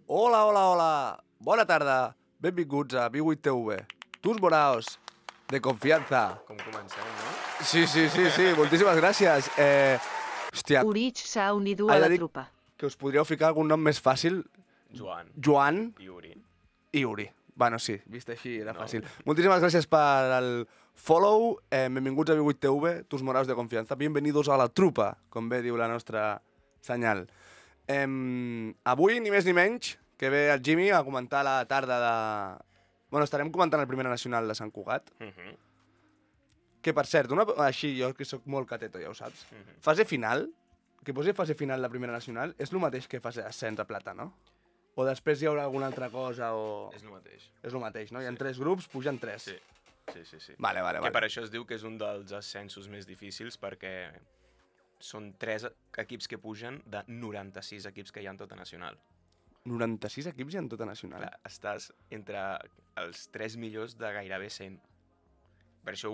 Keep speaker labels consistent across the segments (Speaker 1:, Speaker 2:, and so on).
Speaker 1: Hola, hola, hola. Bona tarda. Benvinguts a V8TV. Tus moraos de confianza.
Speaker 2: Com comencem, no?
Speaker 1: Sí. Moltíssimes gràcies. Hòstia,
Speaker 3: Urich s'ha unit
Speaker 1: he
Speaker 3: a
Speaker 1: de
Speaker 3: la
Speaker 1: dir
Speaker 3: trupa.
Speaker 1: que us podríeu ficar algun nom més fàcil.
Speaker 2: Joan
Speaker 1: Joan
Speaker 2: i Uri.
Speaker 1: i Uri. Bueno, sí, vist així era
Speaker 2: No.
Speaker 1: fàcil. Moltíssimes gràcies per el follow. Benvinguts a V8TV, tus moraos de confianza. Bienvenidos a la trupa, com bé diu la nostra senyal. Avui, ni més ni menys, que ve el Jimmy a comentar la tarda de... Bueno, estarem comentant el Primera Nacional de Sant Cugat. Que, per cert, així, jo que sóc molt cateto, ja ho saps. Fase final, que posi fase final de Primera Nacional, és el mateix que fase ascens a plata, no? O després hi haurà alguna altra cosa o...
Speaker 2: És el mateix.
Speaker 1: És el mateix, no? Hi ha 3 grups, pugen 3.
Speaker 2: Sí.
Speaker 1: Vale.
Speaker 2: Que per això es diu que és un dels ascensos més difícils, perquè són 3 equips que pugen de 96 equips que hi ha en tota nacional.
Speaker 1: 96 equips hi ha en tota nacional.
Speaker 2: Clar, estàs entre els 3 millors de gairebé 100. Per això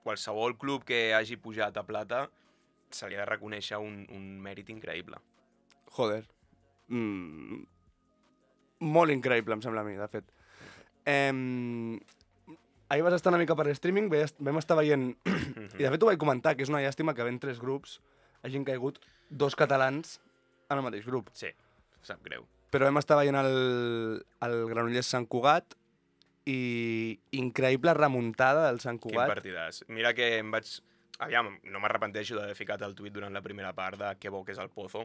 Speaker 2: qualsevol club que hagi pujat a plata se li ha de reconèixer un mèrit increïble.
Speaker 1: Joder. Molt increïble, em sembla a mi, de fet. Ahir vas estar una mica per streaming, vam estar veient... I de fet ho vaig comentar, que és una llàstima que havent 3 grups hagin caigut 2 catalans en el mateix grup.
Speaker 2: Sí, sap greu.
Speaker 1: Però vam estar veient el Granollers Sant Cugat i increïble remuntada del Sant
Speaker 2: Quin
Speaker 1: Cugat.
Speaker 2: partidàs. Mira que em vaig... Aviam, no m'arrepenteixo d'haver ficat el tuit durant la primera part de que bo que és el Pozo,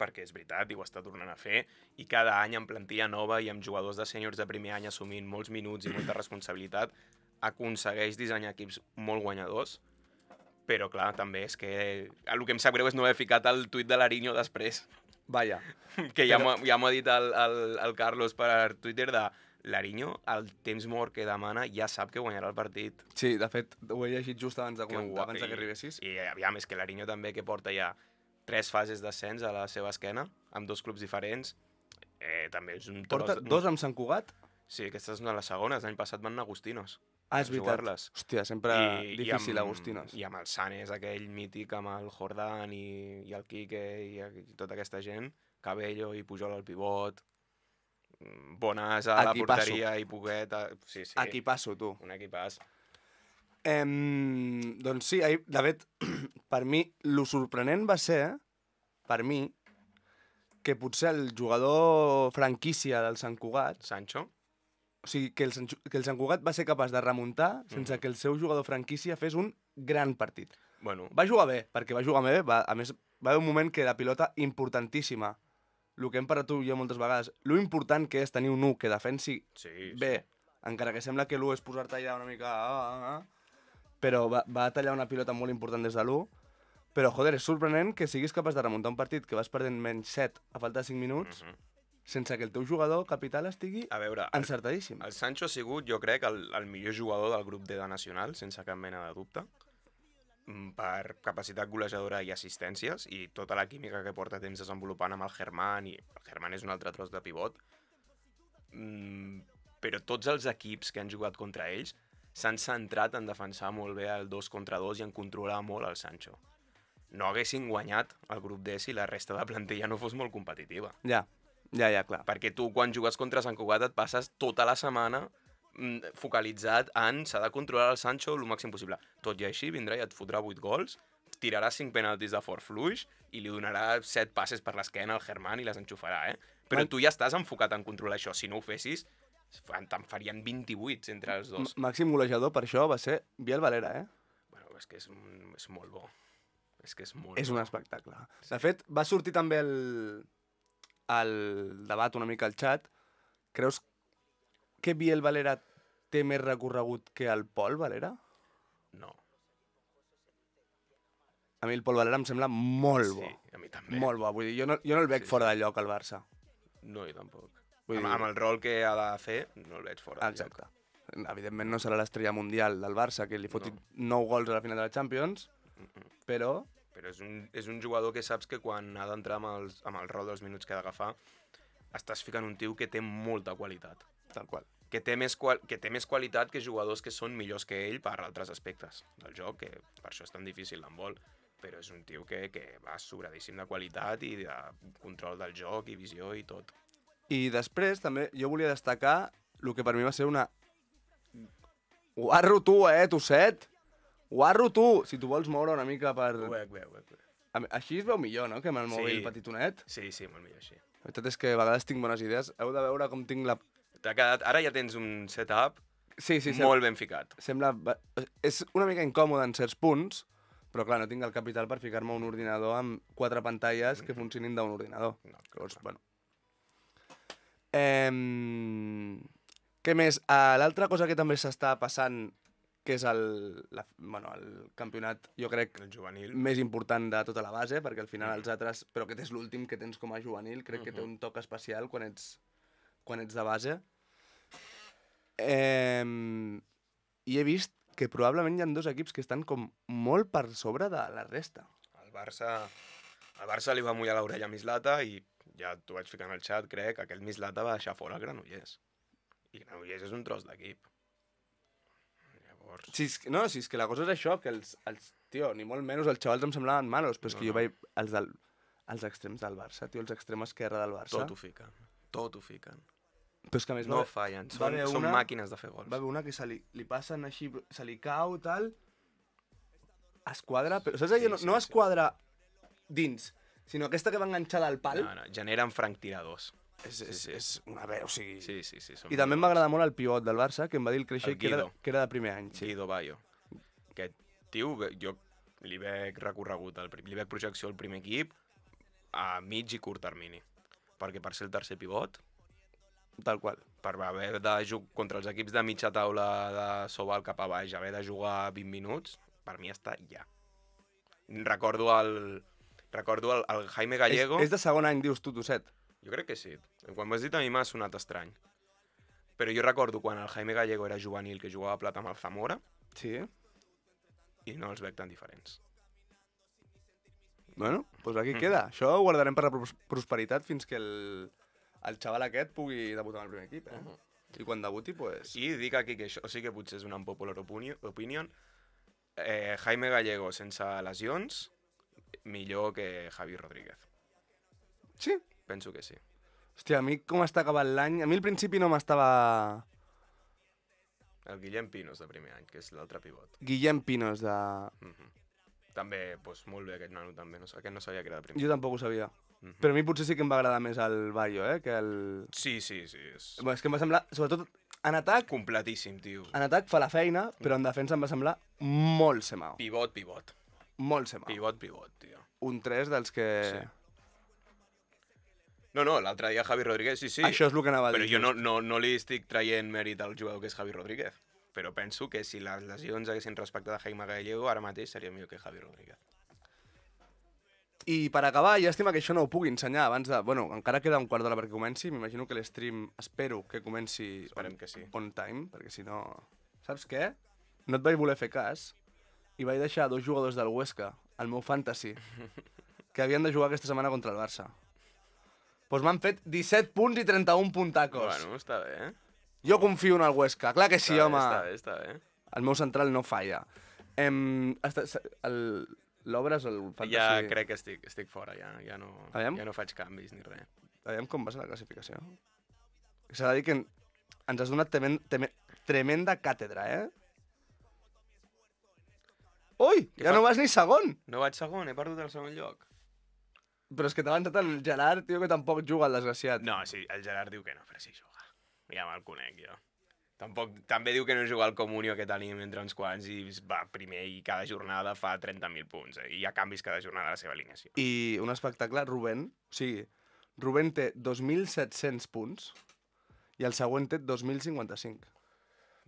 Speaker 2: perquè és veritat, i ho està tornant a fer, i cada any amb plantilla nova i amb jugadors de sèniors de primer any assumint molts minuts i molta responsabilitat, aconsegueix dissenyar equips molt guanyadors, però clar, també és que el que em sap greu és no haver ficat el tuit de l'Ariño després,
Speaker 1: Vaja.
Speaker 2: que ja m'ha dit el Carlos per Twitter de l'Ariño, el temps mort que demana, ja sap que guanyarà el partit.
Speaker 1: Sí, de fet, ho he llegit just abans de
Speaker 2: Que
Speaker 1: comentar,
Speaker 2: guai.
Speaker 1: abans que arribessis.
Speaker 2: I aviam, és que l'Ariño també, que porta ja 3 fases d'ascens a la seva esquena, amb 2 clubs diferents, també és un tros...
Speaker 1: Porta 2 amb Sant Cugat?
Speaker 2: Sí, aquesta és una de les segones. L'any passat van anar Agustinos.
Speaker 1: Ah, és veritat.
Speaker 2: Jugar-les.
Speaker 1: Hòstia, sempre difícil, Agustinos.
Speaker 2: I amb el Sanes, aquell mític, amb el Jordan i el Quique i tota aquesta gent, Cabello i Pujol al pivot, Bonas a la porteria i Poguet... Sí.
Speaker 1: Equipasso, tu.
Speaker 2: Un equipàs.
Speaker 1: Doncs sí, de fet, per mi, lo sorprenent va ser, per mi, que potser el jugador franquícia del Sant Cugat,
Speaker 2: Sancho?
Speaker 1: o sigui, que el Sant Cugat va ser capaç de remuntar sense que el seu jugador franquícia fes un gran partit.
Speaker 2: Bueno,
Speaker 1: Va jugar bé, perquè va jugar bé, a més, va haver un moment que la pilota importantíssima, el que hem parlat tu i jo moltes vegades, lo important que és tenir un 1 que defensi
Speaker 2: sí.
Speaker 1: bé, encara que sembla que l'1 és posar-te allà una mica... Però va tallar una pilota molt important des de l'1. Però, joder, és sorprenent que siguis capaç de remuntar un partit que vas perdent menys 7 a falta de 5 minuts sense que el teu jugador capital estigui
Speaker 2: A veure,
Speaker 1: encertadíssim.
Speaker 2: el Sancho ha sigut, jo crec, el millor jugador del grup D de Nacional, sense cap mena de dubte, per capacitat golejadora i assistències, i tota la química que porta temps desenvolupant amb el Germán, i el Germán és un altre tros de pivot. Però tots els equips que han jugat contra ells s'han centrat en defensar molt bé el 2 contra 2 i en controlar molt el Sancho. No haguessin guanyat el grup D si la resta de plantilla no fos molt competitiva.
Speaker 1: Ja, clar.
Speaker 2: Perquè tu, quan jugues contra Sant Cugat, et passes tota la setmana focalitzat en s'ha de controlar el Sancho el màxim possible. Tot i així, vindrà i et fotrà 8 gols, tirarà 5 penaltis de fort fluix i li donarà 7 passes per l'esquena al Germán i les enxufarà, Però tu ja estàs enfocat en controlar això. Si no ho fessis, te'n farien 28 entre els dos.
Speaker 1: Màxim golejador per això va ser Biel Valera,
Speaker 2: Bueno, és que és molt bo. És que és molt
Speaker 1: És
Speaker 2: bo.
Speaker 1: un espectacle. De fet, va sortir també el debat una mica al xat. Creus que Biel Valera té més recorregut que el Pol Valera?
Speaker 2: No.
Speaker 1: A mi el Pol Valera em sembla molt bo.
Speaker 2: Sí, a mi també.
Speaker 1: Molt bo. Vull dir, jo no el veig fora de lloc al Barça.
Speaker 2: No, jo tampoc.
Speaker 1: Vull dir-
Speaker 2: Amb el rol que ha de fer, no el veig fora de lloc.
Speaker 1: Exacte. Evidentment no serà l'estrella mundial del Barça, que li foti 9 gols a la final de la Champions, però...
Speaker 2: Però és un jugador que saps que quan ha d'entrar amb el rol dels minuts que ha d'agafar, estàs ficant un tio que té molta qualitat.
Speaker 1: Tal qual.
Speaker 2: Que té més qualitat que jugadors que són millors que ell per altres aspectes del joc, que per això és tan difícil l'handbol. però és un tio que va sobradíssim de qualitat i de control del joc i visió i tot.
Speaker 1: I després també jo volia destacar el que per mi va ser una... Guarro tu, Tosset! Guarro tu! Si tu vols moure una mica per...
Speaker 2: Ho veig.
Speaker 1: Així es veu millor, no?, que amb el mòbil petitonet.
Speaker 2: Sí, molt millor així.
Speaker 1: La veritat és que a vegades tinc bones idees. Heu de veure com tinc la...
Speaker 2: T'ha quedat... Ara ja tens un setup
Speaker 1: Sí,
Speaker 2: molt ben ficat.
Speaker 1: Sembla... És una mica incòmode en certs punts, però clar, no tinc el capital per ficar-me un ordinador amb 4 pantalles que funcionin d'un ordinador.
Speaker 2: No,
Speaker 1: Llavors, bueno. Què més? L'altra cosa que també s'està passant, que és el campionat, jo crec,
Speaker 2: El juvenil.
Speaker 1: més important de tota la base, perquè al final els altres... Però aquest és l'últim que tens com a juvenil, crec que té un toc especial quan ets de base. I he vist que probablement hi ha 2 equips que estan com molt per sobre de la resta.
Speaker 2: El Barça li va mullar l'orella a Mislata i ja t'ho vaig ficar en el xat, crec, que aquell Mislata va deixar fora Granollers. I Granollers és un tros d'equip. Llavors...
Speaker 1: Si és que la cosa és això, que tio, ni molt menys els xavals em semblaven malos, però és que jo veig els extrems del Barça, tio, els extrems esquerra del Barça.
Speaker 2: Tot ho fiquen.
Speaker 1: Però és que a més
Speaker 2: no fallen, són màquines de fer gols.
Speaker 1: Va haver una que se li passen així, se li cau, tal... Es quadra, però saps allò? No es quadra dins, sinó aquesta que va enganxada al pal.
Speaker 2: No, generen franctiradors.
Speaker 1: És una veu, o sigui...
Speaker 2: Sí.
Speaker 1: I també em va agradar molt el pivot del Barça, que em va dir el Creixell que era de primer any.
Speaker 2: Guido Bayo. Aquest tio, jo li veig recorregut, li veig projecció al primer equip a mig i curt termini. Perquè per ser el tercer pivot...
Speaker 1: Tal qual.
Speaker 2: Per haver de jugar contra els equips de mitja taula de Sobal cap a baix, haver de jugar 20 minuts, per mi està ja. Recordo el Jaime Gallego...
Speaker 1: És de segon any, dius tu, Tosset?
Speaker 2: Jo crec que sí. Quan m'has dit a mi m'ha sonat estrany. Però jo recordo quan el Jaime Gallego era juvenil, que jugava a plata amb el Zamora,
Speaker 1: sí,
Speaker 2: i no els veig tan diferents.
Speaker 1: Bueno, doncs aquí queda. Això ho guardarem per la prosperitat fins que el xaval aquest pugui debutar en el primer equip, I quan debuti, pues...
Speaker 2: I dic aquí que això sí que potser és una unpopular opinion. Jaime Gallego sense lesions, millor que Javi Rodríguez.
Speaker 1: Sí?
Speaker 2: Penso que sí.
Speaker 1: Hòstia, a mi com està acabant l'any... A mi al principi no m'estava...
Speaker 2: El Guillem Pinos de primer any, que és l'altre pivot.
Speaker 1: Guillem Pinos de...
Speaker 2: També, doncs molt bé aquest nano, també. Aquest no sabia que era de primer.
Speaker 1: Jo tampoc ho sabia. Però a mi potser sí que em va agradar més el Bayo, que el...
Speaker 2: Sí.
Speaker 1: Bueno, és que em va semblar, sobretot en atac...
Speaker 2: Completíssim, tio.
Speaker 1: En atac fa la feina, però en defensa em va semblar molt semao.
Speaker 2: Pivot.
Speaker 1: Molt semao.
Speaker 2: Pivot, tio.
Speaker 1: Un 3 dels que...
Speaker 2: Sí. No, l'altre dia Javi Rodríguez, sí.
Speaker 1: Això és el que anava a dir.
Speaker 2: Però jo no li estic traient mèrit al jugador que és Javi Rodríguez. Però penso que si les lesions haguessin respectat a Jaime Gallego, ara mateix seria millor que Javi Rodríguez.
Speaker 1: I per acabar, llàstima que això no ho pugui ensenyar abans de... Bueno, encara queda un quart d'hora perquè comenci. M'imagino que l'stream espero que comenci
Speaker 2: que sí.
Speaker 1: On time, perquè si no... Saps què? No et vaig voler fer cas i vaig deixar 2 jugadors del Huesca, al meu fantasy, que havien de jugar aquesta setmana contra el Barça. Doncs m'han fet 17 punts i 31 puntacos.
Speaker 2: Bueno, està bé,
Speaker 1: Jo confio en el Huesca, clar que sí, home.
Speaker 2: Està bé.
Speaker 1: El meu central no falla. L'obres el fantasy...
Speaker 2: Ja crec que estic fora, ja no faig canvis ni res.
Speaker 1: Aviam com va ser la classificació. S'ha de dir que ens has donat tremenda càtedra, Ui, ja no vas ni segon!
Speaker 2: No vaig segon, he perdut el segon lloc.
Speaker 1: Però és que t'ha avançat el Gerard, tio, que tampoc juga, el desgraciat.
Speaker 2: No, sí, el Gerard diu que no, però sí juga. Ja me'l conec, jo. També diu que no juga al Comunio que tenim entre uns quants i va primer i cada jornada fa 30.000 punts. I hi ha canvis cada jornada a la seva alineació.
Speaker 1: I un espectacle, Rubén, o sigui, Rubén té 2.700 punts i el següent té 2.055.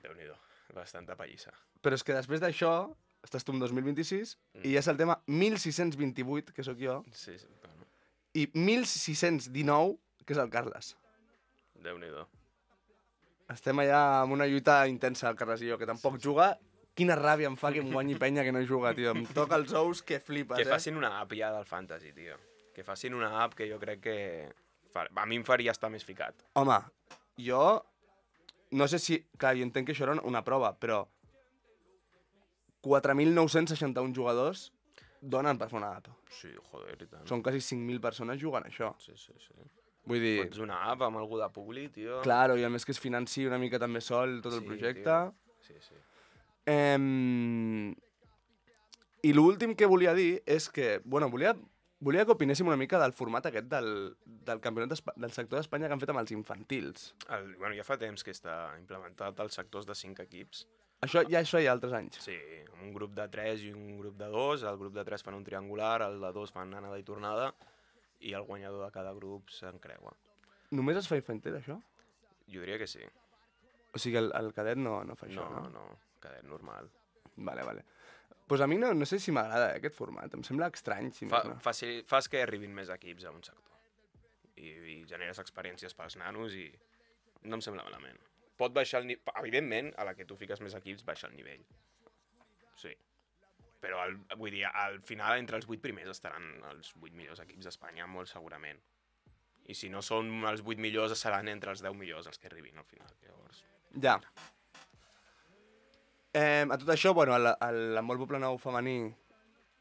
Speaker 2: Déu-n'hi-do, bastanta pallissa.
Speaker 1: Però és que després d'això, estàs tu en 2026 i ja és el tema 1.628, que sóc jo,
Speaker 2: sí, bueno.
Speaker 1: I 1.619, que és el Carles.
Speaker 2: Déu-n'hi-do.
Speaker 1: Estem allà amb una lluita intensa, el Carles i jo, que tampoc juga. Quina ràbia em fa que em guanyi penya que no juga, tio. Em toca els ous que flipes,
Speaker 2: Que facin una app ja del Fantasy, tio. Que facin una app que jo crec que... A mi em faria estar més ficat.
Speaker 1: Home, jo... No sé si... Clar, jo entenc que això era una prova, però... 4.961 jugadors... donen per fer una app.
Speaker 2: Sí, joder, i tant.
Speaker 1: Són quasi 5.000 persones jugant a això.
Speaker 2: Sí.
Speaker 1: Vull dir...
Speaker 2: Fots una app amb algú de públic, tio.
Speaker 1: Claro, i a més que es financi una mica també sol tot el projecte.
Speaker 2: Tio. Sí.
Speaker 1: I l'últim que volia dir és que, bueno, volia que opinéssim una mica del format aquest del campionat del sector d'Espanya que han fet amb els infantils.
Speaker 2: Bueno, ja fa temps que està implementat als sectors de 5 equips.
Speaker 1: Això hi ha altres anys.
Speaker 2: Sí, amb un grup de 3 i un grup de 2. El grup de 3 fan un triangular, el de 2 fan anada i tornada, i el guanyador de cada grup s'encreua.
Speaker 1: Només es fa infantil, això?
Speaker 2: Jo diria que sí.
Speaker 1: O sigui, el cadet no fa això, no?
Speaker 2: No, cadet normal.
Speaker 1: Vale. Pues a mi no sé si m'agrada aquest format, em sembla estrany. Si
Speaker 2: Fas que arribin més equips a un sector. I generes experiències pels nanos i no em sembla malament. Pot baixar el nivell... Evidentment, a la que tu fiques més equips, baixa el nivell. Sí. Però, vull dir, al final, entre els 8 primers estaran els 8 millors equips d'Espanya, molt segurament. I si no són els 8 millors, seran entre els 10 millors els que arribin al final. Llavors...
Speaker 1: Ja. A tot això, bueno, l'handbol Poblenou femení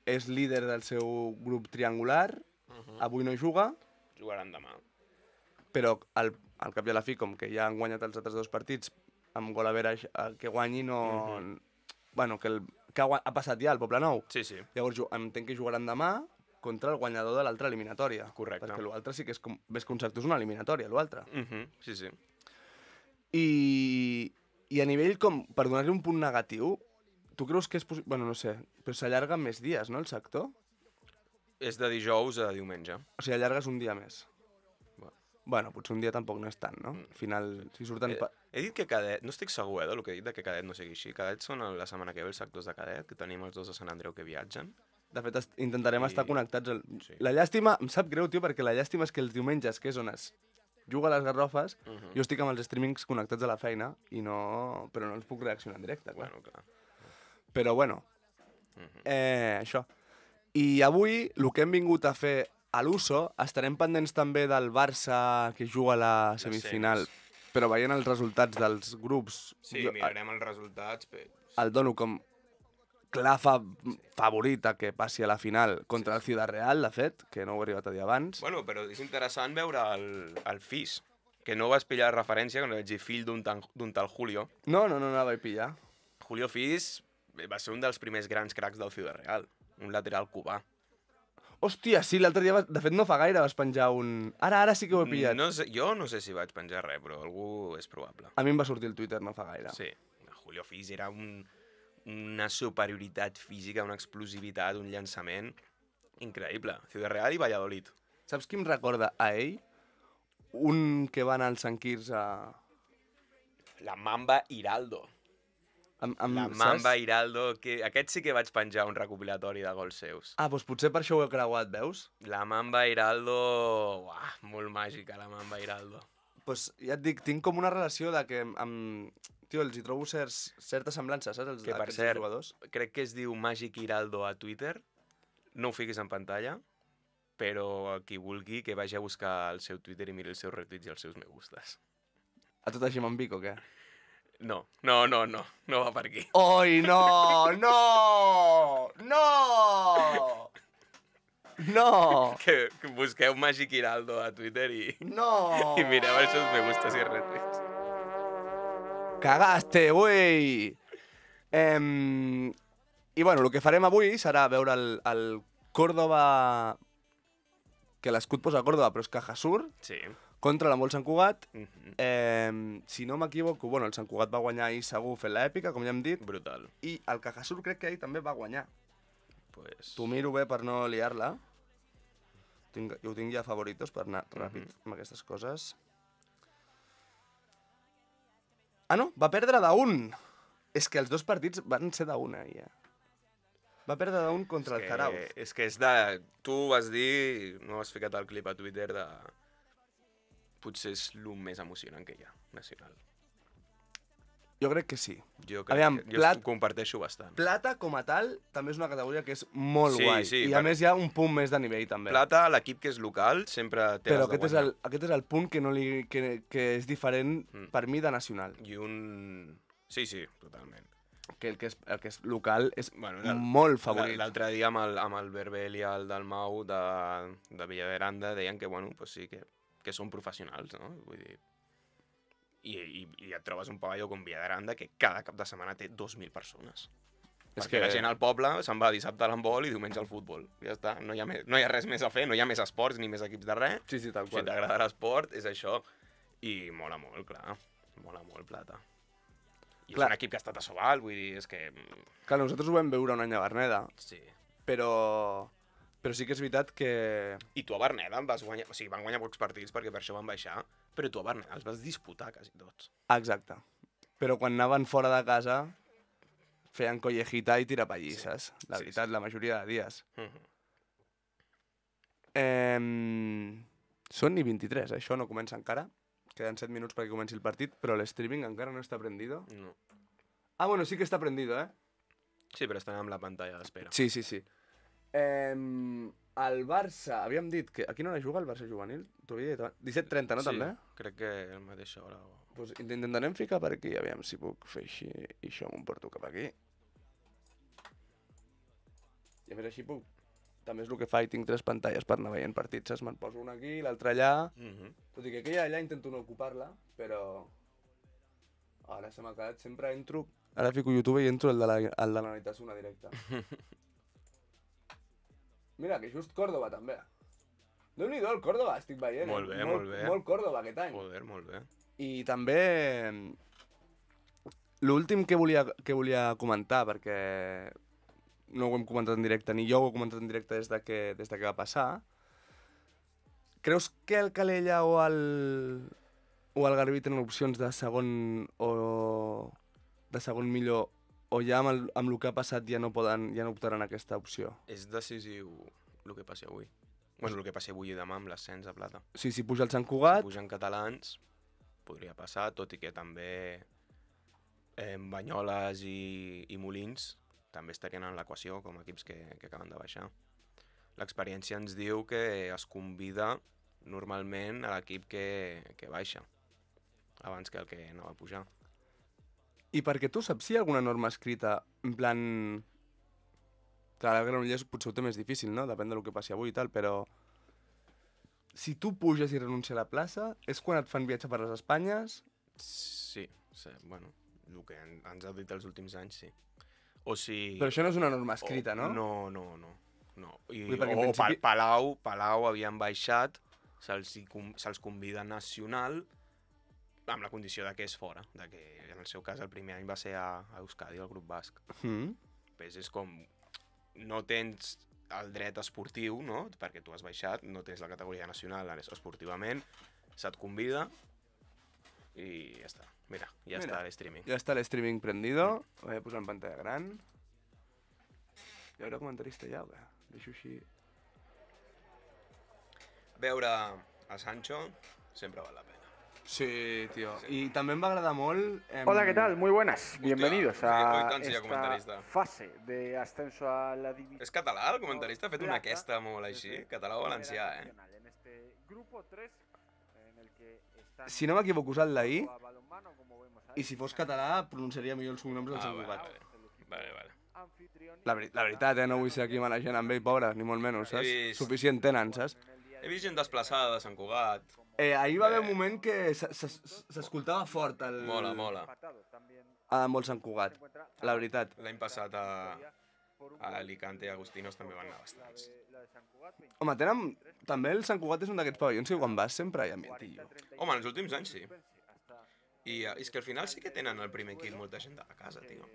Speaker 1: és líder del seu grup triangular, avui no juga.
Speaker 2: Jugaran demà.
Speaker 1: Però al cap i a la fi, com que ja han guanyat els altres 2 partits, amb gol a verage, el que guanyi no... Bueno, que ha passat ja el Poblenou.
Speaker 2: Sí.
Speaker 1: Llavors entenc que jugaran demà contra el guanyador de l'altra eliminatòria.
Speaker 2: Correcte.
Speaker 1: Perquè l'altre sí que és com... Ves que un sector és una eliminatòria, l'altre.
Speaker 2: Sí.
Speaker 1: I a nivell com, per donar-li un punt negatiu, tu creus que és possible... Bueno, no sé, però s'allarga més dies, no, el sector?
Speaker 2: És de dijous a diumenge.
Speaker 1: O sigui, allargues un dia més. Bueno, potser un dia tampoc no és tant, no? Al final, si surten...
Speaker 2: He dit que cadet... No estic segur, del que he dit de que cadet no sigui així. Cadet són la setmana que ve els sectors de cadet, que tenim els 2 de Sant Andreu que viatgen.
Speaker 1: De fet, intentarem estar connectats. Sí. La llàstima... Em sap greu, tio, perquè la llàstima és que els diumenges, que és on es juga a les Garrofes, jo estic amb els streamings connectats a la feina, però no els puc reaccionar en directe, clar.
Speaker 2: Bueno, clar.
Speaker 1: Però, bueno, això. I avui, el que hem vingut a fer a l'USO, estarem pendents també del Barça que juga a la semifinal, però veient els resultats dels grups...
Speaker 2: Sí, mirarem els resultats.
Speaker 1: El dono com clar favorit a que passi a la final contra el Ciudad Real, de fet, que no ho he arribat a dir abans.
Speaker 2: Bueno, però és interessant veure el FIS, que no vas pillar referència, quan vaig dir fill d'un tal Julio.
Speaker 1: No vaig pillar.
Speaker 2: Julio Fis va ser un dels primers grans cracs del Ciudad Real, un lateral cubà.
Speaker 1: Hòstia, sí, l'altre dia, de fet no fa gaire vas penjar un... Ara sí que ho he pillat.
Speaker 2: No sé, jo no sé si vaig penjar res, però algú és probable.
Speaker 1: A mi em va sortir el Twitter no fa gaire.
Speaker 2: Sí, Julio Fis era una superioritat física, una explosivitat, un llançament increïble. Ciudad Real i Valladolid.
Speaker 1: Saps qui em recorda a ell? Un que va anar al Sant Quirze a...
Speaker 2: La Mamba Hiraldo. La Mamba Hiraldo, que aquest sí que vaig penjar un recopilatori de gols seus.
Speaker 1: Ah, doncs potser per això ho he creuat, veus?
Speaker 2: La Mamba Hiraldo... Uah, molt màgica, la Mamba Hiraldo.
Speaker 1: Doncs ja et dic, tinc com una relació de que tio, els hi trobo certa semblança, saps?
Speaker 2: Que per cert, crec que es diu Màgic Hiraldo a Twitter. No ho fiquis en pantalla, però qui vulgui que vagi a buscar el seu Twitter i miri els seus retuits i els seus me gustes.
Speaker 1: A tot així m'envic o què?
Speaker 2: No va per aquí.
Speaker 1: Oi, no!
Speaker 2: Que busqueu Màgic Hiraldo a Twitter i mireu els seus me gustes i retuits.
Speaker 1: Cagaste, güey! I bueno, el que farem avui serà veure el Córdoba... Que l'escut posa Córdoba, però és Cajasur.
Speaker 2: Sí.
Speaker 1: Contra la Molt Sant Cugat. Si no m'equivoco, bueno, el Sant Cugat va guanyar ahir segur fent l'èpica, com ja hem dit.
Speaker 2: Brutal.
Speaker 1: I el Cajasur crec que ahir també va guanyar.
Speaker 2: Pues...
Speaker 1: T'ho miro bé per no liar-la. Jo ho tinc ja favoritos per anar ràpid amb aquestes coses. Ah, no, va perdre d'1. És que els 2 partits van ser d'1 ahir, Va perdre d'1 contra el Zarauz.
Speaker 2: És que és de... Tu vas dir, no has ficat el clip a Twitter de... Potser és el més emocionant que hi ha, nacional.
Speaker 1: Jo crec que sí.
Speaker 2: Jo ho comparteixo bastant.
Speaker 1: Plata, com a tal, també és una categoria que és molt guai.
Speaker 2: Sí,
Speaker 1: I a més hi ha un punt més de nivell, també.
Speaker 2: Plata, l'equip que és local, sempre té
Speaker 1: però aquest és el punt que és diferent per mi de nacional.
Speaker 2: I un... Sí, totalment.
Speaker 1: que el que és local és
Speaker 2: Bueno,
Speaker 1: molt favorit.
Speaker 2: L'altre dia amb el Berbel i el Dalmau de Villaveranda deien que, bueno, pues sí, que són professionals, no? Vull dir... I et trobes un pavelló com Villaveranda que cada cap de setmana té 2.000 persones.
Speaker 1: És
Speaker 2: Perquè
Speaker 1: que-
Speaker 2: la gent al poble se'n va dissabte a l'handbol i diumenge al futbol. Ja està, no hi ha res més a fer, no hi ha més esports ni més equips de res.
Speaker 1: Sí, tal
Speaker 2: Si
Speaker 1: qual.
Speaker 2: t'agrada l'esport, és això. I mola molt, clar. Mola molt, Plata. I
Speaker 1: Clar.
Speaker 2: és un equip que ha estat a Sobal, vull dir, és que...
Speaker 1: Clar, nosaltres ho vam veure un any a Berneda,
Speaker 2: Sí.
Speaker 1: però sí que és veritat que...
Speaker 2: I tu a Berneda vas guanyar... O sigui, van guanyar pocs partits perquè per això van baixar, però tu a Berneda els vas disputar quasi tots.
Speaker 1: Exacte. Però quan anaven fora de casa feien collejita i tirapallisses. La
Speaker 2: Sí,
Speaker 1: veritat,
Speaker 2: sí.
Speaker 1: la majoria de dies.
Speaker 2: Mhm.
Speaker 1: Són ni 23, això no comença encara. Queden 7 minuts perquè comenci el partit, però l'streaming encara no està prendido.
Speaker 2: No.
Speaker 1: Ah, bueno, sí que està prendido, eh?
Speaker 2: Sí, però estan amb la pantalla d'espera.
Speaker 1: Sí. El Barça, havíem dit que... A quina hora juga el Barça juvenil? T'ho havia dit abans. 17:30, no, també?
Speaker 2: Crec que a la mateixa hora.
Speaker 1: Pues intentarem ficar per aquí, aviam si puc fer així, i això m'ho porto cap aquí. I a més així puc... També és el que fa, i tinc 3 pantalles per anar veient partits, saps? Me'n poso una aquí, l'altra allà... Tot i que aquella allà intento no ocupar-la, però... Ara se m'ha quedat, sempre entro... Ara fico YouTube i entro el de la Nanitasuna directe. Mira, que just Córdoba també. Déu-n'hi-do el Córdoba, estic veient.
Speaker 2: Molt bé, molt bé.
Speaker 1: Molt Córdoba aquest any.
Speaker 2: Joder, molt bé.
Speaker 1: I també l'últim que volia comentar, perquè no ho hem comentat en directe, ni jo ho he comentat en directe des de que va passar. Creus que el Calella o el Garbí tenen opcions de segon millor, o ja amb el que ha passat ja no optaran a aquesta opció?
Speaker 2: És decisiu el que passi avui. Bueno, el que passi avui i demà amb l'ascens a Plata.
Speaker 1: O sigui, si puja el Sant
Speaker 2: Si
Speaker 1: Cugat...
Speaker 2: pugen catalans, podria passar, tot i que també Banyoles i Molins també estarien en l'equació com a equips que acaben de baixar. L'experiència ens diu que es convida normalment a l'equip que baixa, abans que el que no va pujar.
Speaker 1: I perquè tu saps si hi ha alguna norma escrita, en plan... Clar, el Granollers potser ho té més difícil, no? Depèn del que passi avui i tal, però... Si tu puges i renuncies a la plaça, és quan et fan viatge per les Espanyes?
Speaker 2: Sí, bueno, el que ens ha dit els últims anys, sí. O si...
Speaker 1: Però això no és una norma escrita, no?
Speaker 2: No. I,
Speaker 1: Vull dir, perquè en
Speaker 2: o
Speaker 1: principi-
Speaker 2: Palau havien baixat, se'ls convida nacional amb la condició de que és fora, de que en el seu cas el primer any va ser a Euskadi, al grup basc. Pues és com, no tens el dret esportiu, no? Perquè tu has baixat, no tens la categoria nacional esportivament, se't convida i ja està. Mira, està l'streaming.
Speaker 1: Ja està l'streaming prendido, ho voy a posar en pantalla gran. Hi haurà comentarista ja, o què? Deixo així...
Speaker 2: Veure a Sancho sempre val la pena.
Speaker 1: Sí, tío. Y también me agrada molt...
Speaker 3: Hola, ¿qué tal? Muy buenas. Bienvenidos
Speaker 2: hoy
Speaker 3: a
Speaker 2: tant sí hi ha comentarista.
Speaker 3: esta fase de ascenso a la división.
Speaker 2: És català, el comentarista? Ha fet una aquesta molt així? Català o valencià, eh?
Speaker 3: En este grupo 3, en el que están
Speaker 1: Si no m'equivoco, és el d'ahir,
Speaker 3: a balonmano, como vemos ahí,
Speaker 1: i si fos català pronunciaria millor els cognoms del Sant Cugat.
Speaker 2: Vale.
Speaker 3: anfitrión.
Speaker 1: La veritat, no vull ser aquí manejant amb ell, pobre, ni molt menys, saps?
Speaker 2: He vist.
Speaker 1: Suficient tenen, saps?
Speaker 2: He vist gent desplaçada de Sant Cugat.
Speaker 1: Ahir va haver un moment que s'escoltava fort el...
Speaker 2: Mola.
Speaker 1: amb el Sant Cugat, la veritat.
Speaker 2: L'any passat a Alicante i Agustinos també van anar bastants.
Speaker 1: Home, també el Sant Cugat és un d'aquests pavellons que quan vas sempre hi ha ambientillo.
Speaker 2: Home, en els últims anys sí. I és que al final sí que tenen el primer equip molta gent de la casa, tio.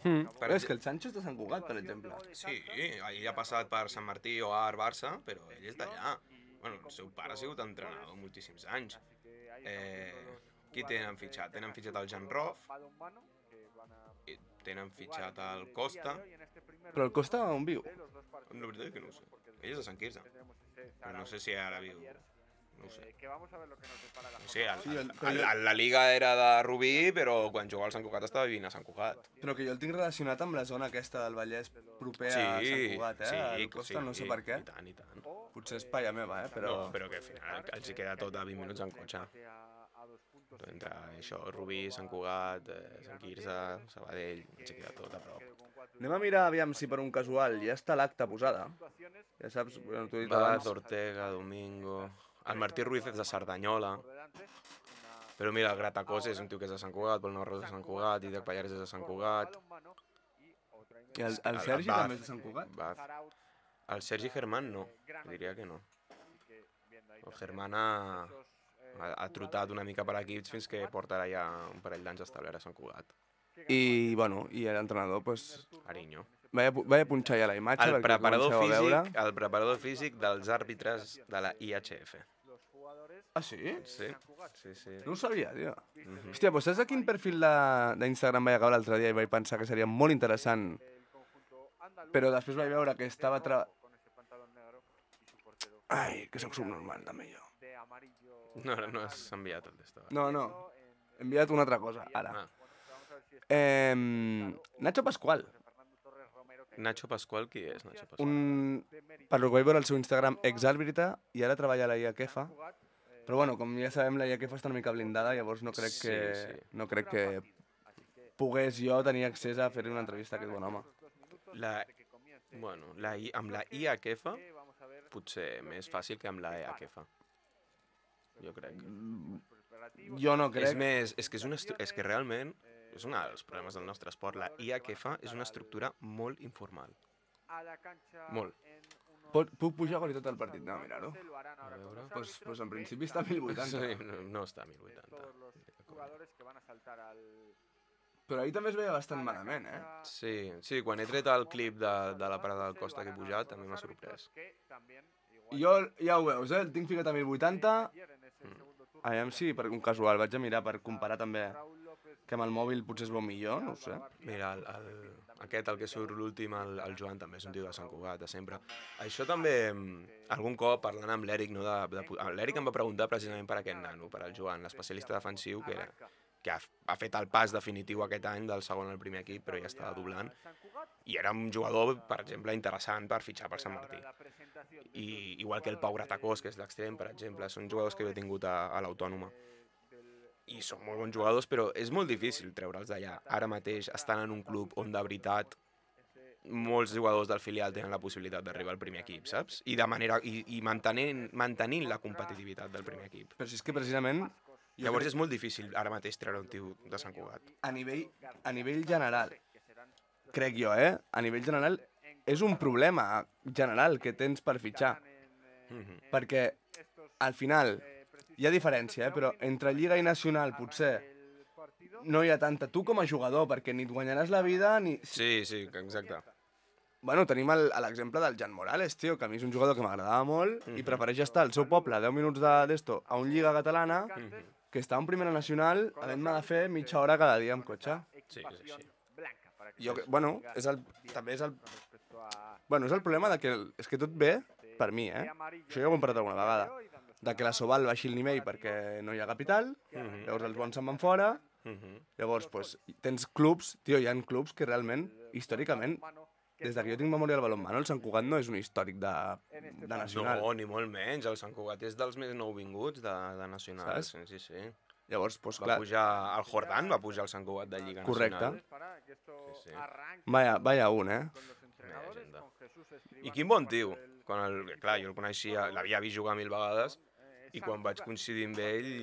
Speaker 1: Però és que el Sancho és de Sant Cugat, per exemple.
Speaker 2: Sí, ell ha passat per Sant Martí o Ar, Barça, però ell és d'allà. Bueno, el seu pare ha sigut entrenador moltíssims anys. Qui tenen fitxat? Tenen fitxat el Jan Roff, tenen fitxat el Costa.
Speaker 1: Però el Costa on viu?
Speaker 2: La veritat és que no ho sé. Ell és de Sant Quirze, però no sé si ara viu... No ho sé. No sé, la Liga era de Rubí, però quan jugava al Sant Cugat estava vivint a Sant Cugat.
Speaker 1: Però que jo el tinc relacionat amb la zona aquesta del Vallès proper a Sant Cugat, el Costa, no sé per què.
Speaker 2: I tant.
Speaker 1: Potser és palla meva, però...
Speaker 2: No, però que al final els hi queda tot a 20 minuts en cotxe. Entre això, Rubí, Sant Cugat, Sant Quirze, Sabadell, ens queda tot a prop.
Speaker 1: Anem a mirar aviam si per un casual ja està l'acta posada. Ja saps, bueno, t'ho he dit
Speaker 2: Baz,
Speaker 1: abans.
Speaker 2: Ortega, Domingo... El Martí Ruiz és de Cerdanyola. Però mira, el Gratacós és un tio que és de Sant Cugat, Pol Navarro és de Sant Cugat, Didac Pallares és de Sant Cugat...
Speaker 1: I el Sergi
Speaker 2: Baz,
Speaker 1: també és de Sant Cugat?
Speaker 2: Baz. El Sergi Germán no, diria que no. El Germán ha trotat una mica per equips fins que portarà ja un parell d'anys establert a Sant Cugat.
Speaker 1: I, bueno, i l'entrenador, doncs...
Speaker 2: Ariño.
Speaker 1: Vaig punxar ja la imatge
Speaker 2: El
Speaker 1: perquè
Speaker 2: preparador
Speaker 1: comenceu a veure.
Speaker 2: físic, el preparador físic dels àrbitres de la IHF.
Speaker 1: Ah, sí?
Speaker 2: Sí, sí, sí.
Speaker 1: No ho sabia, tio. Hòstia, doncs saps a quin perfil d'Instagram vaig acabar l'altre dia i vaig pensar que seria molt interessant, però després vaig veure que estava... Ai, que sóc subnormal, també jo.
Speaker 2: No has enviat el d'esto.
Speaker 1: No, he enviat una altra cosa, ara.
Speaker 2: Ah.
Speaker 1: Nacho Pascual.
Speaker 2: Nacho Pascual, qui és Nacho Pascual?
Speaker 1: Per lo que vaig veure al seu Instagram, exàrbitre, i ara treballa a la IAQEFA. Però bueno, com ja sabem, la IAQEFA està una mica blindada, llavors no crec que,
Speaker 2: Sí.
Speaker 1: no crec que pogués jo tenir accés a fer-li una entrevista a aquest bon home.
Speaker 2: Amb la IAQEFA potser més fàcil que amb la EAQEFA. Jo crec.
Speaker 1: Jo no crec.
Speaker 2: És que realment és un dels problemes del nostre esport. La IAQEFA és una estructura molt informal. Molt.
Speaker 1: Puc pujar qualitat del partit? No, mirar-ho.
Speaker 2: A veure...
Speaker 1: Pues en principi està a 1080.
Speaker 2: Sí, no està a 1080.
Speaker 1: Però ahir també es veia bastant malament, eh?
Speaker 2: Sí, quan he tret el clip de la parada del Costa que he pujat també m'ha sorprès.
Speaker 1: Jo, ja ho veus, el tinc ficat a 1080. Aviam si per un casual vaig a mirar per comparar també que amb el mòbil potser es veu millor, no ho sé.
Speaker 2: Mira, el que surt l'últim, el Joan, també és un tio de Sant Cugat, de sempre. Això també, algun cop, parlant amb l'Eric, no, l'Eric em va preguntar precisament per aquest nano, per el Joan, l'especialista defensiu, que ha fet el pas definitiu aquest any del segon al primer equip, però ja estava doblant. I era un jugador, per exemple, interessant per fitxar per Sant Martí. I igual que el Pau Gratacós, que és l'extrem, per exemple, són jugadors que jo he tingut a l'Autònoma. I són molt bons jugadors, però és molt difícil treure'ls d'allà. Ara mateix estan en un club on de veritat molts jugadors del filial tenen la possibilitat d'arribar al primer equip, saps? I mantenint la competitivitat del primer equip.
Speaker 1: Però si és que precisament...
Speaker 2: Llavors és molt difícil ara mateix treure un tio de Sant Cugat.
Speaker 1: A nivell general, crec jo, a nivell general, és un problema general que tens per fitxar. Perquè, al final, hi ha diferència, però entre Lliga i Nacional potser no hi ha tanta. Tu com a jugador, perquè ni et guanyaràs la vida ni...
Speaker 2: Sí, exacte.
Speaker 1: Bueno, tenim l'exemple del Jan Morales, tio, que a mi és un jugador que m'agradava molt i prefereix estar al seu poble 10 minuts d'esto a un Lliga catalana que està en primera nacional havent-me de fer mitja hora cada dia amb cotxe.
Speaker 2: Sí, és així.
Speaker 1: Bueno, també és el... Bueno, és el problema de que... És que tot ve per mi, Això ja ho hem parlat alguna vegada. De que la Sobal baixi el nivell perquè no hi ha capital, llavors els bons se'n van fora, llavors pues, tens clubs, tio, hi ha clubs que realment, històricament, des que jo tinc memòria del balonmano, el Sant Cugat no és un històric de nacional.
Speaker 2: No, ni molt menys, el Sant Cugat és dels més nouvinguts de nacional.
Speaker 1: Saps?
Speaker 2: Sí.
Speaker 1: Llavors, pues,
Speaker 2: Va
Speaker 1: clar...
Speaker 2: pujar, el Jordan va pujar al Sant Cugat de Lliga Nacional.
Speaker 1: Correcte.
Speaker 2: Sí.
Speaker 1: Vaya un,
Speaker 2: I quin bon tio. Clar, jo el coneixia, l'havia vist jugar 1000 vegades, i quan vaig coincidir amb ell,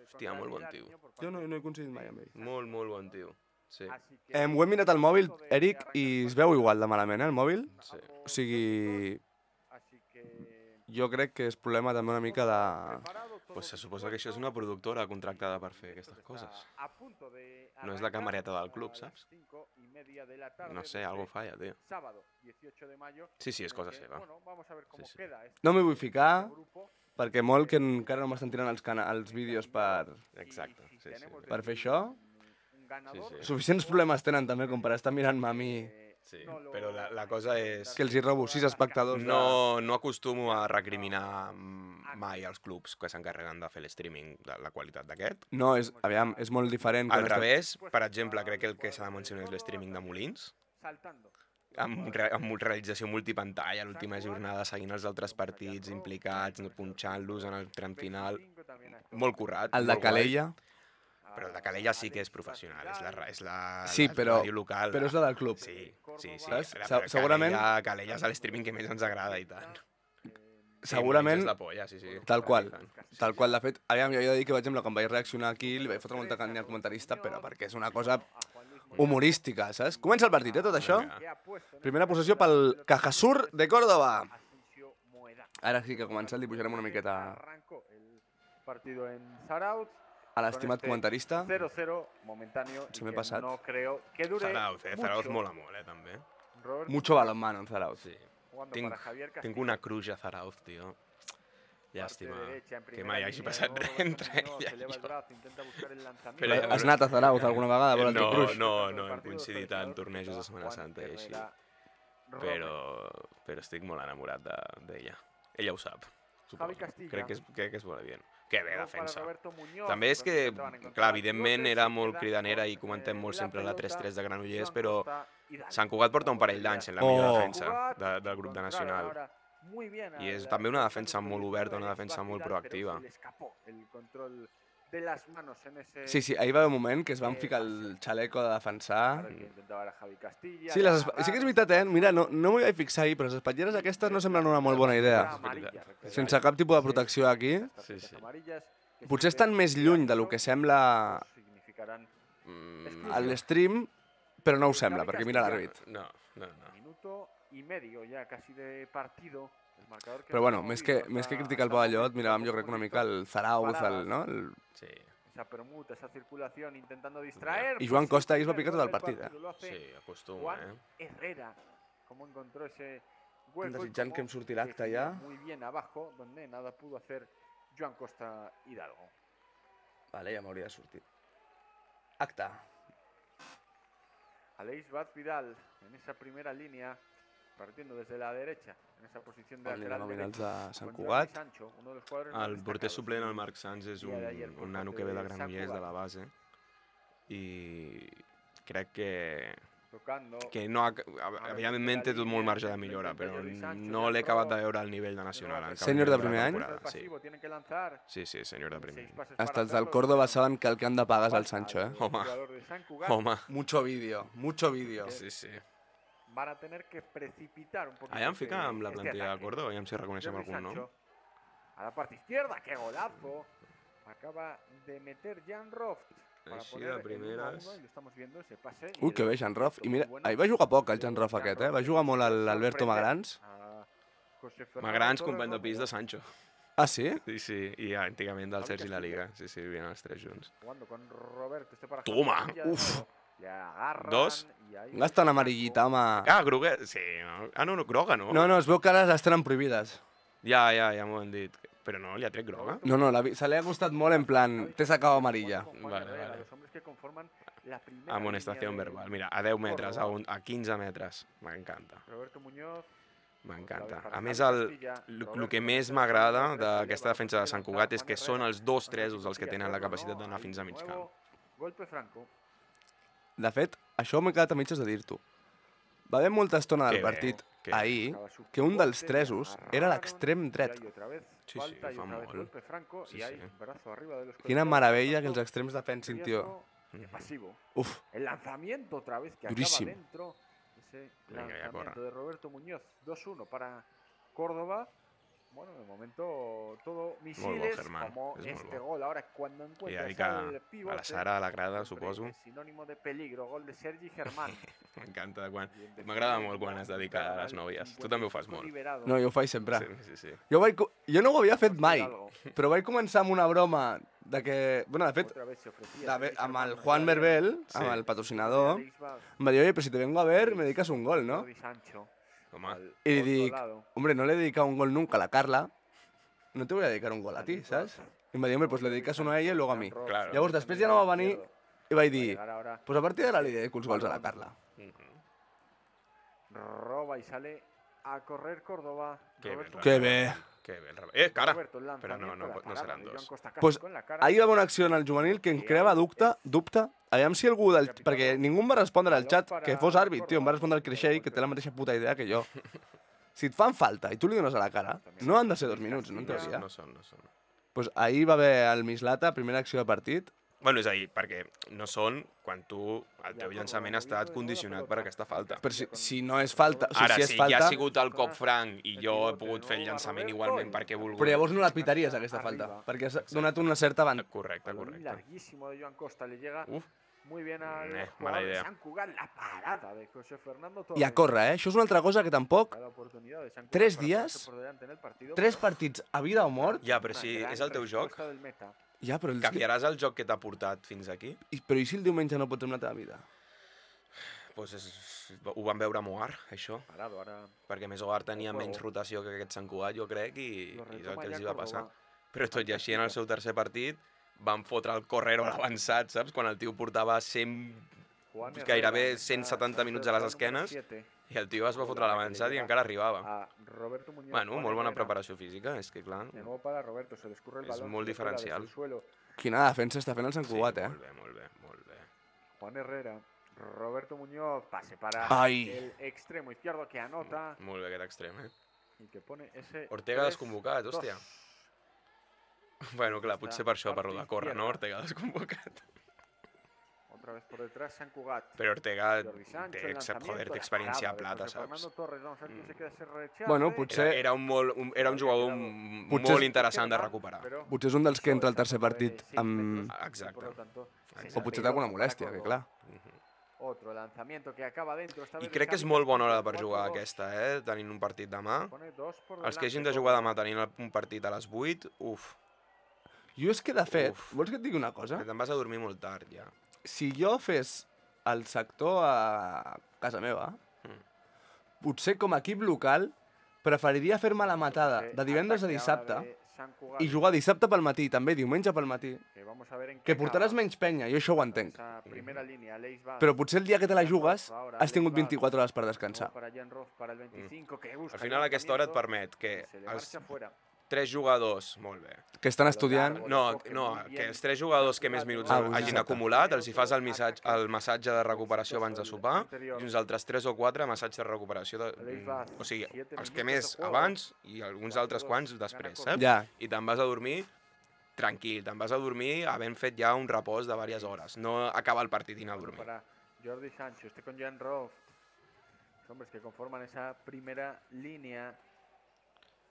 Speaker 2: hòstia, molt bon tio.
Speaker 1: Jo no he coincidit mai amb ell.
Speaker 2: Molt bon tio. Sí.
Speaker 1: Ho he mirat al mòbil, Eric, i es veu igual de malament, el mòbil?
Speaker 2: Sí.
Speaker 1: O sigui... Jo crec que és problema també una mica de...
Speaker 2: Pues se suposa que això és una productora contractada per fer aquestes coses. No és la camareta del club, saps? No sé, algo falla, tio. Sí, és cosa seva. Sí.
Speaker 1: No m'hi vull ficar, perquè molt que encara no m'estan tirant els vídeos per
Speaker 2: Exacte, sí.
Speaker 1: per fer això.
Speaker 2: Sí.
Speaker 1: Suficients problemes tenen també com per estar mirant-me a mi,
Speaker 2: Sí, però la cosa és...
Speaker 1: que els hi robo 6 espectadors.
Speaker 2: No acostumo a recriminar mai als clubs que s'encarreguen de fer l'streaming de la qualitat d'aquest.
Speaker 1: No, aviam, és molt diferent.
Speaker 2: Al revés, per exemple, crec que el que s'ha de mencionar és l'streaming de Molins, amb realització multipantalla, l'última jornada seguint els altres partits implicats, punxant-los en el tram final. molt currat.
Speaker 1: El de
Speaker 2: molt guai.
Speaker 1: Calella.
Speaker 2: Però el de Calella sí que és professional, és la
Speaker 1: Sí, però
Speaker 2: ràdio local.
Speaker 1: és la del club.
Speaker 2: Sí.
Speaker 1: Saps?
Speaker 2: Però
Speaker 1: Segurament-
Speaker 2: Calella és l'streaming que més ens agrada i tant.
Speaker 1: Segurament,
Speaker 2: És la polla, sí.
Speaker 1: tal qual.
Speaker 2: I tant.
Speaker 1: Tal qual, de fet, aviam, jo he de dir que, per exemple, quan vaig reaccionar aquí, li vaig fotre molta canya al comentarista, però perquè és una cosa humorística, saps? Comença el partit, tot això. Primera possessió pel Cajasur de Córdoba. Ara sí que ha començat, li pujarem una miqueta
Speaker 3: Arrancó el partido en Zarauz.
Speaker 1: a l'estimat comentarista.
Speaker 3: 0-0 momentáneo.
Speaker 1: Se
Speaker 3: y
Speaker 1: me he
Speaker 3: que
Speaker 1: pasado.
Speaker 3: No creo que dure
Speaker 2: Zarauz,
Speaker 3: mucho.
Speaker 2: Zarauz mola molt, també.
Speaker 3: Roberto
Speaker 1: Mucho balonmano en Zarauz.
Speaker 2: Sí.
Speaker 3: jugando
Speaker 2: Tinc,
Speaker 3: para Javier
Speaker 2: tinc
Speaker 3: Castillo.
Speaker 2: una cruja a Zarauz, tio. Llàstima
Speaker 3: Parte derecha, en
Speaker 2: que
Speaker 3: primera
Speaker 2: mai hagi
Speaker 3: línea,
Speaker 2: passat
Speaker 3: de nuevo
Speaker 2: res entre
Speaker 3: Roberto Muñoz,
Speaker 2: ella
Speaker 3: eleva
Speaker 2: i
Speaker 3: el
Speaker 2: jo.
Speaker 3: brazo, intenta buscar el lanzamiento.
Speaker 2: Però-
Speaker 1: Has anat a Zarauz alguna vegada a veure el teu
Speaker 2: No,
Speaker 1: cruix?
Speaker 2: no hem coincidit en tornejos de Setmana Santa i així. Però estic molt enamorat d'ella. Ella ho sap,
Speaker 3: Javi
Speaker 2: suposo.
Speaker 3: Castilla.
Speaker 2: Crec que és bona bien. Que bé,
Speaker 3: Gol para
Speaker 2: defensa.
Speaker 3: Roberto Muñoz,
Speaker 2: També és
Speaker 3: los
Speaker 2: que,
Speaker 3: intentaban encontrar
Speaker 2: clar,
Speaker 3: los
Speaker 2: evidentment
Speaker 3: pivotes,
Speaker 2: era
Speaker 3: se
Speaker 2: molt
Speaker 3: queda
Speaker 2: cridanera
Speaker 3: con,
Speaker 2: i comentem molt
Speaker 3: la
Speaker 2: sempre la
Speaker 3: pelota,
Speaker 2: 3-3 de Granollers,
Speaker 3: Joan
Speaker 2: però
Speaker 3: Costa y Dani.
Speaker 2: Sant Cugat porta un parell d'anys en la millor
Speaker 1: Oh.
Speaker 2: defensa del grup de Nacional.
Speaker 3: Ahora muy bien
Speaker 2: I és
Speaker 3: al-
Speaker 2: també una
Speaker 3: al
Speaker 2: defensa molt
Speaker 3: proyecto
Speaker 2: oberta,
Speaker 3: de
Speaker 2: una defensa molt
Speaker 3: Vidal, pero
Speaker 2: proactiva.
Speaker 3: se le escapó el control de las manos en ese
Speaker 1: Sí, ahir va haver un moment que es van ficar el xaleco de defensar.
Speaker 3: Ahora que intentaba era Javi Castilla,
Speaker 1: Sí, sí que és veritat, Mira, no m'hi vaig fixar ahir, però les espatlleres aquestes no semblen una molt bona idea. Sense cap tipus de protecció aquí.
Speaker 2: Sí, sí.
Speaker 1: Potser estan més lluny de lo que sembla a l'stream, però no ho sembla, perquè mira l'àrbit.
Speaker 2: No.
Speaker 3: Minuto y medio ya casi de partido. El marcador que
Speaker 1: Però
Speaker 3: no
Speaker 1: bueno,
Speaker 3: hemos
Speaker 1: més
Speaker 3: visto
Speaker 1: que
Speaker 3: hasta-
Speaker 1: criticar el
Speaker 3: hasta
Speaker 1: pavellot,
Speaker 3: momento,
Speaker 1: miràvem jo
Speaker 3: tampoco
Speaker 1: crec una
Speaker 3: hemos
Speaker 1: mica
Speaker 3: visto
Speaker 1: el Zarauz,
Speaker 3: paradas.
Speaker 1: no?
Speaker 2: Sí,
Speaker 3: Esa permuta, esa circulación intentando distraer.
Speaker 1: I Joan
Speaker 3: pues,
Speaker 1: Costa
Speaker 3: el
Speaker 1: ahir es va
Speaker 3: primer
Speaker 1: picar tot
Speaker 3: gol
Speaker 1: el
Speaker 3: del
Speaker 1: partit,
Speaker 3: partido lo hace
Speaker 2: sí, acostuma,
Speaker 3: Juan Herrera. Cómo encontró ese hueco y
Speaker 1: Desitjant
Speaker 3: cómo
Speaker 1: que em surti l'acte
Speaker 3: definió
Speaker 1: ja.
Speaker 3: muy bien abajo, donde nada pudo hacer Joan Costa Hidalgo.
Speaker 1: Vale, ja m'hauria de sortir. Acte.
Speaker 3: Aleix Baz Vidal en esa primera línea, partiendo desde la derecha, en esa posición de
Speaker 1: Anirem
Speaker 3: lateral
Speaker 1: a mirar els
Speaker 3: derecho.
Speaker 1: de Sant
Speaker 3: con Jordi
Speaker 1: Cugat.
Speaker 3: Sancho, uno de los jugadores más
Speaker 2: El porter
Speaker 3: destacados.
Speaker 2: suplent, el Marc Sanz, és
Speaker 3: Dia d'ayer por
Speaker 2: un nano
Speaker 3: parte
Speaker 2: que ve de
Speaker 3: de Sant
Speaker 2: Granollers, de
Speaker 3: Cugat.
Speaker 2: la base, i crec
Speaker 3: Tocando.
Speaker 2: que no evidentment té tot molt marge de millora, però no l'he acabat de veure al nivell de Nacional. en cap
Speaker 1: Sènior de
Speaker 2: moment
Speaker 1: primer
Speaker 2: la
Speaker 1: any?
Speaker 2: temporada, Sí,
Speaker 3: Pasivo, tienen que lanzar.
Speaker 2: sí, sènior de primer
Speaker 3: Seis
Speaker 2: any.
Speaker 3: pases para
Speaker 1: Hasta els del
Speaker 3: hacerlo.
Speaker 1: Córdoba saben que el que han de pagar és el Sancho,
Speaker 3: Al
Speaker 2: Home.
Speaker 3: jugador de Sant Cugat.
Speaker 2: Home,
Speaker 1: Mucho vídeo, mucho vídeo.
Speaker 2: sí.
Speaker 3: Van a tener que precipitar un poquito.
Speaker 2: Allà em fica amb la
Speaker 3: este
Speaker 2: plantilla de
Speaker 3: ataque.
Speaker 2: Córdoba, aviam si reconeixem
Speaker 3: Jordi
Speaker 2: algun nom.
Speaker 3: Sancho, a la parte izquierda, qué golazo. Acaba de meter Jan Roft. Para
Speaker 2: Així
Speaker 3: poner
Speaker 2: de
Speaker 3: el 1-1
Speaker 2: primeres.
Speaker 3: y lo estamos viendo, ese pase. y
Speaker 1: Ui, que
Speaker 3: el
Speaker 1: bé, Jan Rof. I mira,
Speaker 3: muy bueno
Speaker 1: ahir va jugar poc el Jan
Speaker 3: de
Speaker 1: Rof aquest, Va jugar molt l'Alberto Magrans.
Speaker 3: a José Fernando
Speaker 2: Magrans,
Speaker 3: Torres
Speaker 2: company de pis de
Speaker 3: Rodríguez,
Speaker 2: Sancho.
Speaker 1: Ah, sí?
Speaker 2: Sí, i antigament del
Speaker 3: Javi
Speaker 2: Sergi la
Speaker 3: Castilla.
Speaker 2: Liga. Sí, vivien els tres junts.
Speaker 3: Jugando con Roberto, este para
Speaker 2: Toma,
Speaker 3: Javi Castilla de
Speaker 1: uf.
Speaker 3: nuevo. Le agarran
Speaker 2: Dos.
Speaker 3: y ahí
Speaker 1: Gasta una
Speaker 3: Franco.
Speaker 1: amarillita, home.
Speaker 2: Ah, Groguet, sí. No? Ah, no, groga, no?
Speaker 1: No, es veu que ara les tenen prohibides.
Speaker 2: Ja m'ho han dit. Però no, li ha tret groga?
Speaker 1: No, se li ha costat molt en plan, t'he sacado amarilla.
Speaker 3: Con Juan
Speaker 2: Vale,
Speaker 3: Herrera,
Speaker 2: vale.
Speaker 3: los hombres que conforman la primera
Speaker 2: Amonestació
Speaker 3: línea de
Speaker 2: verbal. Mira, a 10 metres,
Speaker 3: Córdoba.
Speaker 2: a 15 metres. M'encanta.
Speaker 3: Roberto Muñoz.
Speaker 2: M'encanta.
Speaker 3: Para
Speaker 2: A més,
Speaker 3: Javi
Speaker 2: el
Speaker 3: Castilla,
Speaker 2: que
Speaker 3: Roberto
Speaker 2: més
Speaker 3: Muñoz,
Speaker 2: m'agrada
Speaker 3: Roberto
Speaker 2: d'aquesta
Speaker 3: Muñoz,
Speaker 2: defensa de Sant
Speaker 3: Juan
Speaker 2: Cugat és que
Speaker 3: Herrera,
Speaker 2: són els dos
Speaker 3: Juan
Speaker 2: tresos els que tenen la
Speaker 3: Castilla,
Speaker 2: capacitat
Speaker 3: no,
Speaker 2: d'anar
Speaker 3: ahí
Speaker 2: fins a
Speaker 3: de
Speaker 2: mig
Speaker 3: nuevo,
Speaker 2: camp.
Speaker 3: Golpe franco.
Speaker 1: De fet, això m'he quedat a mitges de dir-t'ho. Va haver molta estona del
Speaker 2: Que bé,
Speaker 1: partit
Speaker 2: que bé.
Speaker 1: ahir
Speaker 3: Acaba su
Speaker 1: que un dels
Speaker 3: pivote,
Speaker 1: tresos
Speaker 3: agarraron,
Speaker 1: era l'extrem
Speaker 3: y
Speaker 1: dret.
Speaker 3: ahí otra vez
Speaker 2: Sí,
Speaker 3: falta
Speaker 2: sí,
Speaker 3: y
Speaker 2: fa
Speaker 3: otra vez
Speaker 2: molt.
Speaker 3: golpe franco
Speaker 2: Sí,
Speaker 3: y hay
Speaker 2: sí.
Speaker 3: brazo arriba de los
Speaker 1: Quina
Speaker 3: colegiados,
Speaker 1: meravella que
Speaker 3: tanto
Speaker 1: els extrems defensin, tio.
Speaker 3: riesgo que pasivo.
Speaker 1: Uf,
Speaker 3: El lanzamiento otra vez que
Speaker 1: Durísimo.
Speaker 3: acaba dentro. Ese
Speaker 2: Venga, ya
Speaker 3: lanzamiento
Speaker 2: corra.
Speaker 3: de Roberto Muñoz. 2-1 para Córdoba. Bueno, de momento todo misiles
Speaker 2: Germán,
Speaker 3: como
Speaker 2: es muy
Speaker 3: este
Speaker 2: bueno.
Speaker 3: gol. Ahora cuando
Speaker 2: I
Speaker 3: encuentras
Speaker 2: dedica
Speaker 3: al
Speaker 2: a
Speaker 3: pivote,
Speaker 2: la Sara, a la grada,
Speaker 3: siempre
Speaker 2: suposo.
Speaker 3: es sinónimo de peligro. Gol de Sergi Germán.
Speaker 2: M'encanta quan...
Speaker 3: Y en
Speaker 2: M'agrada
Speaker 3: definitiva,
Speaker 2: molt quan es dedica a les nòvies. Tu
Speaker 3: 55
Speaker 2: també ho fas molt.
Speaker 3: liberado.
Speaker 1: no, jo ho faig sempre.
Speaker 2: Sí.
Speaker 1: Jo no ho havia fet mai,
Speaker 3: Hidalgo.
Speaker 1: però vaig començar amb una broma de que... Bueno, de fet,
Speaker 3: Otra vez se ofrecía Sergi
Speaker 1: amb el
Speaker 3: Germán,
Speaker 1: Juan
Speaker 3: Jordi
Speaker 1: Berbel,
Speaker 2: Sí.
Speaker 1: amb el patrocinador,
Speaker 3: Alex Vaz,
Speaker 1: em va dir, oye, pero si te vengo a ver, me dedicas un gol, ¿no?
Speaker 3: Jordi Sancho,
Speaker 2: Home,
Speaker 3: al
Speaker 1: Y le
Speaker 3: otro
Speaker 1: dic,
Speaker 3: lado.
Speaker 1: hombre, no le he dedicado un gol nunca a la Carla, no te voy a dedicar un gol a ti, ¿sabes? I em va dir, hombre, pues le dedicas uno a ella y luego a mi.
Speaker 2: Claro.
Speaker 1: Llavors, després ja no va venir i vaig dir,
Speaker 3: Llegar ahora,
Speaker 1: pues a partir d'ara li dedico els gols a la Carla.
Speaker 3: roba y sale a correr Córdoba.
Speaker 2: Qué
Speaker 3: Roberto
Speaker 2: bien,
Speaker 1: Que
Speaker 3: Muñoz.
Speaker 1: bé.
Speaker 2: que bé. Cara!
Speaker 3: Roberto, el
Speaker 2: Però no,
Speaker 3: lanzamiento,
Speaker 2: no
Speaker 3: la
Speaker 2: seran
Speaker 3: parada de
Speaker 2: dos.
Speaker 3: Joan Costa casi
Speaker 1: Pues
Speaker 3: con la cara.
Speaker 1: ahir va haver una acció en el juvenil que em creava dubte, aviam si algú del... Perquè ningú em va respondre al xat que fos àrbit, tio, em va respondre el Creixell, que té la mateixa puta idea que jo. Si et fan falta i tu li dones a la cara, no han de ser 2 minuts, no en teoria.
Speaker 2: No són.
Speaker 1: Pues ahir va haver el Mislata, primera acció de partit.
Speaker 2: Bueno, és a dir, perquè no són quan el teu llançament ha estat condicionat per aquesta falta.
Speaker 1: Però si no és falta... O sigui,
Speaker 2: Ara,
Speaker 1: si és
Speaker 2: si
Speaker 1: falta...
Speaker 2: ja ha sigut el cop franc i jo he pogut fer el llançament igualment perquè he volgut...
Speaker 1: Però llavors no la pitaries, aquesta falta, perquè has donat una certa banda.
Speaker 2: Correcte,
Speaker 3: Balón
Speaker 2: correcte.
Speaker 3: larguísimo de Joan Costa, le llega
Speaker 2: Uf.
Speaker 3: muy bien al
Speaker 2: Mala
Speaker 3: jugador de
Speaker 2: idea.
Speaker 3: Sant Cugat, la parada de José Fernando Torres.
Speaker 1: I a córrer, Això és una altra cosa que tampoc...
Speaker 3: Cada oportunidad de Sant Cugat
Speaker 1: 3
Speaker 3: para
Speaker 1: dies,
Speaker 3: ponerse por delante en el partido,
Speaker 1: 3
Speaker 3: pero
Speaker 1: partits a vida o mort...
Speaker 2: Ja, però
Speaker 3: una
Speaker 2: si
Speaker 3: gran
Speaker 2: és el teu joc,
Speaker 3: respuesta del meta.
Speaker 1: Ja, però,
Speaker 2: canviaràs el joc que t'ha portat fins aquí?
Speaker 1: però i si el diumenge no pots amb la teva vida?
Speaker 2: Pues ho van veure a Moar, això.
Speaker 3: Parado, ahora
Speaker 2: Perquè més Moar tenia menys rotació que aquest Sant Cugat, jo crec, i
Speaker 3: lo
Speaker 2: és el
Speaker 3: retoma
Speaker 2: que els
Speaker 3: ya
Speaker 2: hi va
Speaker 3: Córdoba.
Speaker 2: passar. Però tot i així, en el seu tercer partit, van fotre el correro a l'avançat, saps? Quan el tio portava 100,
Speaker 3: Juan
Speaker 2: gairebé
Speaker 3: Herrera,
Speaker 2: 170 minuts a les esquenes,
Speaker 3: siete.
Speaker 2: i el tio es va fotre a l'avançat i encara arribava.
Speaker 3: A Roberto Muñoz.
Speaker 2: Bueno,
Speaker 3: Juan
Speaker 2: molt bona
Speaker 3: Herrera.
Speaker 2: preparació física, és que clar...
Speaker 3: De nuevo para Roberto, se le escurre el
Speaker 2: Es
Speaker 3: balón.
Speaker 2: muy
Speaker 3: se le cuela desde
Speaker 2: diferencial.
Speaker 3: el suelo.
Speaker 1: Quina defensa està fent el Sant Cugat,
Speaker 2: Molt bé, molt bé, molt bé.
Speaker 3: Juan Herrera, Roberto Muñoz, pase para
Speaker 1: Ay.
Speaker 3: el extremo izquierdo que anota
Speaker 2: Molt bé aquest extrem,
Speaker 3: y que pone ese.
Speaker 2: Ortega
Speaker 3: 3-2.
Speaker 2: desconvocat, hòstia. Bueno, clar, potser per això, per lo de córrer, no? Ortega desconvocat.
Speaker 3: Otra vez por detrás, Sant Cugat.
Speaker 2: Però Ortega
Speaker 3: Jordi Sancho,
Speaker 2: té,
Speaker 3: el lanzamiento,
Speaker 2: joder, té
Speaker 3: la
Speaker 2: experiència a
Speaker 3: parada de
Speaker 2: plata,
Speaker 3: José
Speaker 2: saps?
Speaker 3: Fernando Torres, vamos a ver quién se queda ese rechace.
Speaker 1: Bueno, potser-
Speaker 2: Era un jugador
Speaker 1: Potser-
Speaker 2: molt interessant de recuperar.
Speaker 3: Pero
Speaker 1: Potser és un dels que entra al tercer
Speaker 3: sobre
Speaker 1: partit
Speaker 3: 6
Speaker 1: amb...
Speaker 3: metros,
Speaker 2: Exacte.
Speaker 3: por lo tanto,
Speaker 1: O potser té alguna molèstia, que clar.
Speaker 3: Otro lanzamiento que acaba dentro. Esta
Speaker 2: I
Speaker 3: vez de
Speaker 2: crec que és
Speaker 3: Xavi
Speaker 2: molt bona hora
Speaker 3: Castillo,
Speaker 2: per jugar
Speaker 3: 4-2.
Speaker 2: aquesta, tenint un partit demà.
Speaker 3: Pone 2 por
Speaker 2: Els que hagin
Speaker 3: delante
Speaker 2: de jugar
Speaker 3: Córdoba.
Speaker 2: demà tenint un partit a les 8, uf,
Speaker 1: Jo és que, de fet,
Speaker 2: Uf.
Speaker 1: vols que et digui una cosa?
Speaker 2: que te'n vas a dormir molt tard, ja.
Speaker 1: Si jo fes el sector a casa meva, potser com a equip local preferiria fer-me la matada de divendres a
Speaker 3: Ataque
Speaker 1: dissabte
Speaker 3: ahora de Sant Cugat,
Speaker 1: i jugar dissabte pel matí, també diumenge pel matí,
Speaker 3: que vamos a ver en
Speaker 1: que
Speaker 3: qué
Speaker 1: portaràs
Speaker 3: acaba.
Speaker 1: menys penya, jo això ho entenc.
Speaker 3: Esa primera línea, Aleix Vaz,
Speaker 1: Però potser el dia que te la jugues
Speaker 3: ahora
Speaker 1: has tingut
Speaker 3: Aleix Vaz,
Speaker 1: 24 hores per
Speaker 3: luego
Speaker 1: descansar.
Speaker 3: para Jan Roth, para el 25, que busca
Speaker 2: Al final aquesta hora et
Speaker 3: lanzamiento,
Speaker 2: permet que
Speaker 3: se le
Speaker 2: els
Speaker 3: marcha fuera.
Speaker 2: 3 jugadors, molt bé.
Speaker 1: Que estan estudiant...
Speaker 2: No, que els 3 jugadors que més minuts
Speaker 1: Ah,
Speaker 2: hagin
Speaker 1: exacte.
Speaker 2: acumulat els hi fas el massatge de recuperació abans de sopar i uns altres 3 o 4 massatge de recuperació, o sigui, els que més abans i alguns altres quants després, saps?
Speaker 1: Ja,
Speaker 2: I te'n vas a dormir tranquil, te'n vas a dormir havent fet ja un repòs de diverses hores, no acabar el partit i anar a dormir.
Speaker 3: Para Jordi Sancho, este con Jan Roth. Los hombres que conforman esa primera línea.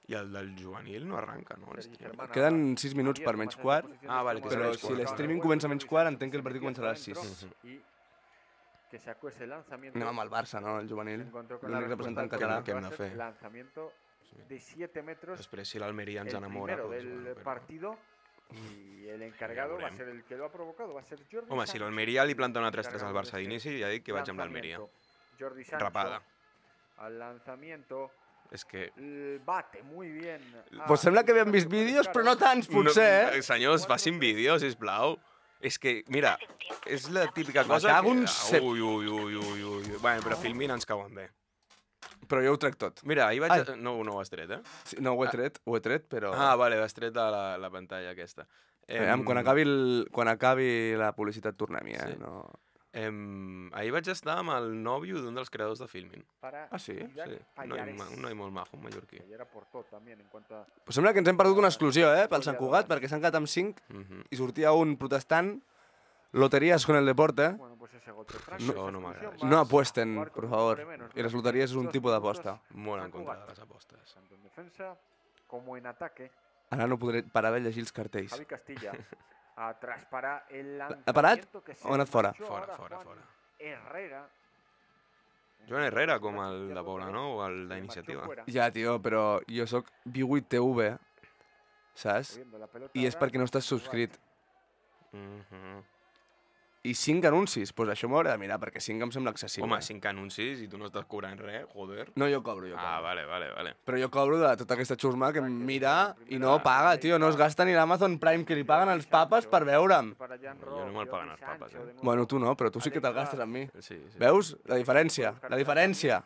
Speaker 2: I el del juvenil no arranca, no?
Speaker 3: Sergi Germán
Speaker 1: queden
Speaker 3: ahora
Speaker 1: 6 minuts per
Speaker 3: abierto
Speaker 1: menys
Speaker 3: más en esa
Speaker 1: quart,
Speaker 3: posición
Speaker 2: Ah,
Speaker 3: de
Speaker 2: vale, que
Speaker 3: extremo
Speaker 1: però
Speaker 2: menys
Speaker 3: derecho.
Speaker 1: si
Speaker 2: quart.
Speaker 1: l'streaming comença a menys quart, entenc que el partit començarà a les 6.
Speaker 3: Y que sacó ese lanzamiento.
Speaker 1: Anem amb el Barça, no? El
Speaker 3: Se
Speaker 1: juvenil.
Speaker 3: encontró con la
Speaker 1: L'únic representant
Speaker 3: respuesta
Speaker 1: català.
Speaker 2: Què hem
Speaker 3: va
Speaker 2: de
Speaker 3: a ser
Speaker 2: fer?
Speaker 3: Lanzamiento de 7 metros.
Speaker 2: Després, si l'Almeria ens
Speaker 3: El
Speaker 2: enamora...
Speaker 3: primero
Speaker 2: doncs,
Speaker 3: del
Speaker 2: bueno, però-
Speaker 3: partido. Y el encargado va a
Speaker 2: veurem.
Speaker 3: ser el que lo ha provocado. Va a ser Jordi
Speaker 2: Home, si
Speaker 3: Sancho.
Speaker 2: l'Almeria li planta una 3-3 al
Speaker 3: Encargado
Speaker 2: Barça
Speaker 3: de
Speaker 2: d'inici,
Speaker 3: este
Speaker 2: ja dic que vaig amb l'Almeria.
Speaker 3: lanzamiento. Jordi Sancho.
Speaker 2: Rapada.
Speaker 3: Al lanzamiento.
Speaker 2: És que...
Speaker 3: Bate muy bien.
Speaker 1: Pues sembla que havíem vist vídeos, però no tants, potser, eh?
Speaker 2: Senyors, facin vídeos, sisplau. És que, mira, és la típica cosa
Speaker 1: cago
Speaker 2: que...
Speaker 1: en cep.
Speaker 2: Ui, ui, ui, ui, ui. Bueno, però filmin ens cauen bé.
Speaker 1: Però jo ho trec tot.
Speaker 2: Mira, ahir vaig...
Speaker 1: Ai.
Speaker 2: No ho has tret, eh?
Speaker 1: Sí, no, ho he tret, però...
Speaker 2: Ah, vale, has tret de la pantalla aquesta.
Speaker 1: Quan acabi la publicitat tornem-hi, eh?
Speaker 2: Sí.
Speaker 1: No...
Speaker 2: Ahir vaig estar amb el nòvio d'un dels creadors de Filmin.
Speaker 1: Ah, sí?
Speaker 2: Sí, un noi molt majo, un mallorquí.
Speaker 3: Ayer aportó también en cuanto a...
Speaker 1: Pues sembla que ens hem perdut una exclusió, eh? Pel Sant Cugat, perquè s'han quedat amb 5
Speaker 2: Mhm.
Speaker 1: i sortia un protestant. Loterías con el deporte.
Speaker 3: Bueno, pues ese gol de Franco,
Speaker 2: No,
Speaker 3: esa
Speaker 2: no
Speaker 3: expulsión
Speaker 2: m'agrada.
Speaker 3: más
Speaker 1: No apuesten,
Speaker 3: jugar con
Speaker 1: por
Speaker 3: un
Speaker 1: favor.
Speaker 3: hombre menos.
Speaker 1: Y las loterías es un
Speaker 3: 2
Speaker 1: tipo de
Speaker 3: minutos,
Speaker 1: aposta.
Speaker 2: Molt en
Speaker 3: Sant
Speaker 2: contra de
Speaker 3: Cugat.
Speaker 2: les apostes.
Speaker 3: Tanto en defensa como en ataque.
Speaker 1: Ara no podré parar de llegir els cartells.
Speaker 3: Javi Castilla. Atrás para el
Speaker 1: ¿Ha parado?
Speaker 3: lanzamiento que se
Speaker 1: ¿O ha anat fora?
Speaker 3: marchó
Speaker 2: Fora,
Speaker 3: ahora
Speaker 2: fora,
Speaker 3: Juan
Speaker 2: fora.
Speaker 3: Herrera.
Speaker 2: Joan Herrera, com el de Poblenou o el
Speaker 3: Se
Speaker 2: d'Iniciativa.
Speaker 3: marchó fuera,
Speaker 1: Ja, tio, però jo sóc V8 TV, saps?
Speaker 3: moviendo la pelota
Speaker 1: I és
Speaker 3: ahora
Speaker 1: perquè no estàs
Speaker 3: Sant Cugat.
Speaker 1: subscrit.
Speaker 2: Mhm.
Speaker 1: I 5 anuncis, doncs això m'ho hauré de mirar, perquè 5 em sembla excessiu.
Speaker 2: Home,
Speaker 1: eh?
Speaker 2: 5 anuncis i tu no estàs cobrant res, joder.
Speaker 1: No, jo cobro, jo cobro.
Speaker 2: Ah, vale.
Speaker 1: Però jo cobro de tota aquesta xusma que em mira i no paga, tio. No es gasta ni l'Amazon Prime que li paguen els papes per veure'm.
Speaker 3: Para Jan
Speaker 2: Jo
Speaker 3: Roth,
Speaker 2: no me'l paguen
Speaker 3: Jordi
Speaker 2: els papes,
Speaker 3: Sancho, de nuevo.
Speaker 1: Bueno, tu no, però tu sí que te'l
Speaker 3: Alex
Speaker 1: gastes amb mi.
Speaker 2: Sí.
Speaker 1: Veus? La diferència, la diferència.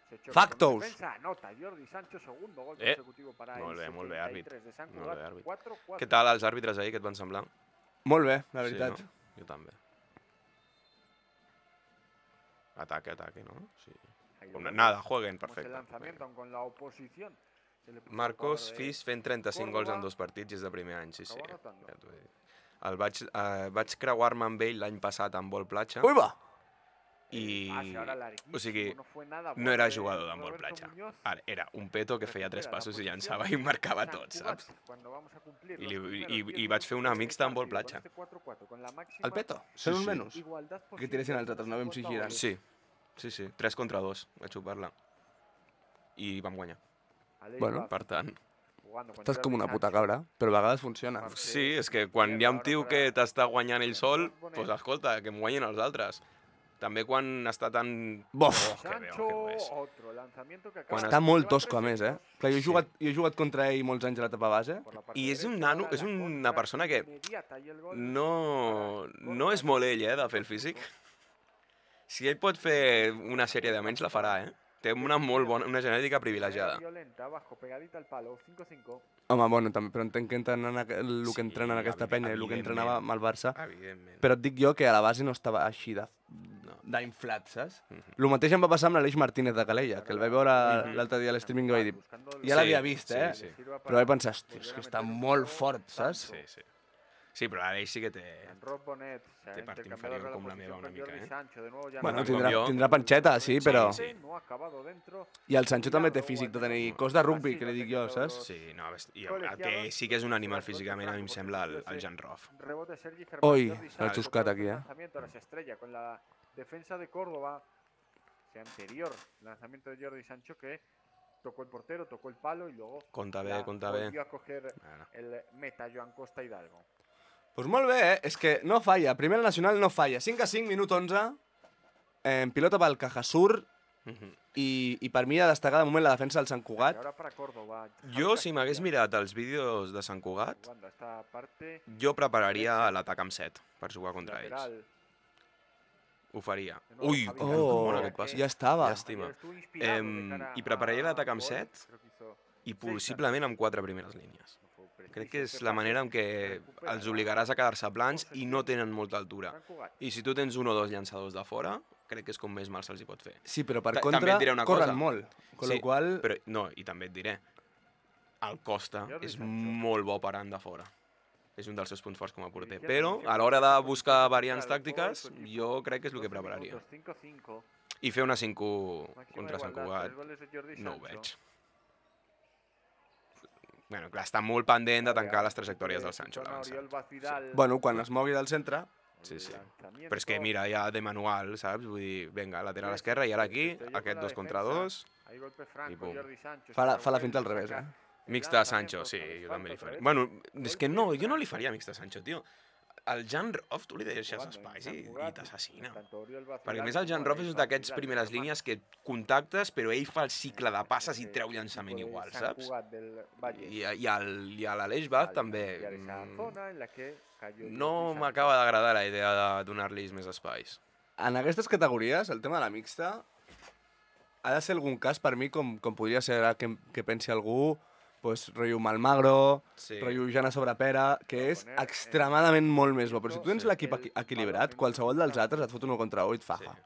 Speaker 3: Se choca
Speaker 1: Factos.
Speaker 3: con defensa, anota Jordi Sancho, segundo gol
Speaker 2: Eh,
Speaker 3: consecutivo para
Speaker 2: molt
Speaker 3: el
Speaker 2: bé, àrbit.
Speaker 3: 73 de Sant
Speaker 2: Molt
Speaker 3: Cugat,
Speaker 2: bé, àrbit.
Speaker 3: 4-4.
Speaker 2: Què tal els àrbitres ahir, què et van semblar?
Speaker 1: Molt bé, la veritat.
Speaker 2: Sí, no? Jo també. Ataque, no? Sí.
Speaker 3: Ahí lo vemos.
Speaker 2: Nada, jueguen,
Speaker 3: Vemos el
Speaker 2: perfecte.
Speaker 3: lanzamiento, aun con la oposición
Speaker 2: Marcos Fis fent 35 gols en 2 partits i és de primer any, sí. Ja t'ho he dit. Vaig creuar-me amb ell l'any passat amb vol platja.
Speaker 1: Ui, va!
Speaker 2: I, o sigui, no era jugador d'handbol platja. Era un peto que feia 3 passos i llançava i marcava tot, saps? I vaig fer una mixta amb handbol platja.
Speaker 1: El peto? Són uns menys? Que tiressin els altres, no vam si giren.
Speaker 2: Sí. 3 contra 2 vaig jugar-la. I vam guanyar.
Speaker 1: Bueno,
Speaker 2: per tant...
Speaker 1: Estàs com una puta cabra, però a vegades funciona.
Speaker 2: Sí, és que quan hi ha un tio que t'està guanyant ell sol, doncs escolta, que em guanyin els altres. També quan està tan...
Speaker 1: Bof!
Speaker 2: Que bo és.
Speaker 1: Està molt tosco, a més, eh? Clar, jo he jugat contra ell molts anys a la etapa base.
Speaker 2: I és un nano, és una persona que no és molt ell, de fer el físic. Si ell pot fer una sèrie de menys, la farà, Té una molt bona, una genètica privilegiada.
Speaker 1: Home, bueno, també, però entenc que entrenen el que entrenen aquesta penya i el que entrenava amb el Barça.
Speaker 2: Evidentment.
Speaker 1: Però et dic jo que a la base no estava així d'inflat, saps? El mateix em va passar amb l'Aleix Martínez de Calella, que el vaig veure l'altre dia a l'streaming i vaig dir, ja l'havia vist, però vaig pensar, hòstia, és que està molt fort, saps?
Speaker 2: Sí, però l'Aleix sí que té part inferior com la meva una mica,
Speaker 1: Bueno, tindrà panxeta, sí, però... I el Sancho també té físic de tenir cos de rugby, que li dic jo, saps?
Speaker 2: Sí, no, el que sí que és un animal físicament, a mi em sembla el Jan Roth.
Speaker 1: Oi, l'ha xuscat aquí,
Speaker 3: Defensa de Córdoba, anterior lanzamiento de Jordi Sancho que tocó el portero, tocó el palo y luego volvió a coger el meta Joan Costa Hidalgo.
Speaker 1: Doncs molt bé, és que no falla. Primera Nacional no falla. 5-5, minut 11. Pilota pel Cajasur. I per mi ha de destacar de moment la defensa del Sant Cugat.
Speaker 2: Jo, si m'hagués mirat els vídeos de Sant Cugat, jo prepararia l'atac amb 7 per jugar contra ells. Ho faria. Ui, molt aquest pas.
Speaker 1: Ja estava.
Speaker 2: Llàstima. I prepararia l'atac amb 7 i possiblement amb 4 primeres línies. Crec que és la manera en què els obligaràs a quedar-se plans i no tenen molta altura. I si tu tens 1 o 2 llançadors de fora, crec que és com més mal se'ls hi pot fer.
Speaker 1: Sí, però per contra corren molt.
Speaker 2: No, i també et diré, el Costa és molt bo parant de fora. És un dels seus punts forts com a porter. Però, a l'hora de buscar variants tàctiques, jo crec que és el que prepararia. I fer una 5-1 contra Sant Cugat, no ho veig. Bueno, clar, està molt pendent de tancar les trajectòries del Sancho, l'avançat.
Speaker 1: Bueno, quan es mogui del centre...
Speaker 2: Sí. Però és que, mira, ja de manual, saps? Vull dir, vinga, lateral esquerra, i ara aquí, aquest 2 contra 2, i pum.
Speaker 1: Fa la finta al revés,
Speaker 2: Mixta Sancho, sí, jo també li faria. Bueno, és que no, jo no li faria mixta Sancho, tio. El Jan Roth, tu li deixes espais i t'assassina. Perquè a més el Jan Roth és d'aquests primeres línies que contactes, però ell fa el cicle de passes i treu llançament igual, saps? I a l'Aleix Baz també... No m'acaba d'agradar la idea de donar-li més espais.
Speaker 1: En aquestes categories, el tema de la mixta ha de ser algun cas per mi com podria ser que pensi algú, pues, rotllo Malmagro, rotllo Jana Sobrepera, que és extremadament molt més bo. Però si tu tens l'equip equilibrat, qualsevol dels altres et fot 1 contra 1 i et faja.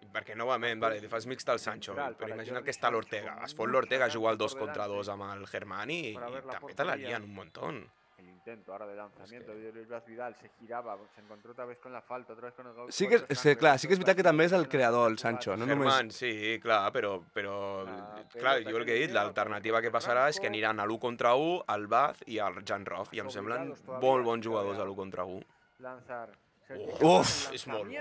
Speaker 2: Perquè, novament, li fas mixta al Sancho, però imagina que està l'Ortega. Es fot l'Ortega a jugar el 2 contra 2 amb el Germani i també te la lien un montón.
Speaker 3: El intento ahora de lanzamiento de Oriol Vidal se giraba, se encontró otra vez con la falta, otra vez con el gol.
Speaker 1: Sí que és veritat que també és el creador, el Sancho, no només...
Speaker 2: Germán, sí, clar, però clar, jo el que he dit, l'alternativa que passarà és que aniran a l'1 contra 1, al Baz i al Jan Roth, i em semblen molt bons jugadors a l'1 contra 1.
Speaker 1: Uf,
Speaker 2: és molt bo.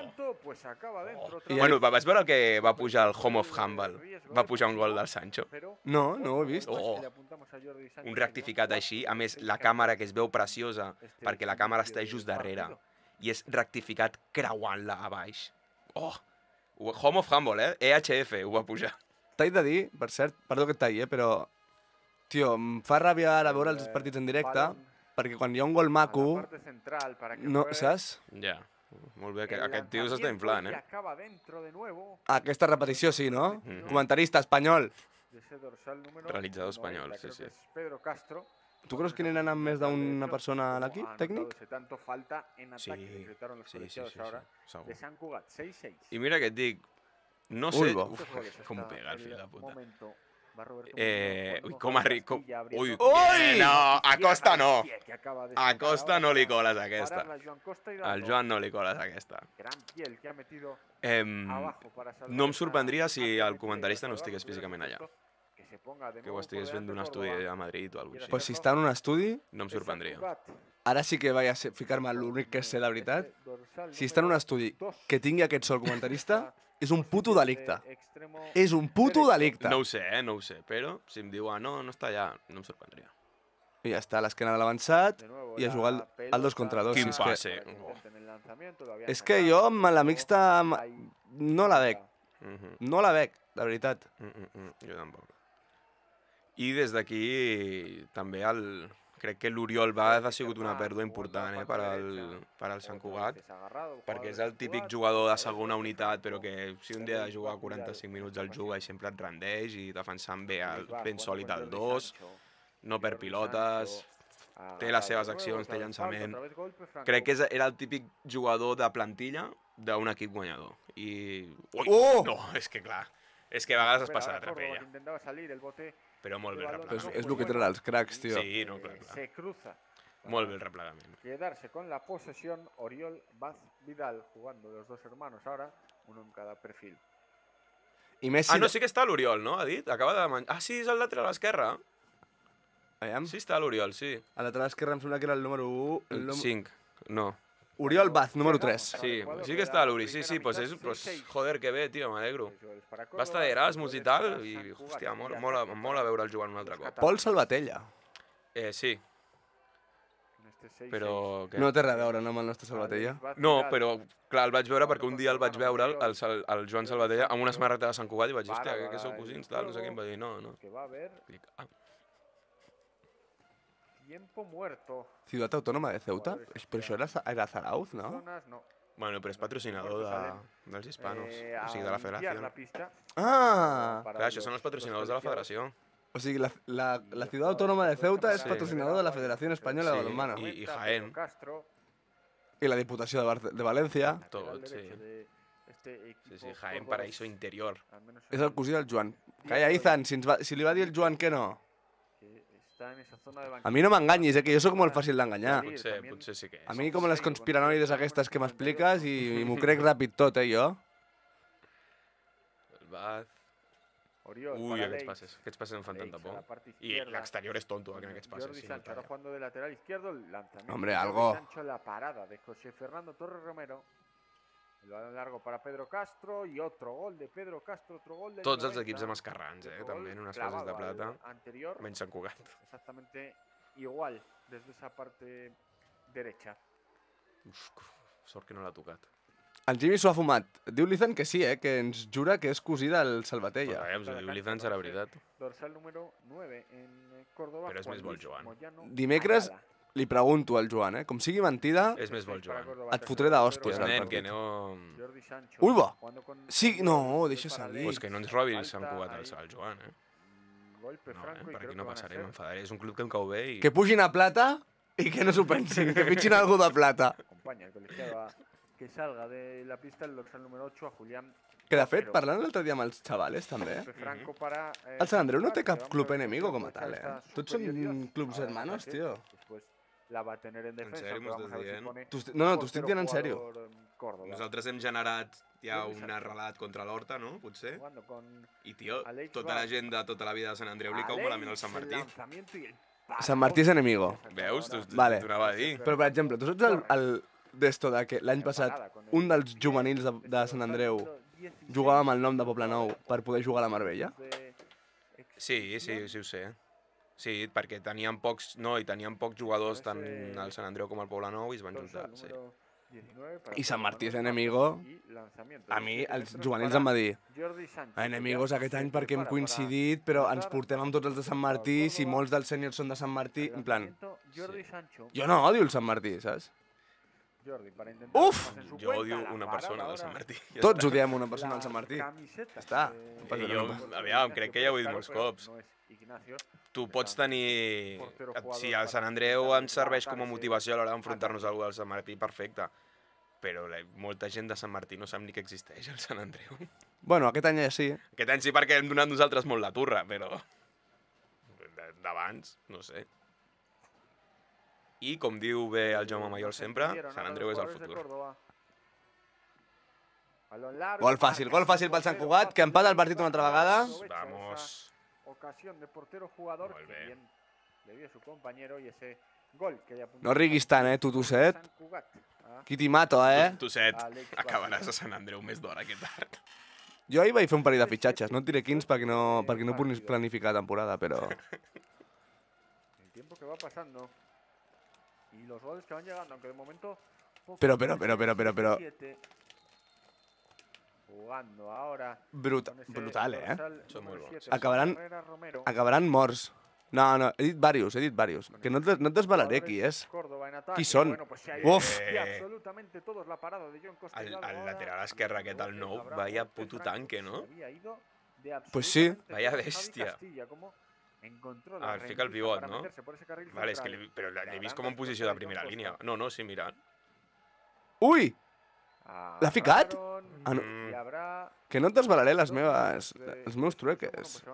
Speaker 3: Bueno,
Speaker 2: vas veure que va pujar el Home of Humble? Va pujar un gol del Sancho?
Speaker 1: No ho he vist.
Speaker 2: Un rectificat així, a més, la càmera que es veu preciosa, perquè la càmera està just darrere, i és rectificat creuant-la a baix. Home of Humble, EHF, ho va pujar.
Speaker 1: T'he de dir, per cert, perdó que et talli, però... Tio, em fa ràbia ara veure els partits en directe, perquè quan hi ha un gol maco, no, saps?
Speaker 2: Ja, molt bé, aquest tio s'està inflant,
Speaker 1: Aquesta repetició sí, no? Comentarista espanyol.
Speaker 2: Realitzador espanyol, sí.
Speaker 1: Tu creus que n'hi ha més d'una persona a l'equip tècnic?
Speaker 2: Sí, segur. I mira que et dic, no sé... Com pega el fill de puta. Ui, com arriba... Ui,
Speaker 1: Ui!
Speaker 2: no, a Costa no. A Costa no li coles aquesta. Al Joan no li coles aquesta. No em sorprendria si el comentarista no estigués físicament allà. Que ho estigués fent d'un estudi a Madrid o alguna cosa així.
Speaker 1: Pues si està en un estudi...
Speaker 2: No em sorprendria.
Speaker 1: Ara sí que vaig a ficar-me l'únic que sé la veritat. Si està en un estudi que tingui aquest sol comentarista, és un puto delicte. És un puto delicte.
Speaker 2: No ho sé, no ho sé, però si em diu, no està allà, no em sorprendria.
Speaker 1: I ja està, a l'esquena de l'avançat i a jugar al 2 contra 2.
Speaker 2: Quin passe.
Speaker 1: És que jo amb la mixta no la veig. No la veig, de veritat.
Speaker 2: Jo tampoc. I des d'aquí també crec que l'Oriol Baz ha sigut una pèrdua important per al Sant Cugat, perquè és el típic jugador de segona unitat, però que si un dia ha de jugar 45 minuts el juga i sempre et rendeix i defensant ben sòlid el 2, no per pilotes, té les seves accions, té llançament. Crec que era el típic jugador de plantilla d'un equip guanyador. I... No, és que clar, és que a vegades es passa de trapella. Però molt bé el replegament.
Speaker 1: És el que tenen els cracs, tio.
Speaker 2: Sí, no, clar. Molt bé el replegament.
Speaker 3: Quedarse con la posesión Oriol Baz Vidal, jugando los dos hermanos ahora, uno en cada perfil.
Speaker 1: I Messi...
Speaker 2: no, sí que està l'Oriol, no? Ha dit? Acaba de menjar... sí, és el lateral esquerre.
Speaker 1: Aviam.
Speaker 2: Sí està l'Oriol, sí.
Speaker 1: A lateral esquerre em sembla que era el número 1.
Speaker 2: El 5, no.
Speaker 1: Oriol Baz, número 3.
Speaker 2: Sí que està l'Uri, sí, pues joder, que bé, tio, m'alegro. Va estar d'Erasmus i tal, i, hòstia, em mola veure'l jugant un altre cop.
Speaker 1: Pol Salvatella.
Speaker 2: Sí. Però...
Speaker 1: No té res a veure, no, amb el nostre Salvatella?
Speaker 2: No, però, clar, el vaig veure perquè un dia el vaig veure, el Joan Salvatella, amb una samarreta de Sant Cugat, i vaig dir, hòstia, que sou cosins, tal, no sé què, em va dir, no.
Speaker 3: Tiempo muerto.
Speaker 1: Ciudad Autónoma de Ceuta? Però això era Zarauz, no?
Speaker 2: Bueno, però és patrocinador dels hispanos, o sigui, de la federació.
Speaker 1: Ah!
Speaker 2: Clar, això són els patrocinadors de la federació.
Speaker 1: O sigui, la Ciudad Autónoma de Ceuta és patrocinador de la Federació Espanyola de Balonmano.
Speaker 2: I Jaén.
Speaker 1: I la Diputació de València.
Speaker 2: Tot, sí. Sí, Jaén, paraíso interior.
Speaker 1: És el cosí del Joan. Calla, Izan, si li va dir el Joan que no. A mi no m'enganyis, que jo sóc molt fàcil d'enganyar.
Speaker 2: Potser sí que és.
Speaker 1: A mi com les conspiranoides aquestes que m'expliques i m'ho crec ràpid tot, jo.
Speaker 2: El Baz... Ui, aquests passes em fan tanta por. I l'exterior és tonto, en aquests passes.
Speaker 1: Hombre, algo.
Speaker 3: El balón largo para Pedro Castro y otro gol de Pedro Castro, otro gol de...
Speaker 2: Tots els equips amb escarrans, també, en unes fases de plata. Menys Sant Cugat.
Speaker 3: Exactamente igual, desde esa parte derecha.
Speaker 2: Sort que no l'ha tocat.
Speaker 1: El Jimmy s'ho ha fumat. Diu l'Izan que sí, que ens jura que és cosí del Salvatella.
Speaker 2: Però si diu l'Izan serà veritat.
Speaker 3: Dorsal número 9 en Córdoba.
Speaker 2: Però és més bo el Joan.
Speaker 1: Dimecres li pregunto al Joan, com sigui mentida,
Speaker 2: és més bo el Joan.
Speaker 1: Et fotré d'hòsties al partit. Ui, va! Sí, no, deixa seguir.
Speaker 2: Pues que no ens robi el Sant Cugat al Joan, No, per aquí no passaré, m'enfadaré. És un club que em cau bé i...
Speaker 1: Que pugin a plata i que no s'ho pensin, que fitxin algú de plata.
Speaker 3: Que salga de la pista el dorsal número 8 a Julián.
Speaker 1: Que de fet, parlant l'altre dia amb els xavales, també, el Sant Andreu no té cap club enemigo com a tal, Tots són clubs hermanos, tio.
Speaker 3: La va tener en defensa.
Speaker 2: En sèrio, m'ho estàs dient?
Speaker 1: No, t'ho estic dient en sèrio.
Speaker 2: Nosaltres hem generat ja un relat contra l'Horta, no? Potser. I, tio, tota la gent de tota la vida de Sant Andreu li cau malament al Sant Martí.
Speaker 1: Sant Martí és enemigo.
Speaker 2: Veus? T'ho anava a dir.
Speaker 1: Però, per exemple, tu saps d'esto de que l'any passat un dels juvenils de Sant Andreu jugava amb el nom de Poblenou per poder jugar a la Marbella?
Speaker 2: Sí, ho sé. Sí, perquè tenien pocs jugadors tant al Sant Andreu com al Poblenou i es van juntar, sí.
Speaker 1: I Sant Martí és enemigo. A mi, els juvenils em va dir enemigos aquest any perquè hem coincidit, però ens portem amb tots els de Sant Martí, si molts dels sèniors són de Sant Martí, en plan... Jo no odio el Sant Martí, saps? Uf!
Speaker 2: Jo odio una persona del Sant Martí.
Speaker 1: Tots odiem una persona del Sant Martí. Ja està.
Speaker 2: Jo, aviam, crec que ja ho he dit molts cops. Tu pots tenir... Si el Sant Andreu ens serveix com a motivació a l'hora d'enfrontar-nos a algú del Sant Martí, perfecte. però molta gent de Sant Martí no sap ni que existeix el Sant Andreu.
Speaker 1: Bueno, aquest any ja sí.
Speaker 2: Aquest any sí perquè hem donat nosaltres molt la turra, però d'abans, no sé. I com diu bé el Jaume Mayol sempre, Sant Andreu és el futur.
Speaker 1: Gol fàcil pel Sant Cugat, que empata el partit una altra vegada.
Speaker 2: Vamos.
Speaker 3: Ocasión de portero jugador que bien le vio su compañero y ese gol que ya
Speaker 1: No riguis tant, tu, Tosset. Qui t'hi mato,
Speaker 2: Tosset, acabaràs a Sant Andreu més d'hora que tard.
Speaker 1: Jo ahir vaig fer un parell de fitxatges, no et diré quins perquè no puc planificar temporada, però...
Speaker 3: El tiempo que va pasando y los goles que van llegando, aunque de momento...
Speaker 1: Pero...
Speaker 3: Jugando ahora...
Speaker 1: Brutal,
Speaker 2: Són molt bons.
Speaker 1: Acabaran morts. No, he dit varios. Que no et desvalaré qui és. Qui són? Uf!
Speaker 2: El lateral esquerre aquest, el nou, vaya puto tanque, no?
Speaker 1: Pues sí.
Speaker 2: Vaya bèstia. Fica el pivot, no? Vale, és que però l'he vist com en posició de primera línia. No, sí, mira.
Speaker 1: Ui! L'ha ficat? Que no et desvalaré els meus trueques.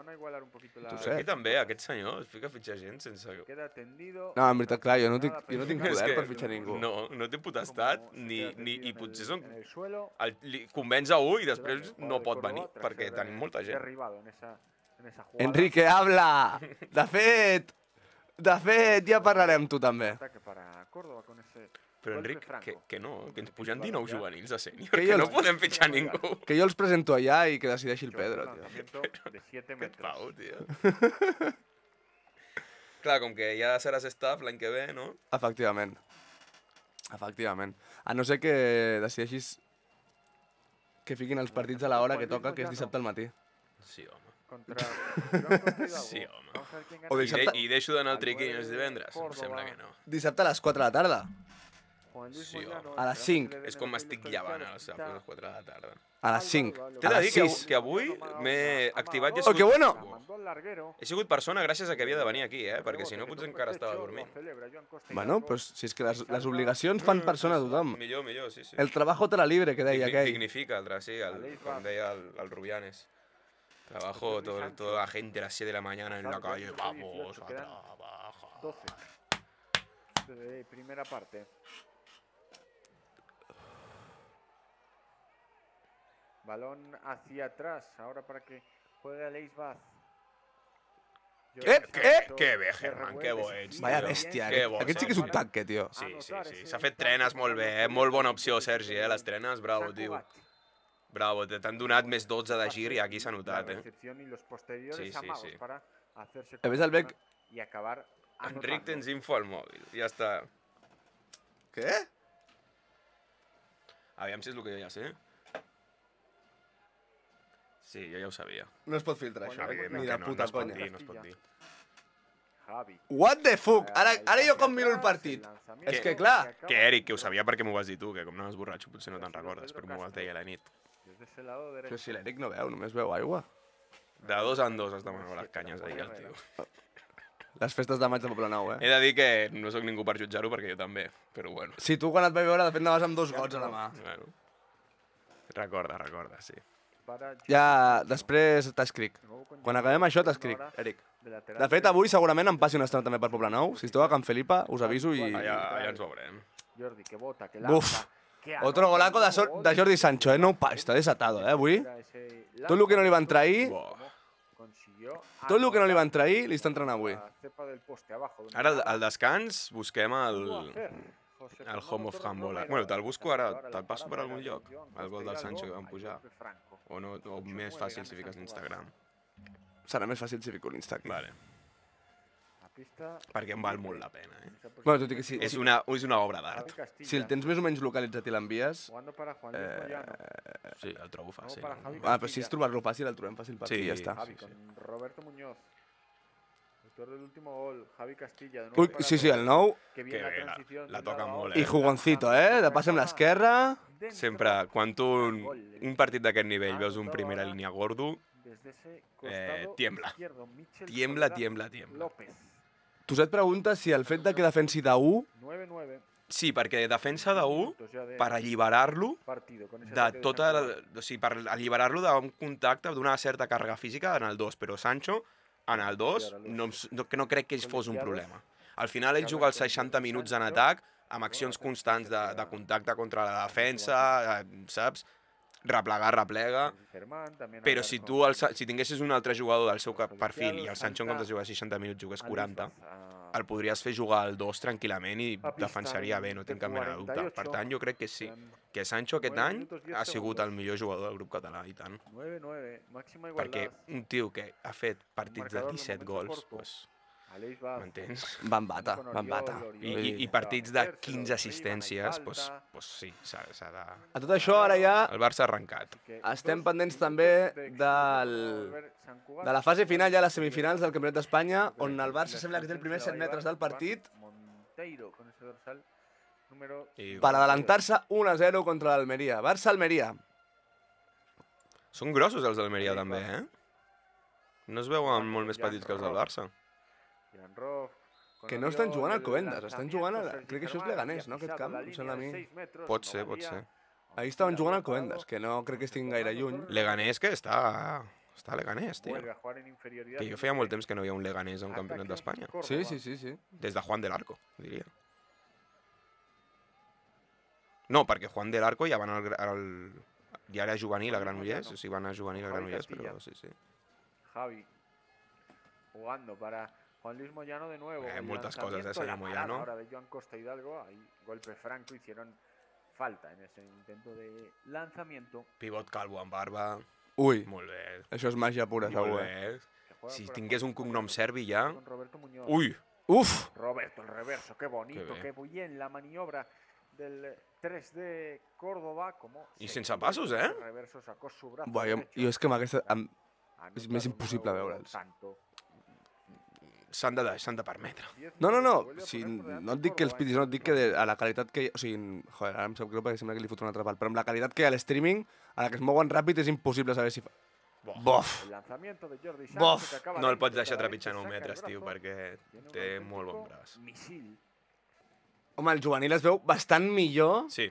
Speaker 2: Aquí també, aquest senyor es fica a fitxar gent sense...
Speaker 1: No, en veritat, clar, jo no tinc poder per fitxar ningú.
Speaker 2: No té potestat, i potser són... Li convenç a un i després no pot venir, perquè tenim molta gent.
Speaker 1: Enrique, habla! De fet, ja parlarem amb tu també.
Speaker 2: Però, Enric, que no, que ens pugen 19 juvenils a sènior, que no podem fitxar ningú.
Speaker 1: Que jo els presento allà i que decideixi el Pedro, tio.
Speaker 2: Que pau, tio. Clar, com que ja seràs staff l'any que ve, no?
Speaker 1: Efectivament. A no ser que decideixis que fiquin els partits a l'hora que toca, que és dissabte al matí.
Speaker 2: Sí, home. Sí, home. I deixo d'anar al triquini els divendres? Em sembla que no.
Speaker 1: Dissabte a les 4 de la tarda.
Speaker 2: Sí, home.
Speaker 1: A les 5.
Speaker 2: És com m'estic llevant a les 4 de la tarda.
Speaker 1: A les 5.
Speaker 2: T'he de dir que avui m'he activat i he sigut...
Speaker 1: Oh, que bueno!
Speaker 2: He sigut persona gràcies a que havia de venir aquí, perquè si no potser encara estava dormint.
Speaker 1: Bueno, pues si és que les obligacions fan persona a tothom.
Speaker 2: Millor, sí.
Speaker 1: El trabajo te la libre, que deia aquell.
Speaker 2: Dignifica, sí, com deia el Rubianes. Trabajo toda la gente a las 7 de la mañana en la calle. Vamos a trabajar.
Speaker 3: 12 de primera parte. Balón hacia atrás, ahora para que juegue a Leisbaz.
Speaker 2: Que bé, Germán, que bo ets.
Speaker 1: Vaya bèstia, aquest sí que és un tanque, tio.
Speaker 2: Sí. S'ha fet trenes molt bé, molt bona opció, Sergi, les trenes, bravo, tio. Bravo, t'han donat més 12 de gir i aquí s'ha notat, Sí.
Speaker 1: A més, el Bec...
Speaker 2: Enric, tens info al mòbil, ja està.
Speaker 1: Què?
Speaker 2: Aviam si és el que jo ja sé. Sí, jo ja ho sabia.
Speaker 1: No es pot filtrar, això.
Speaker 2: Mira, puta conya. No es pot dir.
Speaker 1: What the fuck? Ara jo com miro el partit. És que, clar...
Speaker 2: Que, Eric, que ho sabia perquè m'ho vas dir tu, que com anaves borratxo potser no te'n recordes, però m'ho vas dir a la nit.
Speaker 1: Però si l'Eric no veu, només veu aigua.
Speaker 2: De 2 en 2 es demanava les canyes ahir, el tio.
Speaker 1: Les festes de maig de Poblenou,
Speaker 2: He de dir que no sóc ningú per jutjar-ho, perquè jo també, però bueno.
Speaker 1: Sí, tu quan et vaig veure, de fet, anaves amb 2 gots a la mà.
Speaker 2: Bueno. Recorda, sí.
Speaker 1: Ja, després t'escric. Quan acabem això t'escric, Eric. De fet, avui segurament em passi una estona també per Poblenou. Si esteu a Can Felipa, us aviso i...
Speaker 2: Allà ens veurem.
Speaker 1: Buf! Otro golaco de Jordi Sancho, No està desatado, avui. Tot el que no li van trair... Tot el que no li van trair li està entrant avui.
Speaker 2: Ara, al descans, busquem el Home of Handball. Bueno, te'l busco ara, te'l passo per algun lloc, el gol del Sancho que van pujar. O més fàcil si fiques l'Instagram.
Speaker 1: Serà més fàcil si fico l'Instagram.
Speaker 2: Vale. Perquè em val molt la pena,
Speaker 1: Bueno, tot i que sí.
Speaker 2: És una obra d'art.
Speaker 1: Si el tens més o menys localitzat i l'envies...
Speaker 2: Sí, el trobo fàcil.
Speaker 1: Però si és trobar-lo fàcil, el trobem fàcil per aquí, ja està.
Speaker 3: Roberto Muñoz. Autor del último gol, Javi Castilla.
Speaker 1: Ui, sí, el nou.
Speaker 2: Que bé, la toca molt,
Speaker 1: I jugoncito, de pas amb l'esquerra.
Speaker 2: Sempre, quan tu un partit d'aquest nivell veus un primera línia gordo, tiembla. Tiembla.
Speaker 1: Tu et preguntes si el fet de que defensi de 1
Speaker 2: Sí, perquè defensa d'1 per alliberar-lo de tota... O sigui, per alliberar-lo d'un contacte, d'una certa càrrega física en el 2, però Sancho, en el 2, no crec que ell fos un problema. Al final ell juga els 60 minuts en atac, amb accions constants de contacte contra la defensa, saps? Replega, però si tinguessis un altre jugador del seu perfil i el Sancho en comptes de jugar 60 minuts jugués 40, el podries fer jugar al 2 tranquil·lament i defensaria bé, no tinc cap mena de dubte. Per tant, jo crec que sí, que Sancho aquest any ha sigut el millor jugador del grup català, i tant. Perquè un tio que ha fet partits de 17 gols, m'entens?
Speaker 1: Van bata.
Speaker 2: I partits de 15 assistències, doncs sí, s'ha de...
Speaker 1: A tot això, ara ja...
Speaker 2: El Barça ha arrencat.
Speaker 1: Estem pendents també de la fase final, ja les semifinals del Campionat d'Espanya, on el Barça sembla que té el primer 7 metres del partit per adelantar-se 1-0 contra l'Almeria. Barça-Almeria.
Speaker 2: Són grossos els d'Almeria també, eh? No es veuen molt més petits que els del Barça.
Speaker 1: Que no estan jugant al Covendas, estan jugant a... Crec que això és Leganés, no, aquest camp? Em sembla a mi.
Speaker 2: Pot ser.
Speaker 1: Ahir estaven jugant al Covendas, que no crec que estiguin gaire lluny.
Speaker 2: Leganés, que està a Leganés, tio. Que jo feia molt temps que no hi havia un Leganés a un campionat d'Espanya.
Speaker 1: Sí.
Speaker 2: Des de Juan del Arco, diria. No, perquè Juan del Arco ja van ja era juvenil a Granollers, o sigui, van a juvenil a Granollers, però sí.
Speaker 3: Javi, jugando para Juan Luis Moyano de nuevo.
Speaker 2: Muchas cosas de ese Moyano.
Speaker 3: Ahora de Joan Costa Hidalgo, ahí golpe franco, hicieron falta en ese intento de lanzamiento.
Speaker 2: Pivot calvo amb barba.
Speaker 1: Ui,
Speaker 2: molt bé.
Speaker 1: Això és màgia pura, segur.
Speaker 2: Molt bé. Si tingués un cognom serbi ja...
Speaker 3: Uy.
Speaker 1: Uf.
Speaker 3: Roberto, el reverso, qué bonito, qué bien la maniobra del 3 de Córdoba.
Speaker 2: I sense passos, eh?
Speaker 1: Jo és que amb aquesta... És més impossible veure'ls.
Speaker 2: S'han de permetre.
Speaker 1: No. Si no et dic que els pitis, no et dic que a la qualitat que hi ha... O sigui, joder, ara em sap greu perquè sembla que li foto un altre pal, però amb la qualitat que hi ha a l'streaming, a la que es mouen ràpid, és impossible saber si fa... Bof!
Speaker 2: No el pots deixar trepitjant 1 metres, tio, perquè té molt bon braç.
Speaker 1: Home, el juvenil es veu bastant millor...
Speaker 2: Sí.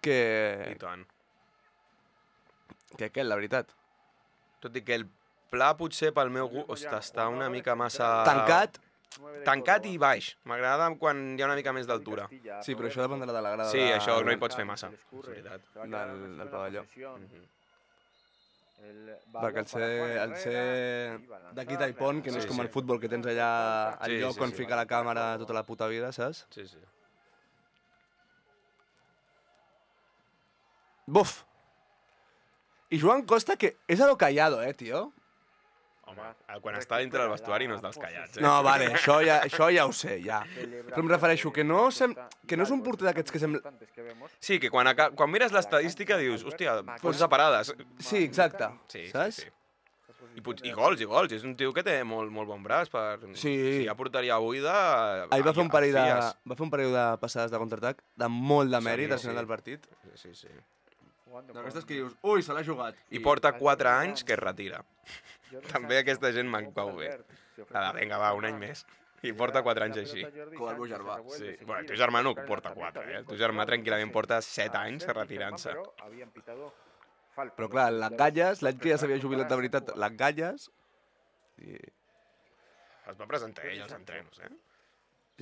Speaker 1: Que...
Speaker 2: I tant.
Speaker 1: Que aquest, la veritat.
Speaker 2: Tot i que el pla potser pel meu gust... Ostres, està una mica massa... Tancat i baix. M'agrada quan hi ha una mica més d'altura.
Speaker 1: Sí, però això dependrà de la grada.
Speaker 2: Sí, això no hi pots fer massa, és veritat.
Speaker 1: Del pavelló. Perquè el ser d'aquí Taipon, que no és com el futbol, que tens allà el lloc on fica la càmera tota la puta vida, saps?
Speaker 2: Sí.
Speaker 1: Buf! I Joan Costa, que és a lo callado, tio?
Speaker 2: Home, quan està dintre del vestuari no és dels callats,
Speaker 1: No, vale, això ja ho sé, ja. Però em refereixo que no és un porter d'aquests que sembla...
Speaker 2: Sí, que quan mires l'estadística dius, hòstia, 11 parades.
Speaker 1: Sí, exacte, saps?
Speaker 2: I gols, és un tio que té molt bon braç per...
Speaker 1: Sí.
Speaker 2: Si ja portaria buida...
Speaker 1: Ahir va fer un parell de passades de contraatac de molt de mèrit al final del partit.
Speaker 2: Sí.
Speaker 1: D'aquestes que dius, ui, se l'ha jugat.
Speaker 2: I porta 4 anys que es retira. També aquesta gent me'n cau bé. Vinga, va, un any més. I porta 4 anys així.
Speaker 1: Com el meu germà.
Speaker 2: Sí. Bueno, el teu germà no porta 4, El teu germà tranquil·lament porta 7 anys retirant-se.
Speaker 1: Però clar, les Galles, l'any que ja s'havia jubilat de veritat, les Galles...
Speaker 2: Es va presentar ell als entrenos,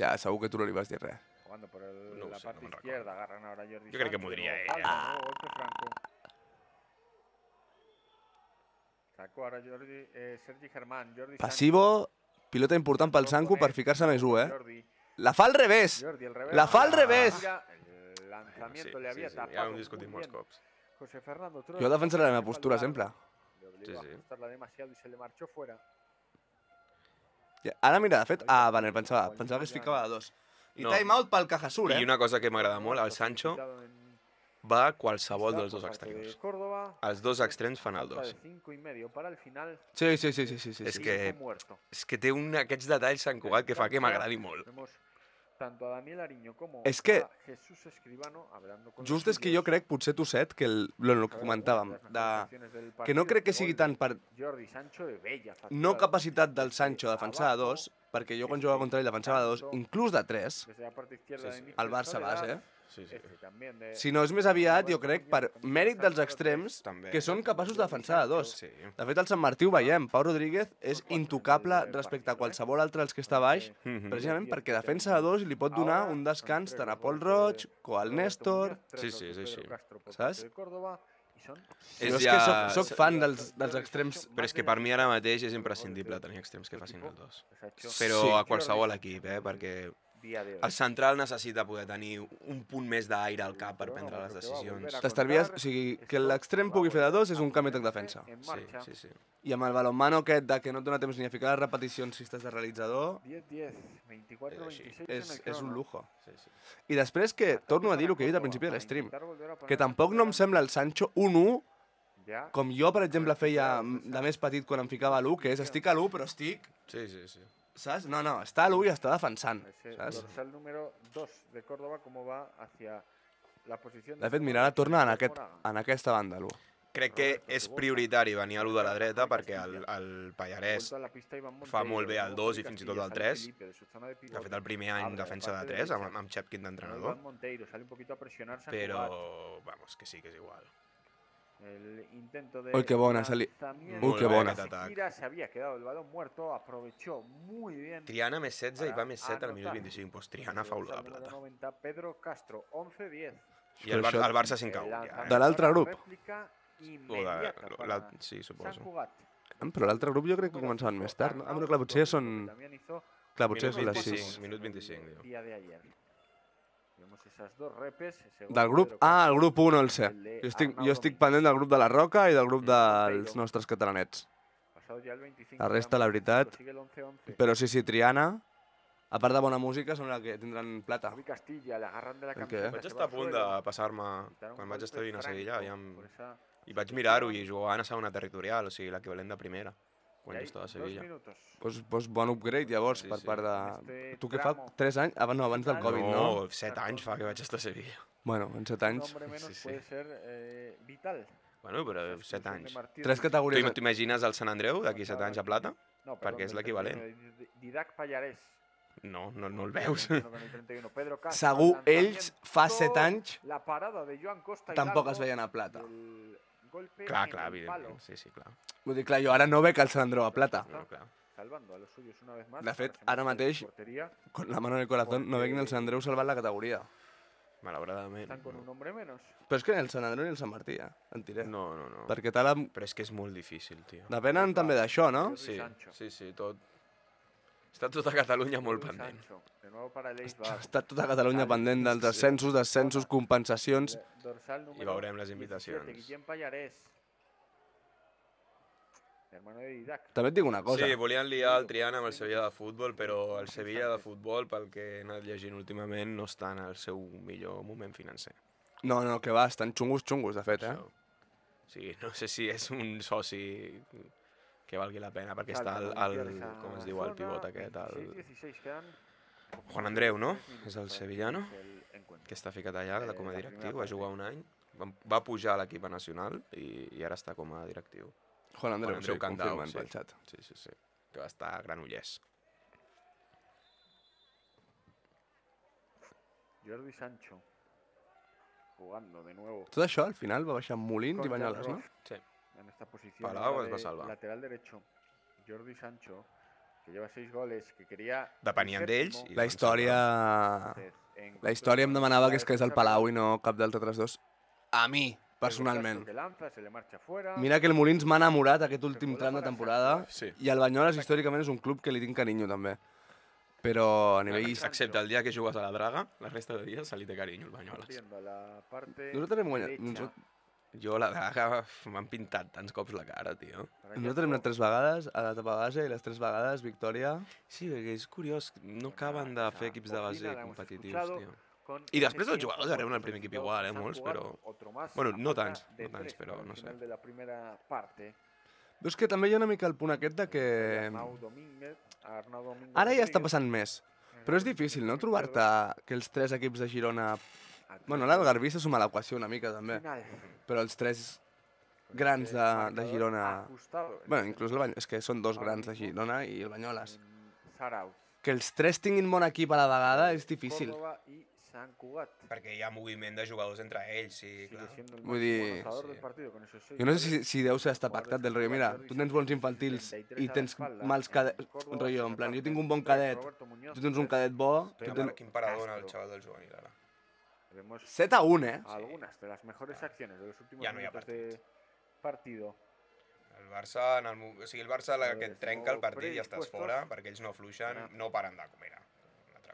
Speaker 1: Ja, segur que tu no li vas dir res.
Speaker 3: Jugando por la parte izquierda, agarran ahora Jordi Sancho.
Speaker 2: Yo creo que m'ho diria ell.
Speaker 3: Sacó ahora Sergi Germán.
Speaker 1: Passivo, pilota important pel Sanco per ficar-se més 1, La fa al revés! La fa al revés!
Speaker 3: El lanzamiento le había tapado.
Speaker 2: Ja ho hem discutit molts cops.
Speaker 1: Jo defensaré la meva postura sempre.
Speaker 2: Sí.
Speaker 3: demasiado y se le marchó fuera.
Speaker 1: Ara mira, de fet... Vale, pensava que es ficava a 2. I time out pel Cajasur,
Speaker 2: I una cosa que m'agrada molt, el Sancho va a qualsevol dels dos extrems. Els dos extrems fan el 2.
Speaker 1: Sí.
Speaker 2: És que té aquests detalls Sant Cugat que fa que m'agradi molt.
Speaker 1: És que... Just és que jo crec, potser tu set, que el que comentàvem, que no crec que sigui tant per no capacitat del Sancho a defensar a 2, perquè jo quan jugava contra ell defensava de 2, inclús de 3, el Barça base, si no és més aviat, jo crec, per mèrit dels extrems, que són capaços de defensar de 2. De fet, al Sant Martí ho veiem, Pau Rodríguez és intocable respecte a qualsevol altre dels que està baix, precisament perquè defensa de 2 i li pot donar un descans tant a Pol Roig com al Néstor.
Speaker 2: Sí, és així.
Speaker 1: Saps? Jo és que soc fan dels extrems.
Speaker 2: Però és que per mi ara mateix és imprescindible tenir extrems que facin el 2. Però a qualsevol equip, perquè el central necessita poder tenir un punt més d'aire al cap per prendre les decisions.
Speaker 1: T'estalvies, o sigui, que l'extrem pugui fer de 2 és un canvi de defensa.
Speaker 2: Sí.
Speaker 1: I amb el balonmano aquest de que no et dona temps ni a ficar les repeticions si estàs de realitzador,
Speaker 3: 10-10, 24-26
Speaker 1: és un lujo. I després que, torno a dir el que he dit al principi de l'estream, que tampoc no em sembla el Sancho 1-1, com jo, per exemple, feia de més petit quan em ficava a l'1, que és estic a l'1 però estic...
Speaker 2: Sí.
Speaker 1: ¿Sabes? No, està a l'1 i està defensant. ¿Sabes?
Speaker 3: Dorsal número 2 de Córdoba, com va hacia la posició...
Speaker 1: De fet, mira, ara torna en aquesta banda, l'1.
Speaker 2: Crec que és prioritari venir a l'1 de la dreta perquè el Pallarès fa molt bé el 2 i fins i tot el 3. De fet, el primer any defensa de 3 amb Chepkin d'entrenador. Però, vamos, que sí que és igual.
Speaker 1: Uy, qué bona, Uy, qué bona.
Speaker 3: Se había quedado el balón muerto, aprovechó muy bien.
Speaker 2: Triana més 16 i va més 7 al minut 25. Pues Triana fa olor de plata.
Speaker 3: 90, Pedro Castro, 11-10.
Speaker 2: I el Barça 5-1.
Speaker 1: De l'altre grup.
Speaker 2: Sí, suposo.
Speaker 1: Però l'altre grup jo crec que començaven més tard, no? Però clar, potser són... Clar, potser són les 6.
Speaker 2: Minut 25, diu.
Speaker 1: Del grup A al grup 1 no el sé. Jo estic pendent del grup de la Roca i del grup dels nostres catalanets. La resta, la veritat... Però sí, Triana, a part de bona música, són la que tindran plata.
Speaker 2: Vaig estar a punt de passar-me, quan vaig estar vivint a Sevilla, i vaig mirar-ho i jugaven a segona territorial, o sigui, l'equivalent de primera, quan jo estava a Sevilla.
Speaker 1: Doncs bon upgrade, llavors, per part de... Tu què fa? 3 anys? No, abans del Covid, no?
Speaker 2: No, 7 anys fa que vaig estar a Sevilla.
Speaker 1: Bueno, en 7 anys...
Speaker 2: Bueno, però 7 anys.
Speaker 1: 3 categories...
Speaker 2: Tu t'imagines el Sant Andreu d'aquí 7 anys a plata? Perquè és l'equivalent.
Speaker 3: Didac Pallarès.
Speaker 2: No el veus.
Speaker 1: Segur, ells fa 7 anys tampoc es veien a plata.
Speaker 2: Clar, evidentment. Sí, clar.
Speaker 1: Vull dir, clar, jo ara no veig el Sant Andreu a plata. De fet, ara mateix, con la mano en el corazón, no veig ni el Sant Andreu salvant la categoria.
Speaker 2: Malauradament.
Speaker 1: Però és que ni el Sant Andreu ni el Sant Martí, en tiré.
Speaker 2: No.
Speaker 1: Perquè tal...
Speaker 2: Però és que és molt difícil, tio.
Speaker 1: Depenen també d'això, no?
Speaker 2: Sí, tot. Està tota Catalunya molt pendent.
Speaker 1: Està tota Catalunya pendent dels descensos, compensacions...
Speaker 2: I veurem les invitacions.
Speaker 1: També et dic una cosa.
Speaker 2: Sí, volien liar el Triana amb el Sevilla de futbol, però el Sevilla de futbol, pel que he anat llegint últimament, no està en el seu millor moment financer.
Speaker 1: No, que va, estan xungos, de fet, eh?
Speaker 2: Sí, no sé si és un soci que valgui la pena, perquè està com es diu, el pivot aquest, Juan Andreu, no? És el sevillano, que està ficat allà com a directiu, va jugar un any, va pujar a l'equip nacional i ara està com a directiu.
Speaker 1: Juan Andreu, sí, confirmen pel xat.
Speaker 2: Sí, que va estar a Granollers.
Speaker 3: Jordi Sancho, jugando de nuevo.
Speaker 1: Tot això al final va baixar amb Molins i Banyoles, no?
Speaker 2: Sí.
Speaker 3: En esta posición
Speaker 2: Palau es va salvar.
Speaker 3: Lateral derecho, Jordi Sancho, que lleva 6 goles, que quería...
Speaker 2: Depenien d'ells.
Speaker 1: La història em demanava que es quedés al Palau i no cap dels altres dos. A mi, personalment. Mira que el Molins m'ha enamorat aquest últim tram de temporada i el Banyoles històricament és un club que li tinc carinyo també. Però a nivell...
Speaker 2: Excepte el dia que jugues a la Draga, la resta de dies se li té carinyo el Banyoles.
Speaker 1: Nosaltres hem guanyat...
Speaker 2: Jo la Draga m'han pintat tants cops la cara, tio.
Speaker 1: Nosaltres hem anat 3 vegades a l'etapa base i les 3 vegades victòria.
Speaker 2: Sí, perquè és curiós, no acaben de fer equips de base competitius, tio. I després els jugadors arriben al primer equip igual, molts, però... Bueno, no tants, però no sé.
Speaker 1: Però és que també hi ha una mica el punt aquest de que... Ara ja està passant més. Però és difícil, no?, trobar-te que els 3 equips de Girona... Bueno, ara el Garbí se suma a l'equació una mica, també. Però els 3 grans de Girona... Bueno, inclús el Banyoles, és que són 2 grans de Girona i el Banyoles. que els tres tinguin bon equip a la vegada és difícil.
Speaker 3: Córdoba y Sant Cugat.
Speaker 2: Perquè hi ha moviment de jugadors entre ells, sí, clar.
Speaker 1: Vull dir... Jo no sé si deu ser estar pactat del rotllo. Mira, tu tens bons infantils i tens mals cadets. Rotllo, en plan, jo tinc un bon cadet, tu tens un cadet bo...
Speaker 2: Quin parador en el xaval del juvenil, ara.
Speaker 1: 7-1, eh?
Speaker 3: Algunas de las mejores acciones de los últimos minutos de partido.
Speaker 2: El Barça, o sigui, el Barça que et trenca el partit i ja estàs fora, perquè ells no fluixen, no paren de comer.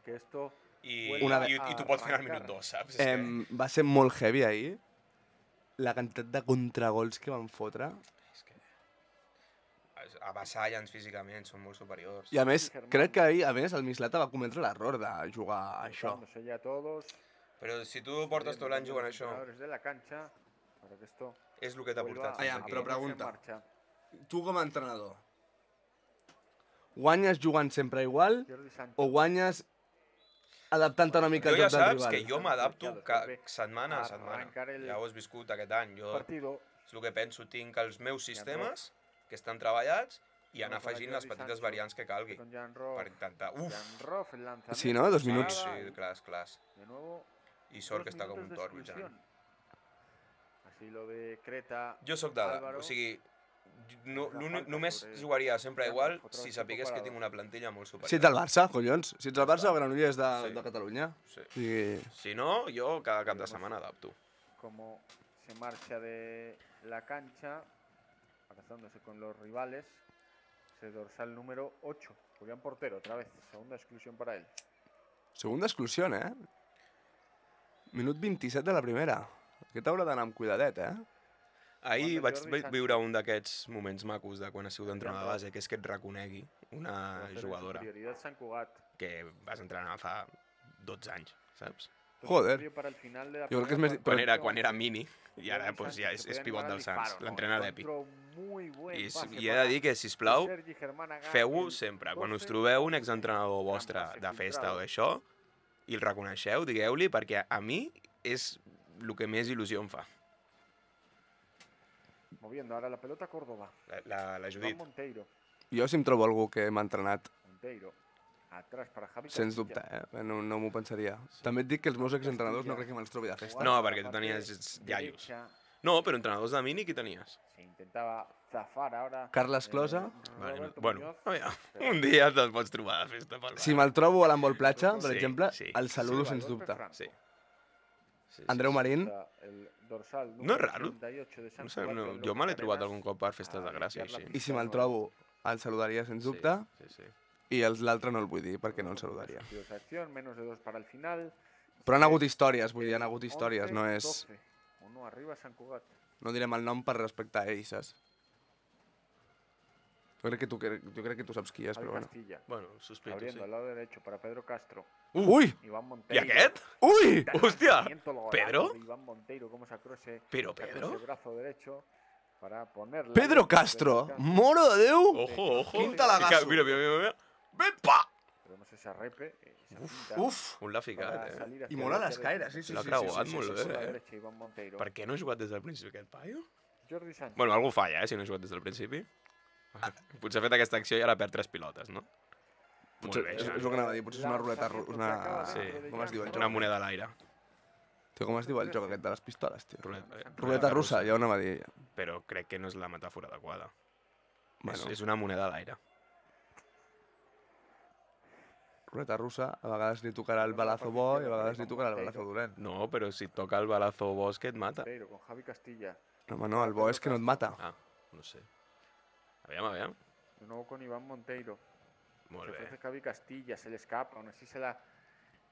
Speaker 3: Que esto...
Speaker 2: I t'ho pots fer al minut 2, saps?
Speaker 1: Va ser molt heavy ahir, la quantitat de contragols que van fotre.
Speaker 2: És que avassallen físicament, són molt superiors.
Speaker 1: I a més, crec que ahir, a més, el Mislata va cometre l'error de jugar a això.
Speaker 2: Però si tu portes tot l'any jugant a això, és el que t'ha portat fins aquí.
Speaker 1: Però pregunta, tu com a entrenador, guanyes jugant sempre igual o guanyes adaptant-te una mica al joc del rival?
Speaker 2: Jo ja saps que jo m'adapto setmana a setmana. Ja ho has viscut aquest any. Jo, és el que penso, tinc els meus sistemes que estan treballats i anar afegint les petites variants que calgui. Per intentar...
Speaker 1: Sí, no? 2 minuts.
Speaker 2: Sí, clar. I sort que està com un toro, Jan. Jo sóc o sigui, només jugaria sempre igual si sapigués que tinc una plantilla molt superior.
Speaker 1: Si ets del Barça, collons. Si ets del Barça, Granollers és de Catalunya.
Speaker 2: Si no, jo cada cap de setmana adapto.
Speaker 3: Como se marcha de la cancha, abrazándose con los rivales, ese dorsal número 8, Julián Portero, otra vez, segunda exclusión para él.
Speaker 1: Segunda exclusión, eh? Minut 27 de la primera. Aquest haurà d'anar amb cuidadet, eh?
Speaker 2: Ahir vaig viure un d'aquests moments macos de quan has sigut entrenador de base, que és que et reconegui una jugadora que vas entrenar fa 12 anys, saps?
Speaker 1: Joder. Jo crec que és més...
Speaker 2: Quan era mini, i ara ja és pivot del Sants, l'entrena l'Epi. I he de dir que, sisplau, feu-ho sempre. Quan us trobeu un exentrenador vostre de festa o d'això, i el reconeixeu, digueu-li, perquè a mi és el que més il·lusió em fa.
Speaker 3: Moviendo ahora la pelota Córdoba.
Speaker 2: La Judit.
Speaker 1: Jo si em trobo algú que m'ha entrenat,
Speaker 3: atrás para Javi
Speaker 1: sens dubte, no m'ho pensaria. També et dic que els meus exentrenadors no crec que me'ls trobi de festa.
Speaker 2: No, perquè tu tenies iaios. No, però entrenadors de mini qui tenies?
Speaker 1: Carles Closa.
Speaker 2: Bueno, un dia te'l pots trobar de festa pel bar.
Speaker 1: Si me'l trobo a l'Handball Platja, per exemple, el saludo sens dubte.
Speaker 2: Sí.
Speaker 1: Andreu Marín.
Speaker 2: No és raro. No sé, jo me l'he trobat algun cop per festes de Gràcia.
Speaker 1: I si me'l trobo, el saludaria sens dubte. I l'altre no el vull dir perquè no el saludaria. Però han hagut històries, vull dir, han hagut històries, no és... No direm el nom per respectar a ells, saps? Jo crec que tu saps qui és, però bueno.
Speaker 2: Bueno, sospito, sí.
Speaker 1: Ui!
Speaker 2: I aquest? Ui! Hòstia! Pedro?
Speaker 3: Però
Speaker 2: Pedro?
Speaker 1: Pedro Castro! Moro de Déu!
Speaker 2: Ojo!
Speaker 1: Quin talagasso!
Speaker 2: Mira! Vepa!
Speaker 1: Uf!
Speaker 2: Un l'ha ficat,
Speaker 1: I molt a l'escaire, sí.
Speaker 2: L'ha creuat molt bé, Per què no ha jugat des del principi aquest paio? Bueno, algú falla, si no ha jugat des del principi. Potser ha fet aquesta acció i ara perd 3 pilotes, no?
Speaker 1: Potser, és el que anava a dir, potser és una ruleta russa. Com es diu el joc?
Speaker 2: Una moneda a l'aire.
Speaker 1: Tio, com es diu el joc aquest de les pistoles, tio? Ruleta russa, ja ho anava a dir.
Speaker 2: Però crec que no és la metàfora adequada. És una moneda a l'aire.
Speaker 1: Ruleta russa, a vegades li tocarà el balazo bo i a vegades li tocarà el balazo dolent.
Speaker 2: No, però si et toca el balazo bo és que et mata.
Speaker 1: Home, no, el bo és que no et mata.
Speaker 2: Ah, no sé. Aviam.
Speaker 3: De nuevo con Iván Monteiro.
Speaker 2: Molt
Speaker 3: se
Speaker 2: bé.
Speaker 3: ofrece Javi Castilla, se le escapa, aún así se la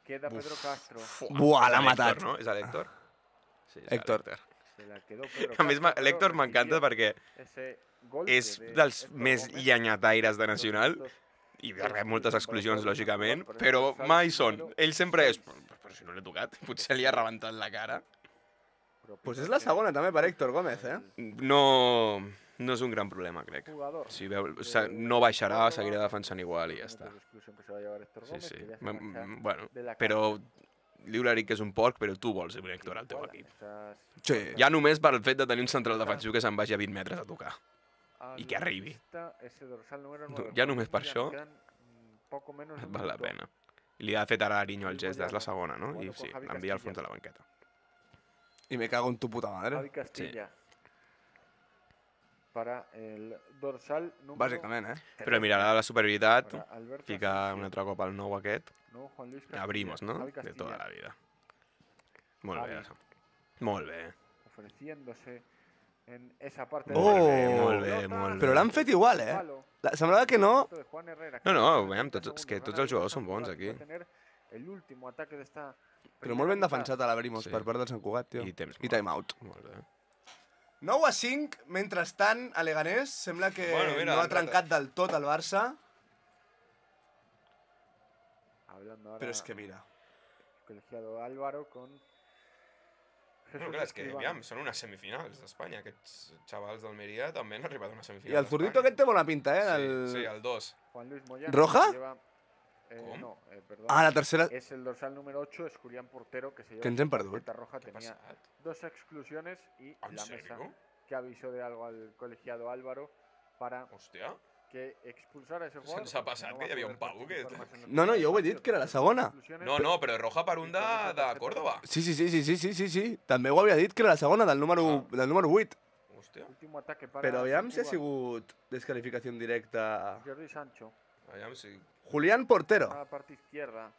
Speaker 3: queda Pedro Castro.
Speaker 1: Buah, l'ha matat.
Speaker 2: No? És l'Héctor? Sí, és
Speaker 1: Héctor.
Speaker 3: Se la quedó Pedro
Speaker 2: A més,
Speaker 3: Castro,
Speaker 2: l'Héctor m'encanta perquè és dels més llenyataires de Nacional i rep moltes exclusions, lògicament, però mai són. Ell sempre és... Però si no l'he tocat, potser li ha rebentat la cara.
Speaker 1: Pues és la segona també per Héctor Gómez, eh?
Speaker 2: No és un gran problema, crec. Si veu, no baixarà, seguirà defensant igual i ja està. Sí. Bueno, però diu-li que és un porc, però tu vols un Héctor al teu equip.
Speaker 1: Sí.
Speaker 2: Ja només per el fet de tenir un central defensiu que se'n vagi a 20 metres a tocar. I que arribi. Ja només per això
Speaker 3: poco menos de un
Speaker 2: Val la
Speaker 3: minuto.
Speaker 2: pena. I li ha fet ara Ariño el gest, és la segona, no? I sí, l'envia al fons de la banqueta.
Speaker 1: Y me cago en tu puta madre.
Speaker 3: Javi Castilla. Para el dorsal número...
Speaker 1: Bàsicament,
Speaker 2: Però mira, la superioritat,
Speaker 3: Para Alberto
Speaker 2: fica
Speaker 3: Asensio.
Speaker 2: un altre cop al nou aquest.
Speaker 3: No, Juan Luis Castilla.
Speaker 2: Abrimos, no?
Speaker 3: Javi
Speaker 2: De
Speaker 3: Castilla,
Speaker 2: tota la vida. Molt bé,
Speaker 3: Javi.
Speaker 2: això. Molt bé.
Speaker 3: ofreciéndose en esa parte
Speaker 1: Oh!
Speaker 2: Molt bé, molt bé.
Speaker 1: Però l'han fet igual, Semblava que no.
Speaker 2: No, veiem, és que tots els jugadors són bons aquí.
Speaker 1: Però molt ben defensat a l'Abrimos per part del Sant Cugat, tio.
Speaker 2: I temps
Speaker 1: I time out.
Speaker 2: Molt bé.
Speaker 1: 9-5, mentrestant, a Leganés sembla que no ha trencat del tot el Barça. Però és que mira.
Speaker 3: Colegiado Álvaro con
Speaker 2: Però clar, és que, aviam, són unes semifinals d'Espanya. Aquests xavals d'Almeria també han arribat a una semifinal.
Speaker 1: I el zurdito aquest té bona pinta,
Speaker 2: Sí, el 2.
Speaker 3: Juan Luis Moyano.
Speaker 1: ¿Roja?
Speaker 2: ¿Cómo?
Speaker 3: No, perdón.
Speaker 1: Ah, la tercera...
Speaker 3: Es el dorsal número 8, es Julián Portero, que se lleva
Speaker 1: Que ens hem perdut.
Speaker 3: tarjeta roja. Tenía 2 exclusiones y
Speaker 2: ¿En
Speaker 3: la
Speaker 2: serio?
Speaker 3: mesa que avisó de algo al colegiado Álvaro para
Speaker 2: Hòstia.
Speaker 3: que expulsara a ese jugador.
Speaker 2: Se'ns ha passat que hi havia un pavo que...
Speaker 1: No, jo ho he dit, que era la segona.
Speaker 2: No, però roja per un de Córdoba.
Speaker 1: Sí. També ho havia dit, que era la segona, del número 8.
Speaker 2: Hòstia.
Speaker 3: Último ataque para
Speaker 1: Però aviam si ha
Speaker 3: Sant
Speaker 1: sigut descalificació directa.
Speaker 3: Cugat. Jordi Sancho
Speaker 2: Aviam si...
Speaker 1: Julián Portero.
Speaker 3: a la parte izquierda.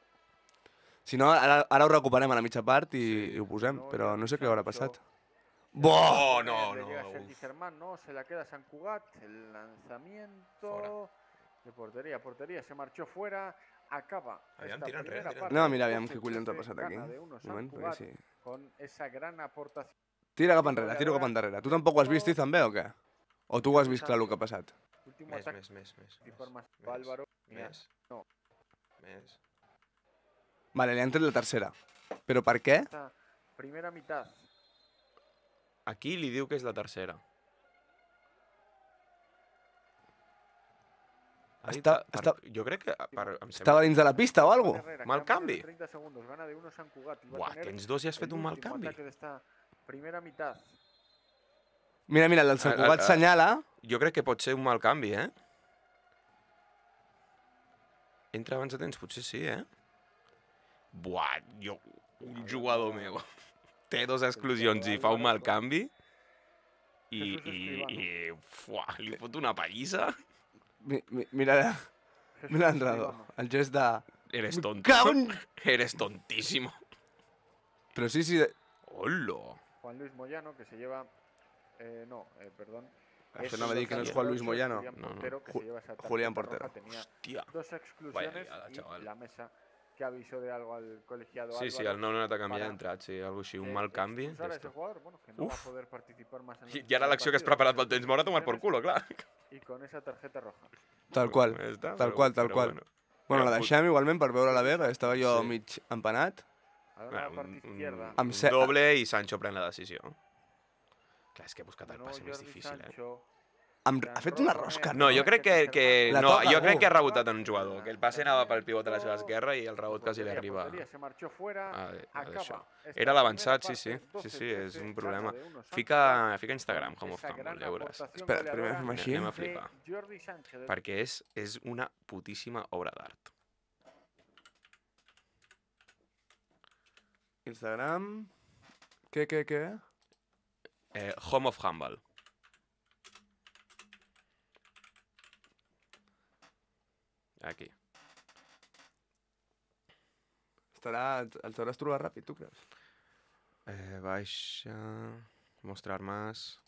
Speaker 1: Si no, ara ho recuperem a la mitja part i ho posem, però no sé què haurà passat.
Speaker 2: Oh,
Speaker 3: Le llega Sergi Germán, no, se la queda San Cugat, el lanzamiento de portería, se marchó fuera, acaba
Speaker 2: Aviam,
Speaker 3: esta
Speaker 2: tira enrere,
Speaker 3: primera
Speaker 2: tira
Speaker 3: parte.
Speaker 1: Anem a mirar aviam
Speaker 3: Se
Speaker 1: què collons ha
Speaker 3: produce
Speaker 1: passat aquí.
Speaker 3: gana de uno
Speaker 1: Un
Speaker 3: Sant
Speaker 1: moment, perquè
Speaker 3: Cugat
Speaker 1: sí.
Speaker 3: con esa gran aportación.
Speaker 1: Tira cap enrere, tiro cap enrere. Tu tampoc ho has vist, també, o què? O tu ho has vist clar el que ha passat?
Speaker 3: Último ataque
Speaker 2: Més.
Speaker 3: y forma Álvaro.
Speaker 2: Més.
Speaker 3: No.
Speaker 2: Més.
Speaker 1: Vale, li han tret la tercera. Però per què?
Speaker 3: Esta primera mitad.
Speaker 2: Aquí li diu que és la tercera. Jo crec que...
Speaker 1: Estava dins de la pista o alguna cosa?
Speaker 2: Mal canvi.
Speaker 3: 30 segundos, gana de uno San Cugat.
Speaker 2: Buah, que ens dos ja has fet un mal canvi.
Speaker 3: Primera mitad.
Speaker 1: Mira, el del Sant Cugat senyala.
Speaker 2: Jo crec que pot ser un mal canvi, Entra abans de temps, potser sí, Buah, un jugador meu té 2 exclusions i fa un mal canvi i li fot una pallissa.
Speaker 1: Mira l'entrenador, el gest de...
Speaker 2: Eres tonto.
Speaker 1: Caun!
Speaker 2: Eres tontísimo.
Speaker 1: Però sí...
Speaker 2: Hola.
Speaker 3: Juan Luis Moyano, que se lleva... perdón.
Speaker 1: Això no me dir que no és Juan Luis Moyano.
Speaker 3: No.
Speaker 1: Julián Portero.
Speaker 3: Tenía
Speaker 2: Hòstia.
Speaker 3: 2 exclusiones y la mesa que avisó de algo al colegiado
Speaker 2: Sí,
Speaker 3: Álvaro.
Speaker 2: el nou no t'ha canviat, ha entrat, sí, algo així, un mal canvi. I ara l'acció que has preparat pel temps mort ha tomat por culo, clar.
Speaker 3: Y con esa tarjeta roja.
Speaker 1: Tal qual. Bueno, la deixem igualment per veure la B, que estava jo mig empanat.
Speaker 2: Un doble i Sancho pren la decisió. Clar, és que he buscat el passe més difícil,
Speaker 1: Ha fet una rosca.
Speaker 2: No, jo crec que ha rebotat en un jugador, que el passe anava pel pivot a la seva esquerra i el rebot quasi li arriba a això. Era l'avançat, sí, és un problema. Fica Instagram, Home of Handball, ja veuràs.
Speaker 1: Espera, primer fem així.
Speaker 2: Anem a flipar. Perquè és una putíssima obra d'art.
Speaker 1: Instagram... Què?
Speaker 2: Home of Handball. Aquí.
Speaker 1: El sabràs trobar ràpid, tu creus?
Speaker 2: Baixa... Mostrar más...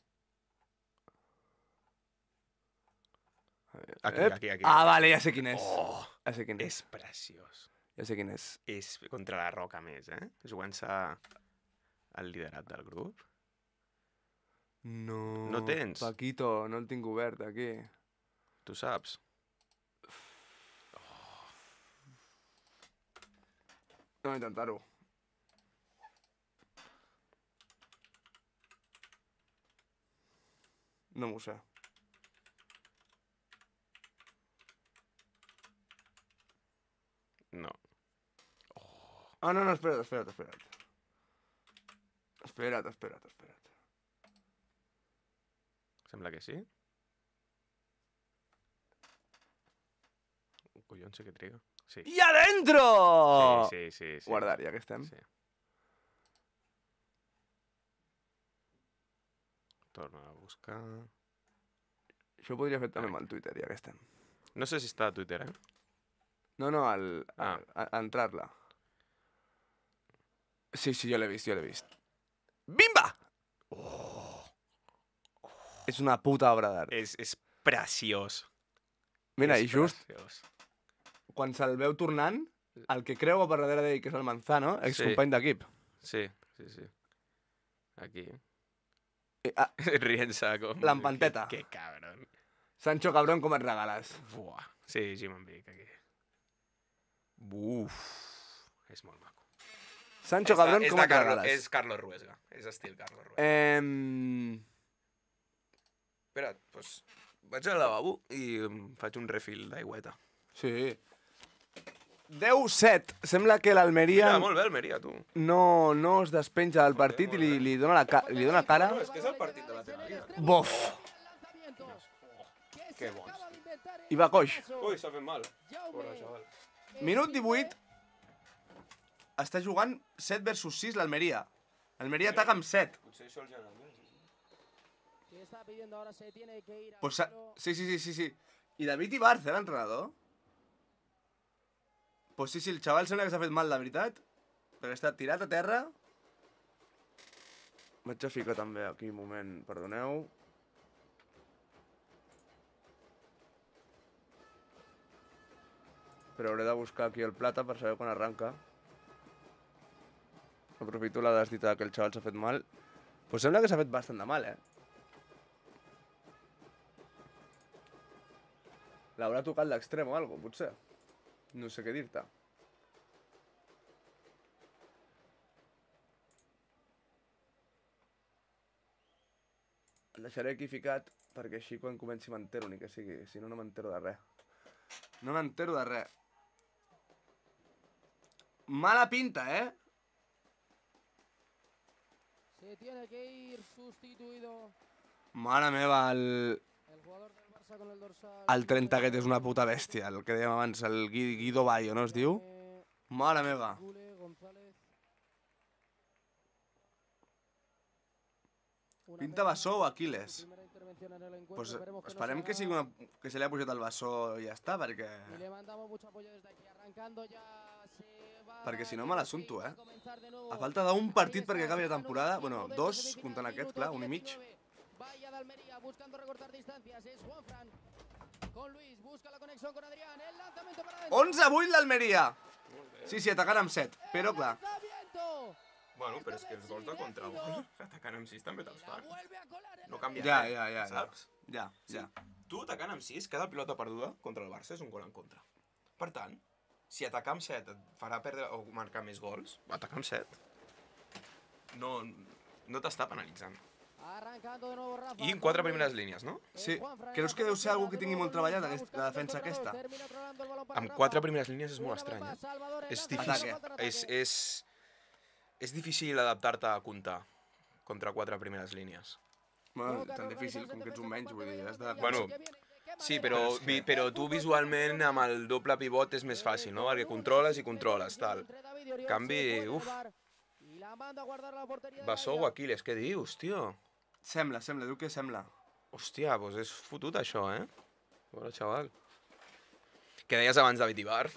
Speaker 2: Aquí.
Speaker 1: Ah, vale, ja sé quin és.
Speaker 2: Oh,
Speaker 1: ja sé quin és.
Speaker 2: És preciós.
Speaker 1: Ja sé quin és.
Speaker 2: És contra la Roca més, jugant-se al liderat del grup.
Speaker 1: No...
Speaker 2: No tens?
Speaker 1: Paquito, no el tinc obert, aquí.
Speaker 2: Tu saps?
Speaker 1: Anem a intentar-ho. No m'ho sé.
Speaker 2: No.
Speaker 1: Ah, no, espera't. Espera't.
Speaker 2: Sembla que sí. Collons, sí que triga. Sí.
Speaker 1: I adentro!
Speaker 2: Sí.
Speaker 1: Guardar, ja que estem.
Speaker 2: Sí. Torna a buscar...
Speaker 1: Això ho podria fer també amb el Twitter, ja que estem.
Speaker 2: No sé si està a Twitter,
Speaker 1: No, a entrar-la. Sí, jo l'he vist. Bimba! És una puta obra d'art.
Speaker 2: És preciós.
Speaker 1: Mira, i just quan se'l veu tornant, el que creu per darrere d'ell, que és el Manzano, excompany d'equip.
Speaker 2: Sí. Aquí. Rient-se com...
Speaker 1: L'empanteta.
Speaker 2: Que cabron.
Speaker 1: Sancho cabrón, com et regales.
Speaker 2: Buah. Sí, Jim en Vic, aquí. Buf. És molt maco.
Speaker 1: Sancho cabrón, com et regales.
Speaker 2: És Carlos Ruesga. És estil Carlos Ruesga. Espera't, doncs vaig al lavabo i em faig un refill d'aigüeta.
Speaker 1: Sí. 10-7. Sembla que l'Almeria...
Speaker 2: Mira, molt bé Almeria, tu.
Speaker 1: No es despenja del partit i li dona cara.
Speaker 2: No, és que és el partit de la teva vida.
Speaker 1: Bof!
Speaker 2: Que bons.
Speaker 1: I va coix.
Speaker 2: Ui, s'ha fet mal. Pobre xaval.
Speaker 1: Minut 18. Està jugant 7 versus 6 l'Almeria. L'Almeria ataca amb 7.
Speaker 2: Potser això els general.
Speaker 1: Pues, sí. I David Ibarz, l'entrenador? Pues sí, el xaval sembla que s'ha fet mal, de veritat. Perquè està tirat a terra. Vaig a ficar també aquí un moment, perdoneu. Però hauré de buscar aquí el plata per saber quan arranca. Aprofito la desdita que el xaval s'ha fet mal. Pues sembla que s'ha fet bastant de mal, L'haurà tocat l'extrem o alguna cosa, potser. No sé què dir-te. El deixaré aquí ficat perquè així quan comenci m'entero, ni que sigui. Si no, no m'entero de res. No m'entero de res. Mala pinta,
Speaker 4: Se tiene que ir sustituido.
Speaker 1: Mare meva, el 30 aquest és una puta bèstia, el que dèiem abans, el Guido Bayo, no es diu? Mare meva. Pinta bessó o Aquiles? Pues esperem que sigui que se li ha pujat el bessó i ja està, perquè... Perquè si no me l'assumpto, A falta d'un partit perquè acabi la temporada, bueno, 2, comptant aquest, clar, 1 i mig.
Speaker 4: Vaya de Almería buscando recortar distancias, es Juanfran. Con Luis, busca la conexión con Adrián, el lanzamiento para adentro.
Speaker 1: 11-8 l'Almeria. Sí, atacant amb 7, però clar.
Speaker 2: Bueno, però és que els gols de contragol, atacant amb 6 també te'ls fan. No canvia res, saps?
Speaker 1: Ja.
Speaker 2: Tu atacant amb 6, cada pilota perduda contra el Barça és un gol en contra. Per tant, si atacar amb 7 et farà perdre o marcar més gols, atacar amb 7. No t'està penalitzant. I en 4 primeres línies, no?
Speaker 1: Sí. Creus que deu ser algú que tingui molt treballat, la defensa aquesta?
Speaker 2: Amb 4 primeres línies és molt estrany, És difícil. És difícil adaptar-te a comptar contra 4 primeres línies.
Speaker 1: Bueno, tan difícil com que ets un menys, vull dir, has de...
Speaker 2: Bueno, sí, però tu visualment amb el doble pivot és més fàcil, no? Perquè controles, tal. En canvi, Bessó o Aquiles, què dius, tio?
Speaker 1: Sembla, diu que sembla.
Speaker 2: Hòstia, doncs és fotut això, Bona, xaval. Que deies abans David Ibarz.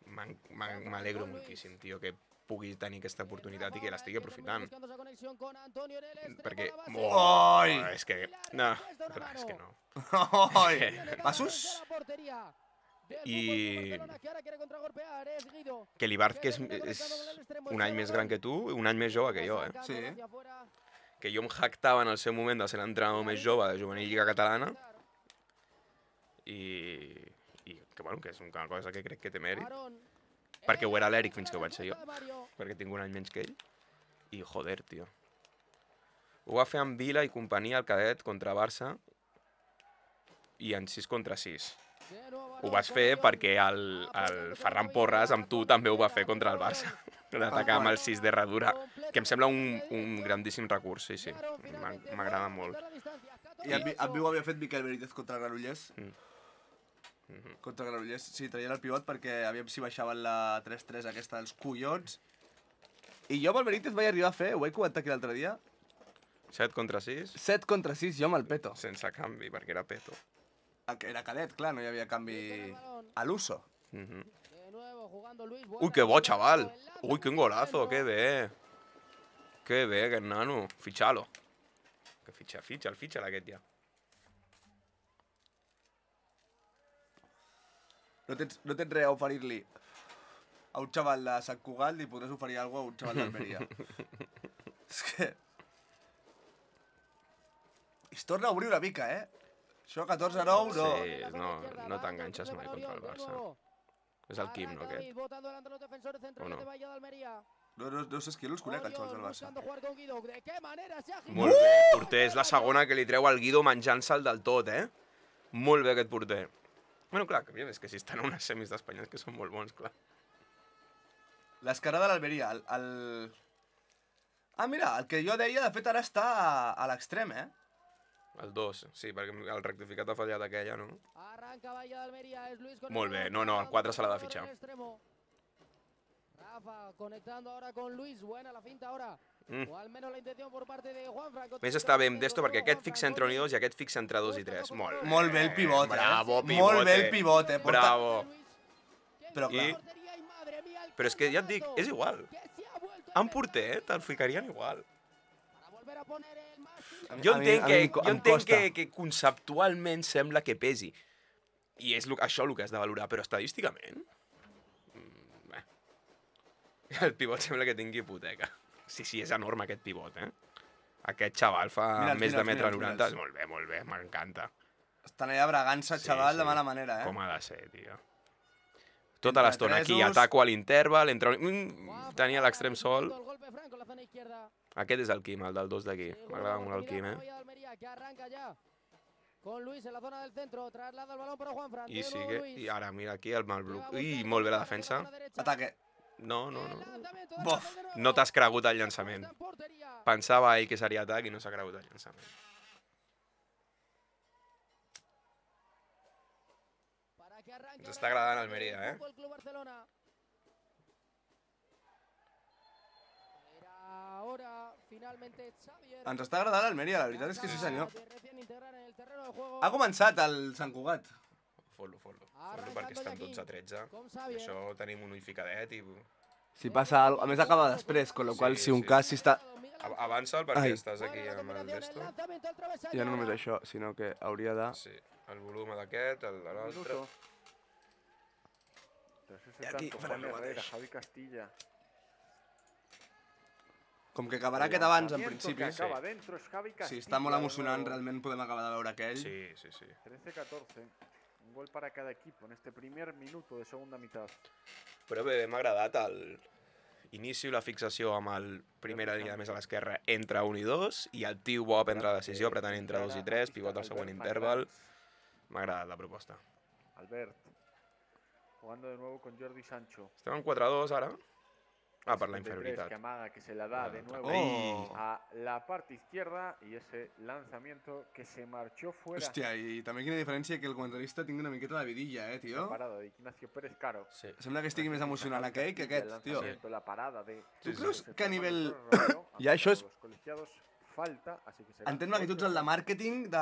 Speaker 2: M'alegro moltíssim, tio, que pugui tenir aquesta oportunitat i que l'estigui aprofitant. Perquè...
Speaker 1: Oi!
Speaker 2: És que... No, és que no.
Speaker 1: Oi! Passos?
Speaker 2: I... Que l'Ibarz, que és un any més gran que tu, un any més jove que jo,
Speaker 1: Sí.
Speaker 2: Que jo em jactava en el seu moment de ser l'entrenador més jove de Juvenil Lliga Catalana i que, bueno, que és una cosa que crec que té mèrit, perquè ho era l'Eric fins que ho vaig ser jo, perquè tinc un any menys que ell, i joder, tio. Ho va fer amb Vila i companyia al cadet contra Barça i en 6 contra 6. Ho vas fer perquè el Ferran Porres amb tu també ho va fer contra el Barça, d'atacar amb el 6 de Herradura, que em sembla un grandíssim recurs, sí, m'agrada molt.
Speaker 1: I el Viu havia fet Miquel Benítez contra el Granollers? Contra Granollers, sí, traien el pivot perquè aviam si baixaven la 3-3 aquesta dels collons. I jo amb el Benítez vaig arribar a fer, ho vaig comentar aquí l'altre dia.
Speaker 2: 7 contra 6.
Speaker 1: 7 contra 6, jo amb el Peto.
Speaker 2: Sense canvi, perquè era Peto.
Speaker 1: Era cadet, clar, no hi havia canvi a l'uso.
Speaker 2: Ui, que bo, xaval. Ui, quin golazo, que bé. Que bé, aquest nano. Fitxalo. Que fitxa'l aquest ja.
Speaker 1: No tens res a oferir-li a un xaval de Sant Cugat, li podràs oferir alguna cosa a un xaval d'Almeria. És que... I es torna a obrir una mica, eh? Això 14-9, no.
Speaker 2: Sí, no t'enganxes mai contra el Barça. És el Quim, no, aquest? O no?
Speaker 1: No sé qui els conec, els xavals del Barça.
Speaker 2: Molt bé, porter. És la segona que li treu al Guido menjant-se'l del tot, eh? Molt bé aquest porter. Bueno, clar, és que si estan a unes semis d'Espanya és que són molt bons, clar.
Speaker 1: L'esquerra de l'Almeria, Ah, mira, el que jo deia, de fet, ara està a l'extrem, eh?
Speaker 2: El 2, sí, perquè el rectificat ha fallat aquella, no? Molt bé, no, el 4 se l'ha de fitxar.
Speaker 4: Rafa conectando ahora con Luis, buena la finta ahora. O al menos la intención por parte de Juanfran.
Speaker 2: Més està bé amb d'esto perquè aquest fixa entre 1 i 2 i aquest fixa entre 2 i 3.
Speaker 1: Molt bé el pivot, eh?
Speaker 2: Bravo, pivote.
Speaker 1: Molt bé el pivot, eh?
Speaker 2: Bravo.
Speaker 1: Però clar...
Speaker 2: Però és que ja et dic, és igual. En porter, te'l ficarien igual. Jo entenc que conceptualment sembla que pesi. I és això el que has de valorar, però estadísticament... El pivot sembla que tingui hipoteca. Sí, és enorme aquest pivot, eh? Aquest xaval fa més de 1,90 m. Molt bé, m'encanta.
Speaker 1: Estan allà bregant-se, xaval, de mala manera, eh?
Speaker 2: Com ha de ser, tio. Tota l'estona aquí, ataco a l'interval, tenia l'extrem sol. Aquest és el Quim, el del 2 d'aquí. M'agrada molt el Quim, eh? I sigue, i ara mira aquí el Malbrook. Ui, molt bé la defensa.
Speaker 1: Ataque.
Speaker 2: No.
Speaker 1: Bof.
Speaker 2: No t'has cregut el llançament. Pensava ell que seria atac i no s'ha cregut el llançament. Ens està agradant Almeria, eh?
Speaker 1: Ens està agradant l'Almeria, la veritat és que sí, senyor. Ha començat el Sant Cugat.
Speaker 2: Fot-lo, perquè estan 12-13. Això tenim un ull ficadet i...
Speaker 1: Si passa alguna cosa... A més acaba després, con lo qual si un cas si està...
Speaker 2: Avança'l perquè estàs aquí amb el d'esto.
Speaker 1: Ja no només això, sinó que hauria de...
Speaker 2: Sí, el volum d'aquest, el de l'altre...
Speaker 1: I aquí farem el mateix.
Speaker 3: Javi Castilla.
Speaker 1: Com que acabarà aquest abans, en principi.
Speaker 3: Si
Speaker 1: està molt emocionant, realment podem acabar de veure aquell.
Speaker 2: Sí.
Speaker 3: 13-14. Un gol para cada equipo en este primer minuto de segunda mitad.
Speaker 2: Però bé, m'ha agradat l'inici i la fixació amb el primera línia més a l'esquerra entre 1 i 2 i el tio bo a prendre la decisió apretant entre 2 i 3, pivot al següent interval. M'ha agradat la proposta.
Speaker 3: Albert, jugando de nuevo con Jordi Sancho.
Speaker 2: Estem en 4-2 ara. Ah, per la inferioritat.
Speaker 3: Que amaga, que se la da de nuevo a la parte izquierda y ese lanzamiento que se marchó fuera.
Speaker 1: Hòstia, i també quina diferència que el comentarista tingui una miqueta de vidilla, tio.
Speaker 3: La parada de Ignacio Pérez Caro.
Speaker 2: Sí.
Speaker 1: Sembla que estigui més emocionant aquell que aquest, tio.
Speaker 3: La parada de...
Speaker 1: Tu creus que a nivell... Ja això és... Entén magnituds el de màrqueting de...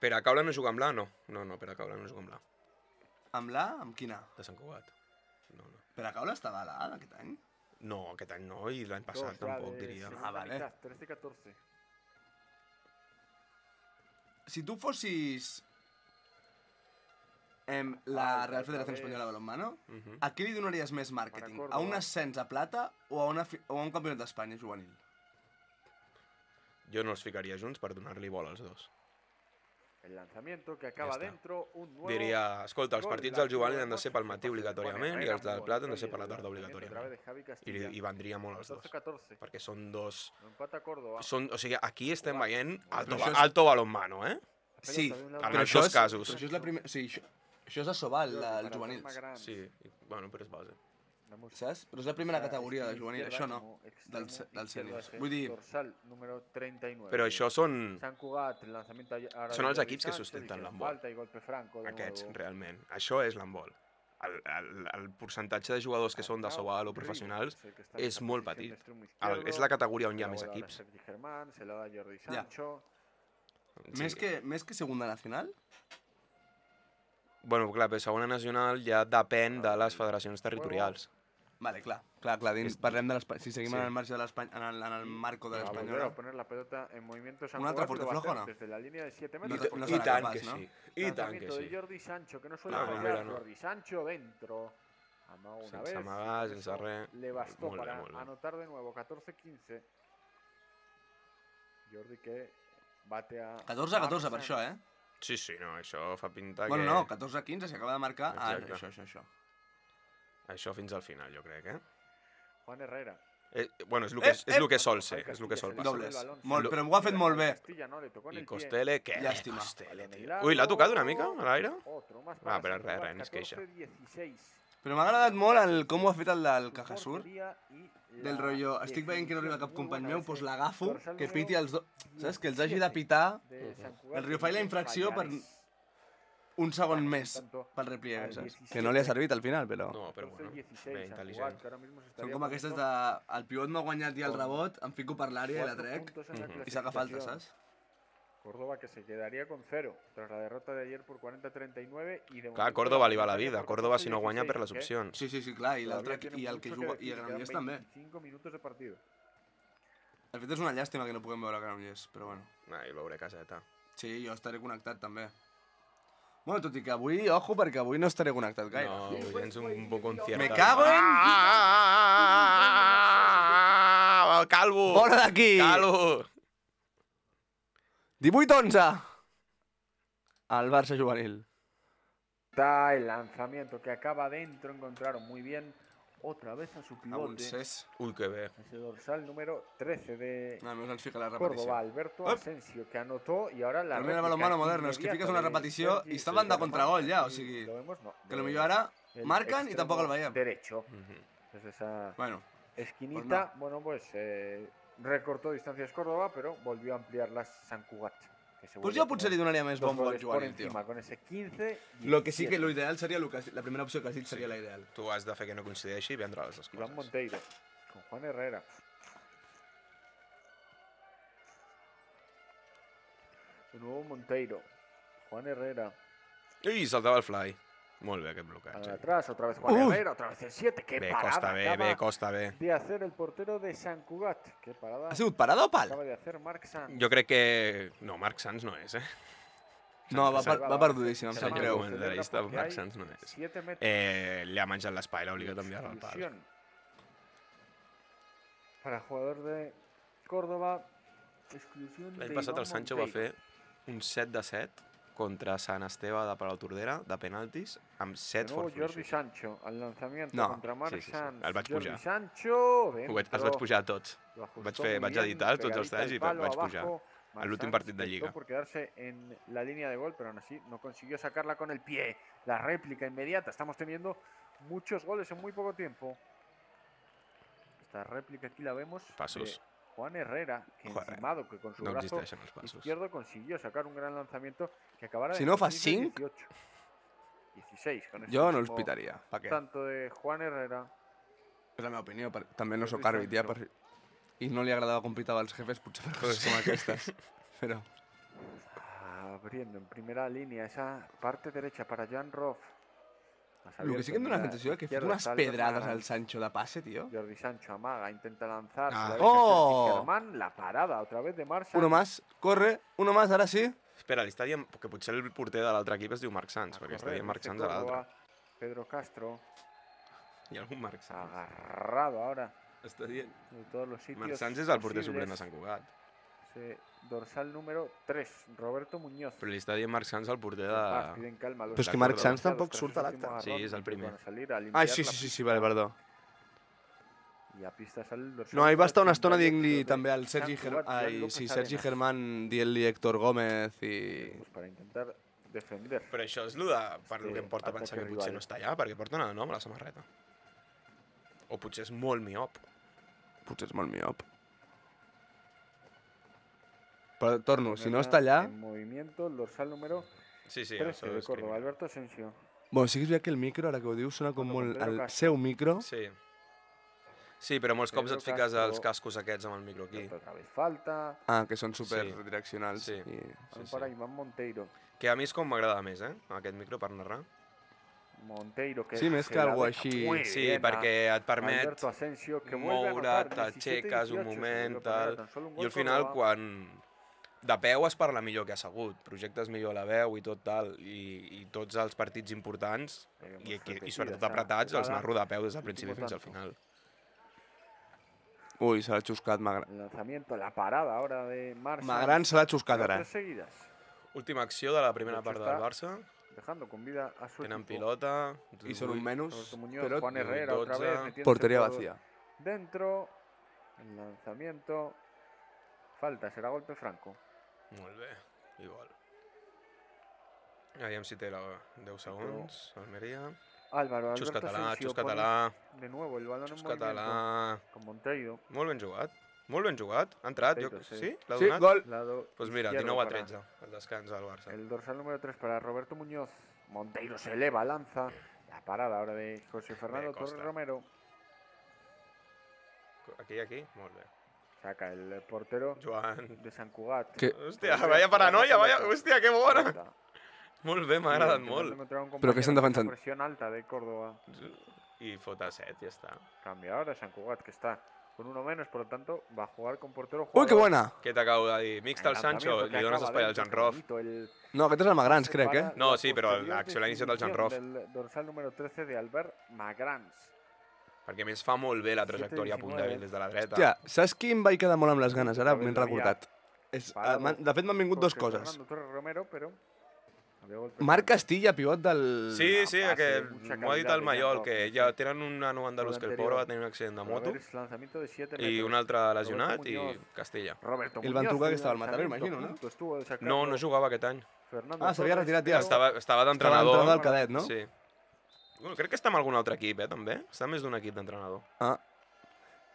Speaker 2: Peracaula no juga amb la? No, Peracaula no juga amb la.
Speaker 1: Amb la? Amb quina?
Speaker 2: De Sant Cugat. No.
Speaker 1: Peracaula estava a la aquest any?
Speaker 2: No, aquest any no, i l'any passat tampoc, diria.
Speaker 1: Ah, vale.
Speaker 3: 13-14.
Speaker 1: Si tu fossis la Real Federación Española de Balonmano, a qui li donaries més màrqueting? A un ascens a plata o a un campionat d'Espanya juvenil?
Speaker 2: Jo no els ficaria junts per donar-li bola als dos.
Speaker 3: El lanzamiento que acaba dentro, un nuevo...
Speaker 2: Diria, escolta, els partits del juvenil han de ser pel matí obligatòriament i els del Plat han de ser per la tarda obligatòriament. I vendria molt els dos, perquè són dos... O sigui, aquí estem veient alto balonmano, eh?
Speaker 1: Sí,
Speaker 2: en els dos casos.
Speaker 1: Però això és la primera... Sí, això és a Sobal, el juvenil.
Speaker 2: Sí, bueno, però és base.
Speaker 1: saps? Però és la primera categoria de juvenil, això no, del sènior. Vull dir...
Speaker 2: Però això són els equips que sustenten l'handbol. Aquests, realment. Això és l'handbol. El percentatge de jugadors que són de Sobal o professionals és molt petit. És la categoria on hi ha més equips.
Speaker 1: Ja. Més que segunda nacional?
Speaker 2: Bueno, clar, però segona nacional ja depèn de les federacions territorials.
Speaker 1: Vale, clar. Parlem de l'Espanyol. Si seguim en el marge de l'Espanyol, en el marco de l'Espanyol.
Speaker 3: Un
Speaker 1: altre fuerte flojo, no?
Speaker 2: I tant que sí. I tant que sí.
Speaker 3: Jordi Sancho, que no suele fallar. Jordi Sancho dentro.
Speaker 2: Sense amagar, sense res.
Speaker 3: Le bastó para anotar de nuevo 14-15. Jordi que bate a...
Speaker 1: 14-14 per això, eh?
Speaker 2: Sí, no, això fa pinta que...
Speaker 1: Bueno, no, 14-15 s'acaba de marcar... Això.
Speaker 2: Això fins al final, jo crec, eh?
Speaker 3: Juan Herrera.
Speaker 2: Bueno, és el que sol ser, és el que sol passar.
Speaker 1: Dobles. Però ho ha fet molt bé.
Speaker 2: I Costele, què?
Speaker 1: Llàstima.
Speaker 2: Ui, l'ha tocat una mica a l'aire? Però res, ni es queixa.
Speaker 1: Però m'ha agradat molt com ho ha fet el del Cajasur. Del rotllo, estic veient que no arriba cap company meu, doncs l'agafo, que piti els dos... Saps? Que els hagi de pitar el Rio Fai la infracció per un segon més pel repliegue, saps? Que no li ha servit al final, però...
Speaker 2: No, però bueno, bé, intel·ligent.
Speaker 1: Són com aquestes de... El pivot no ha guanyat ja el rebot, em fico per l'àrea i la trec, i saca falta, saps?
Speaker 3: Córdoba que se quedaría con 0 tras la derrota de ayer por 40-39 y de
Speaker 2: Clar, Córdoba li va la vida. Córdoba si no guanya per les opcions.
Speaker 1: Sí, clar, i l'altre i el que juga i el Granollers també.
Speaker 3: 25 minutos de partido.
Speaker 1: De fet és una llàstima que no puguem veure Granollers, però bueno.
Speaker 2: I veuré caseta.
Speaker 1: Sí, jo estaré connectat també. Bueno, tot i que avui, ojo, perquè avui no estaré connectat gaire.
Speaker 2: No, avui tens un poc concierto.
Speaker 1: Me cago en...
Speaker 2: Calvo!
Speaker 1: Fora d'aquí!
Speaker 2: Calvo!
Speaker 1: 18-11 al Barça juvenil.
Speaker 3: Está el lanzamiento que acaba dentro, encontraron muy bien otra vez a su pivote.
Speaker 2: Uy, qué bé.
Speaker 3: Ese dorsal número 13 de
Speaker 1: la
Speaker 3: Córdoba, Alberto Asensio, que anotó y ahora la
Speaker 1: réplica. Balonmano moderno, és que fiques una repetició i estaven de contragol ja, o sigui, que potser ara marquen i tampoc el veiem.
Speaker 3: Derecho. Desde esa esquinita, bueno, pues recortó distancias Córdoba, pero volvió a ampliarlas Sant Cugat.
Speaker 1: Pues jo potser li donaria més bombo al juvenil, tio.
Speaker 3: Con ese 15.
Speaker 1: Lo que sí que lo ideal seria, la primera opció que has dit seria la ideal.
Speaker 2: Tu has de fer que no coincideixi i vendre les dues coses.
Speaker 3: Iván Monteiro, con Juan Herrera. De nuevo Monteiro, Juan Herrera.
Speaker 2: I saltava el fly. Molt bé, aquest blocatge.
Speaker 3: Atrás, otra vez Juan Herrera, otra vez el 7. ¡Qué parada!
Speaker 2: Costa bé.
Speaker 3: De hacer el portero de Sant Cugat. ¿Qué parada?
Speaker 1: ¿Ha sigut parada o pal?
Speaker 3: Acaba de hacer Marc Sanz.
Speaker 2: Jo crec que... No, Marc Sanz no és,
Speaker 1: No, va perdudíssim, em sap greu.
Speaker 2: Marc Sanz no és. Li ha menjat l'espai, l'ha obligat a enviar al pal.
Speaker 3: Para jugador de Córdoba, exclusión de
Speaker 2: L'any passat el Sancho va fer un 7 de 7 contra Sant Esteve de Palau Tordera, de penaltis, amb 7 forfluixos.
Speaker 3: Jordi Sancho, al lanzamiento contra Marc Sanz.
Speaker 2: El vaig pujar.
Speaker 3: Jordi Sancho,
Speaker 2: els vaig pujar tots. Vaig editar tots els talls i vaig pujar. A l'últim partit de Lliga.
Speaker 3: Por quedarse en la línea de gol, pero aún así no consiguió sacarla con el pie. La réplica inmediata. Estamos teniendo muchos goles en muy poco tiempo. Esta réplica aquí la vemos.
Speaker 2: Pasos.
Speaker 3: Juan Herrera, que encimado, que con su brazo izquierdo consiguió sacar un gran lanzamiento que acabara
Speaker 1: si no fa 5,
Speaker 3: 16.
Speaker 1: Jo no els pitaria.
Speaker 3: Tanto de Juan Herrera.
Speaker 1: És la meva opinió, també no sóc àrbit ja, i no li agradava com pitava els jefes, potser per coses com aquestes. Però...
Speaker 3: Abriendo en primera línea esa parte derecha para Jan Roff.
Speaker 1: Lo que sí que em dona la sensació que ha fet unes pedrades al Sancho de passe, tío.
Speaker 3: Jordi Sancho amaga, intenta lanzar.
Speaker 1: ¡Oh!
Speaker 3: Germán, la parada otra vez de Marc Sanz.
Speaker 1: Uno más, corre, uno más, ara sí.
Speaker 2: Espera, li està dient que potser el porter de l'altre equip es diu Marc Sanz, perquè està dient Marc Sanz a l'altre.
Speaker 3: Pedro Castro.
Speaker 2: Hi ha algun Marc Sanz?
Speaker 3: Agarrado ahora.
Speaker 2: Està dient.
Speaker 3: De todos los sitios.
Speaker 2: Marc Sanz és el porter suplent de Sant Cugat.
Speaker 3: Dorsal número 3, Roberto Muñoz.
Speaker 2: Però li està dient Marc Sanz al porter de...
Speaker 1: Però és que Marc Sanz tampoc surt a l'acte.
Speaker 2: Sí, és el primer.
Speaker 1: Ah, sí, vale, perdó.
Speaker 3: I a pista sale el dorsal.
Speaker 1: No, ahí va estar una estona dient-li també al Sergi Germán, dient-li Héctor Gómez i...
Speaker 3: Per intentar defender.
Speaker 2: Però això és el que em porta a pensar que potser no està allà, perquè porta un nom a la samarreta. O potser és molt miop.
Speaker 1: Potser és molt miop. Però torno, si no està allà...
Speaker 3: En movimiento, el dorsal número
Speaker 2: Sí,
Speaker 3: 13 de Córdoba, Alberto Asensio.
Speaker 1: Bueno, sí que és veritat que el micro, ara que ho dius, sona com molt... El seu micro...
Speaker 2: Sí. Sí, però molts cops et fiques els cascos aquests amb el micro aquí.
Speaker 3: Otra vez falta.
Speaker 1: Ah, que són superdireccionals.
Speaker 2: Sí.
Speaker 3: Para Iván Monteiro.
Speaker 2: Que a mi és com m'agrada més, aquest micro per narrar.
Speaker 3: Monteiro, que
Speaker 1: sí, més que algo així...
Speaker 2: Sí, perquè et permet moure't, t'aixeques un moment, tal... I al final, quan de peu es parla millor que assegut, projectes millor la veu i tot tal, i tots els partits importants, i sobretot apretats, els narro de peu des del principi fins al final.
Speaker 1: Ui, se l'ha xuscat Magran.
Speaker 3: El lanzamiento, la parada ahora de Marsa.
Speaker 1: Magran se l'ha xuscat ara.
Speaker 2: Última acció de la primera part del Barça.
Speaker 3: Dejando con vida a su
Speaker 2: Tenen pilota.
Speaker 1: I són un menys,
Speaker 3: però Juan Herrera otra vez
Speaker 1: porteria vacía.
Speaker 3: Dentro, el lanzamiento, falta, serà golpe franco.
Speaker 2: Molt bé, igual. Aviam si té 10 segons, Almeria.
Speaker 3: Álvaro,
Speaker 2: xus català.
Speaker 3: De nuevo el balón en
Speaker 2: movimiento.
Speaker 3: Con Monteiro.
Speaker 2: Molt ben jugat. Ha entrat, sí? L'ha donat?
Speaker 1: Sí, gol.
Speaker 2: Pues mira, 19-13, el descans del Barça.
Speaker 3: El dorsal número 3 para Roberto Muñoz. Monteiro se eleva, lanza. La parada ahora de José Fernando Torres Romero.
Speaker 2: Aquí, molt bé.
Speaker 3: Saca el portero
Speaker 2: Joan
Speaker 3: de Sant Cugat.
Speaker 2: Hòstia, vaya paranoia, hòstia, que bona. Molt bé, m'ha agradat molt.
Speaker 1: Però que estan defensant.
Speaker 3: Presión alta de Córdoba.
Speaker 2: Y fota 7, ya está.
Speaker 3: Cambia ahora San Cugat, que está con uno menos, por lo tanto va a jugar con portero.
Speaker 1: Uy, qué buena.
Speaker 2: Què t'acabo de dir? Mixta al Sancho, li dones espai al Jan Rof.
Speaker 1: No, aquest és el Magrans, crec, eh?
Speaker 2: No, sí, però l'acció l'ha iniciat el Jan Rof.
Speaker 3: El dorsal número 13 de Albert Magrans.
Speaker 2: Perquè a més fa molt bé la trajectòria a punt dèbil des de la dreta.
Speaker 1: Hòstia, saps qui em vaig quedar molt amb les ganes? Ara m'he recordat. De fet, m'han vingut dues coses. Marc Castilla, pivot del...
Speaker 2: Sí, que m'ho ha dit el Maiol, que ja tenen un nano andalús que el pobre va tenir un accident de moto i un altre lesionat i Castilla.
Speaker 1: I el van trucar que estava al Mataró, imagino, no?
Speaker 2: No jugava aquest any.
Speaker 1: Ah, s'havia retirat ja.
Speaker 2: Estava d'entrenador.
Speaker 1: Estava del cadet, no?
Speaker 2: Sí. Bueno, crec que està amb algun altre equip, també. Està més d'un equip d'entrenador.
Speaker 1: Ah.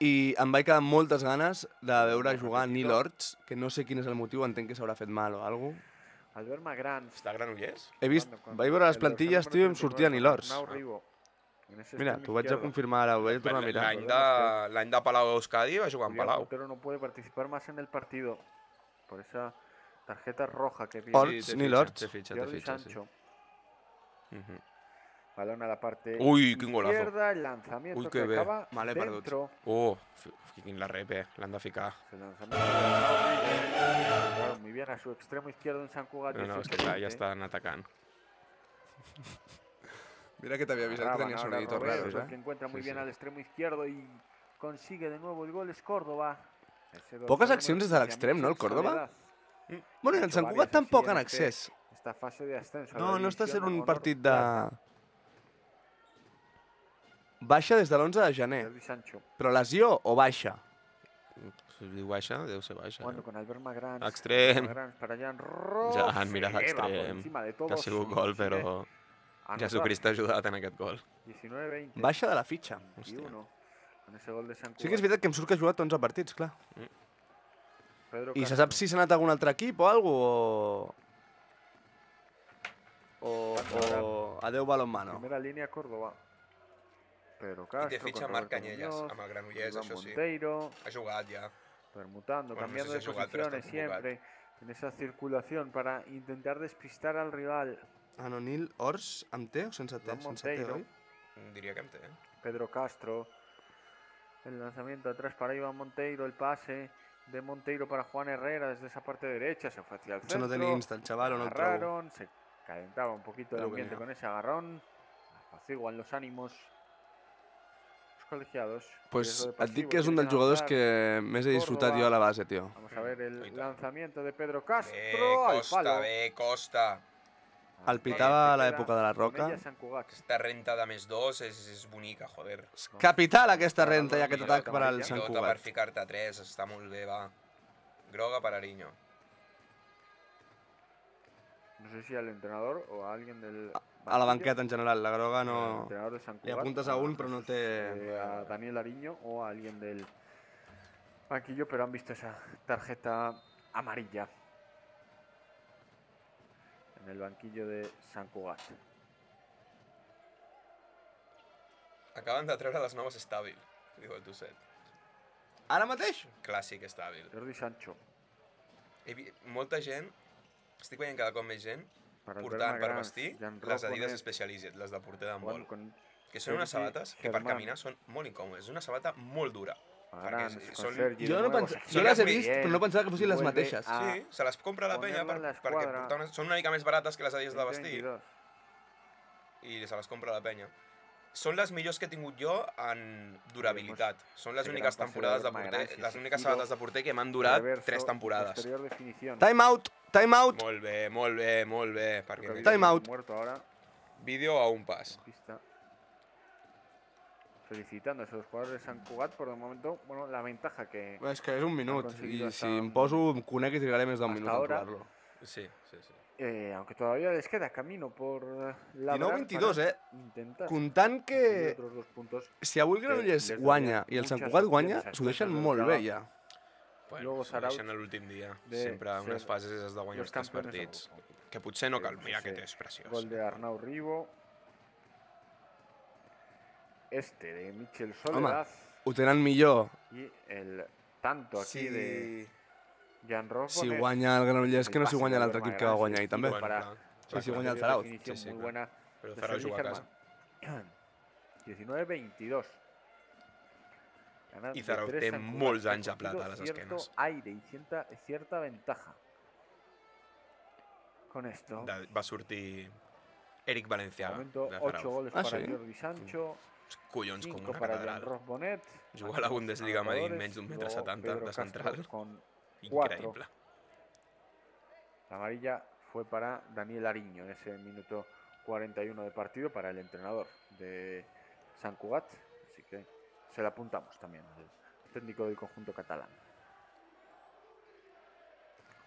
Speaker 1: I em vaig quedar amb moltes ganes de veure jugar Nil Orts, que no sé quin és el motiu, entenc que s'haurà fet mal o alguna cosa.
Speaker 3: Albert Magrans.
Speaker 2: Està a Granollers?
Speaker 1: He vist, vaig veure les plantilles, tio, i em sortia Nil Orts. Mira, t'ho vaig a confirmar ara, ho vaig a tornar a mirar.
Speaker 2: L'any de Palau Euskadi va jugar en Palau.
Speaker 3: El portero no puede participar más en el partido por esa tarjeta roja que pide.
Speaker 1: Orts, Nil Orts.
Speaker 3: Jordi Sancho. Balón a la parte
Speaker 2: quin golazo.
Speaker 3: izquierda, el lanzamiento que acaba dentro.
Speaker 2: Quin la rep, l'han de ficar.
Speaker 3: Muy bien a su extremo izquierdo en San Cugat.
Speaker 2: No, és que clar, ja estan atacant.
Speaker 1: Mira que t'havia avisat que tenia sonaditos raros,
Speaker 3: que encuentra muy bien al extremo izquierdo y consigue de nuevo el gol es Córdoba.
Speaker 1: Poques accions des de l'extrem, no, el Córdoba? Bueno, i el Sant Cugat tampoc en accés.
Speaker 3: Esta fase de ascenso.
Speaker 1: No està sent un partit de... Baixa des de l'11 de gener. Però lesió o baixa?
Speaker 2: Si diu baixa, deu ser baixa.
Speaker 3: Bueno, con Albert Magrans.
Speaker 2: Extrem.
Speaker 3: Ja,
Speaker 2: mira l'extrem. Que ha sigut gol, però Jesucrist ha ajudat en aquest gol.
Speaker 3: 19-20.
Speaker 1: Baixa de la fitxa. Sí que és veritat que em surt que ha jugat 11 partits, clar. I se sap si s'ha anat a algun altre equip o alguna cosa? O adeu balonmano.
Speaker 3: Primera línia Córdoba. Pedro
Speaker 2: I
Speaker 3: Castro,
Speaker 2: té fitxa Marc Canyelles, amb el Granollers, això sí.
Speaker 3: Monteiro,
Speaker 2: ha jugat ja.
Speaker 3: Permutando, cambiando de posiciones siempre. En esa circulación para intentar despistar al rival.
Speaker 1: Nil Orts, amb T o sense T? Sense T, oi?
Speaker 2: Diria que amb T.
Speaker 3: Pedro Castro. El lanzamiento atrás para Iván Monteiro, el pase de Monteiro para Juan Herrera desde esa parte derecha, se fue hacia el centro.
Speaker 1: Eso no tenía insta el chaval, o no el trobo.
Speaker 3: Se calentaba un poquito el ambiente con ese agarrón. Apaciguan los ánimos colegiados.
Speaker 1: Pues et dic que és un dels jugadors que més he disfrutat jo a la base, tio.
Speaker 3: Vamos a ver el lanzamiento de Pedro Castro al palo.
Speaker 2: Costa.
Speaker 1: El pitava a l'època de la Roca.
Speaker 2: Aquesta renta de +2 és bonica, joder.
Speaker 1: Capital aquesta renta i aquest atac per al Sant Cugat.
Speaker 2: Per ficar-te 3, està molt bé, va. Groga per Ariño.
Speaker 3: No sé si al entrenador o a alguien del
Speaker 1: a la banqueta en general. La groga no...
Speaker 3: Entrenador de Sant
Speaker 1: Li
Speaker 3: Cugat,
Speaker 1: apuntes a un, però no té...
Speaker 3: a Daniel Ariño o a alguien del banquillo, pero han visto esa tarjeta amarilla en el banquillo de Sant Cugat.
Speaker 2: Acaben de treure les noves estàbil, diu el Tusset.
Speaker 1: Ara mateix?
Speaker 2: Clàssic estàbil.
Speaker 3: Jordi Sancho.
Speaker 2: Molta gent, estic veient cada cop més gent, portant per vestir les Adidas Specialized, les de porter d'handbol, que són unes sabates que per caminar són molt incòmodes. És una sabata molt dura.
Speaker 1: Jo les he vist, però no pensava que fossin les mateixes.
Speaker 2: Sí, se les compra la penya perquè són una mica més barates que les Adidas de vestir i se les compra la penya. Són les millors que he tingut jo en durabilitat. Són les úniques temporades de porter, les úniques sabates de porter que m'han durat 3 temporades.
Speaker 1: Time out! Time out!
Speaker 2: Molt bé, molt bé, molt bé.
Speaker 1: Time out.
Speaker 2: Vídeo a un pas.
Speaker 3: Felicitando a esos jugadores de Sant Cugat por el momento, bueno, la ventaja que...
Speaker 1: És que és un minut, i si em poso, em conec i trigaré més d'un minut a trobar-lo.
Speaker 2: Sí.
Speaker 3: Aunque todavía les queda camino por la
Speaker 1: 19-22, Comptant que si avui el Granollers guanya i el Sant Cugat guanya, s'ho deixen molt bé ja.
Speaker 2: Bueno, s'ho deixen a l'últim dia. Sempre en unes fases has de guanyar els 3 partits. Que potser no cal, mira aquest és preciós.
Speaker 3: Gol de Arnau Ribo. De Michel Soledad.
Speaker 1: Home, ho tenen millor.
Speaker 3: I el tanto aquí de... Jan Ross.
Speaker 1: Si guanya el Granollers, que no si guanya l'altre equip que va guanyar ahir també. Si guanya el Zarauz.
Speaker 3: Muy buena.
Speaker 2: Però el Zarauz juga a casa.
Speaker 3: 19-22.
Speaker 2: I Zarauz té molts anys a plata a les esquenes.
Speaker 3: Aire y cierta ventaja. Con esto.
Speaker 2: Va sortir Eric Valenciaga.
Speaker 3: 8 goles para Jordi Sancho.
Speaker 2: Collons, com una
Speaker 3: para
Speaker 2: catedral.
Speaker 3: Jan Ross Bonet.
Speaker 2: Jugar a la Bundesliga amb menys d'un metre 70 de central. Increíble.
Speaker 3: La amarilla fue para Daniel Ariño en ese minuto 41 de partido para el entrenador de Sant Cugat. Así que se la apuntamos también al técnico del conjunto catalán.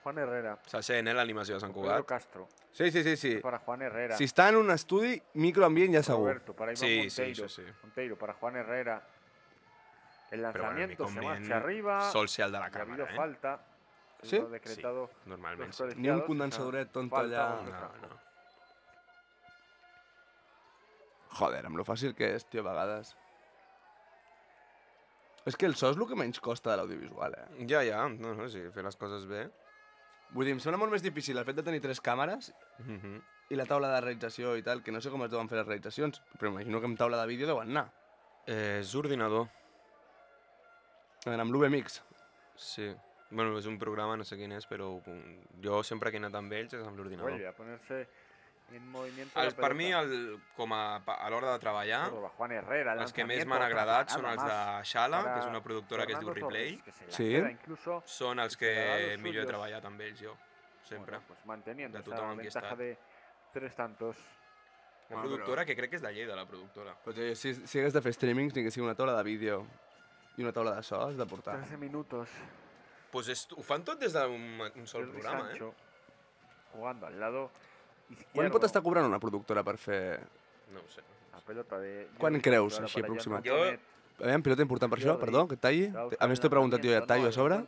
Speaker 3: Juan Herrera.
Speaker 2: Se sent, l'animació de Sant Cugat.
Speaker 3: Pedro Castro.
Speaker 1: Sí.
Speaker 3: Para Juan Herrera.
Speaker 1: Si està en un estudi, microambient ja segur.
Speaker 3: Roberto, para Iván Monteiro. Monteiro, para Juan Herrera. El lanzamiento se marcha arriba.
Speaker 2: Sol ser el de la
Speaker 3: Ha
Speaker 2: càmera,
Speaker 3: habido falta.
Speaker 1: Sí?
Speaker 3: Decretado
Speaker 2: normalment.
Speaker 1: Ni un condensadoret tonto allà.
Speaker 2: No.
Speaker 1: Joder, amb lo fàcil que és, tio, a vegades. És que el so és el que menys costa de l'audiovisual,
Speaker 2: Ja, no, sí, fer les coses bé.
Speaker 1: Vull dir, em sembla molt més difícil el fet de tenir 3 càmeres i la taula de realització i tal, que no sé com es deuen fer les realitzacions, però imagino que amb taula de vídeo deuen anar.
Speaker 2: És ordinador.
Speaker 1: Amb l'UVMix.
Speaker 2: Sí. Bueno, és un programa, no sé quin és, però jo sempre que he anat amb ells és amb l'ordinador.
Speaker 3: Vuelve a ponerse en movimiento.
Speaker 2: Per mi, a l'hora de treballar,
Speaker 3: Juan Herrera,
Speaker 2: els que més m'han agradat són els de Xala, que és una productora que es diu Replay.
Speaker 1: Sí.
Speaker 2: Són els que millor he treballat amb ells, jo. Sempre.
Speaker 3: De tothom amb qui he estat.
Speaker 2: Una productora que crec que és de Lleida, la productora.
Speaker 1: Però si hagués de fer streamings, ni que sigui una taula de vídeo i una taula de so, has de portar.
Speaker 3: 13 minutos.
Speaker 2: Pues ho fan tot des d'un sol programa,
Speaker 3: Jugando al lado izquierdo.
Speaker 1: Quan pot estar cobrant una productora per fer...
Speaker 2: No ho sé.
Speaker 3: La pelota de...
Speaker 1: Quan creus, així aproximat?
Speaker 2: Jo...
Speaker 1: Aviam, pilota important per això, perdó, que et talli. A més t'he preguntat jo i et tallo a sobre.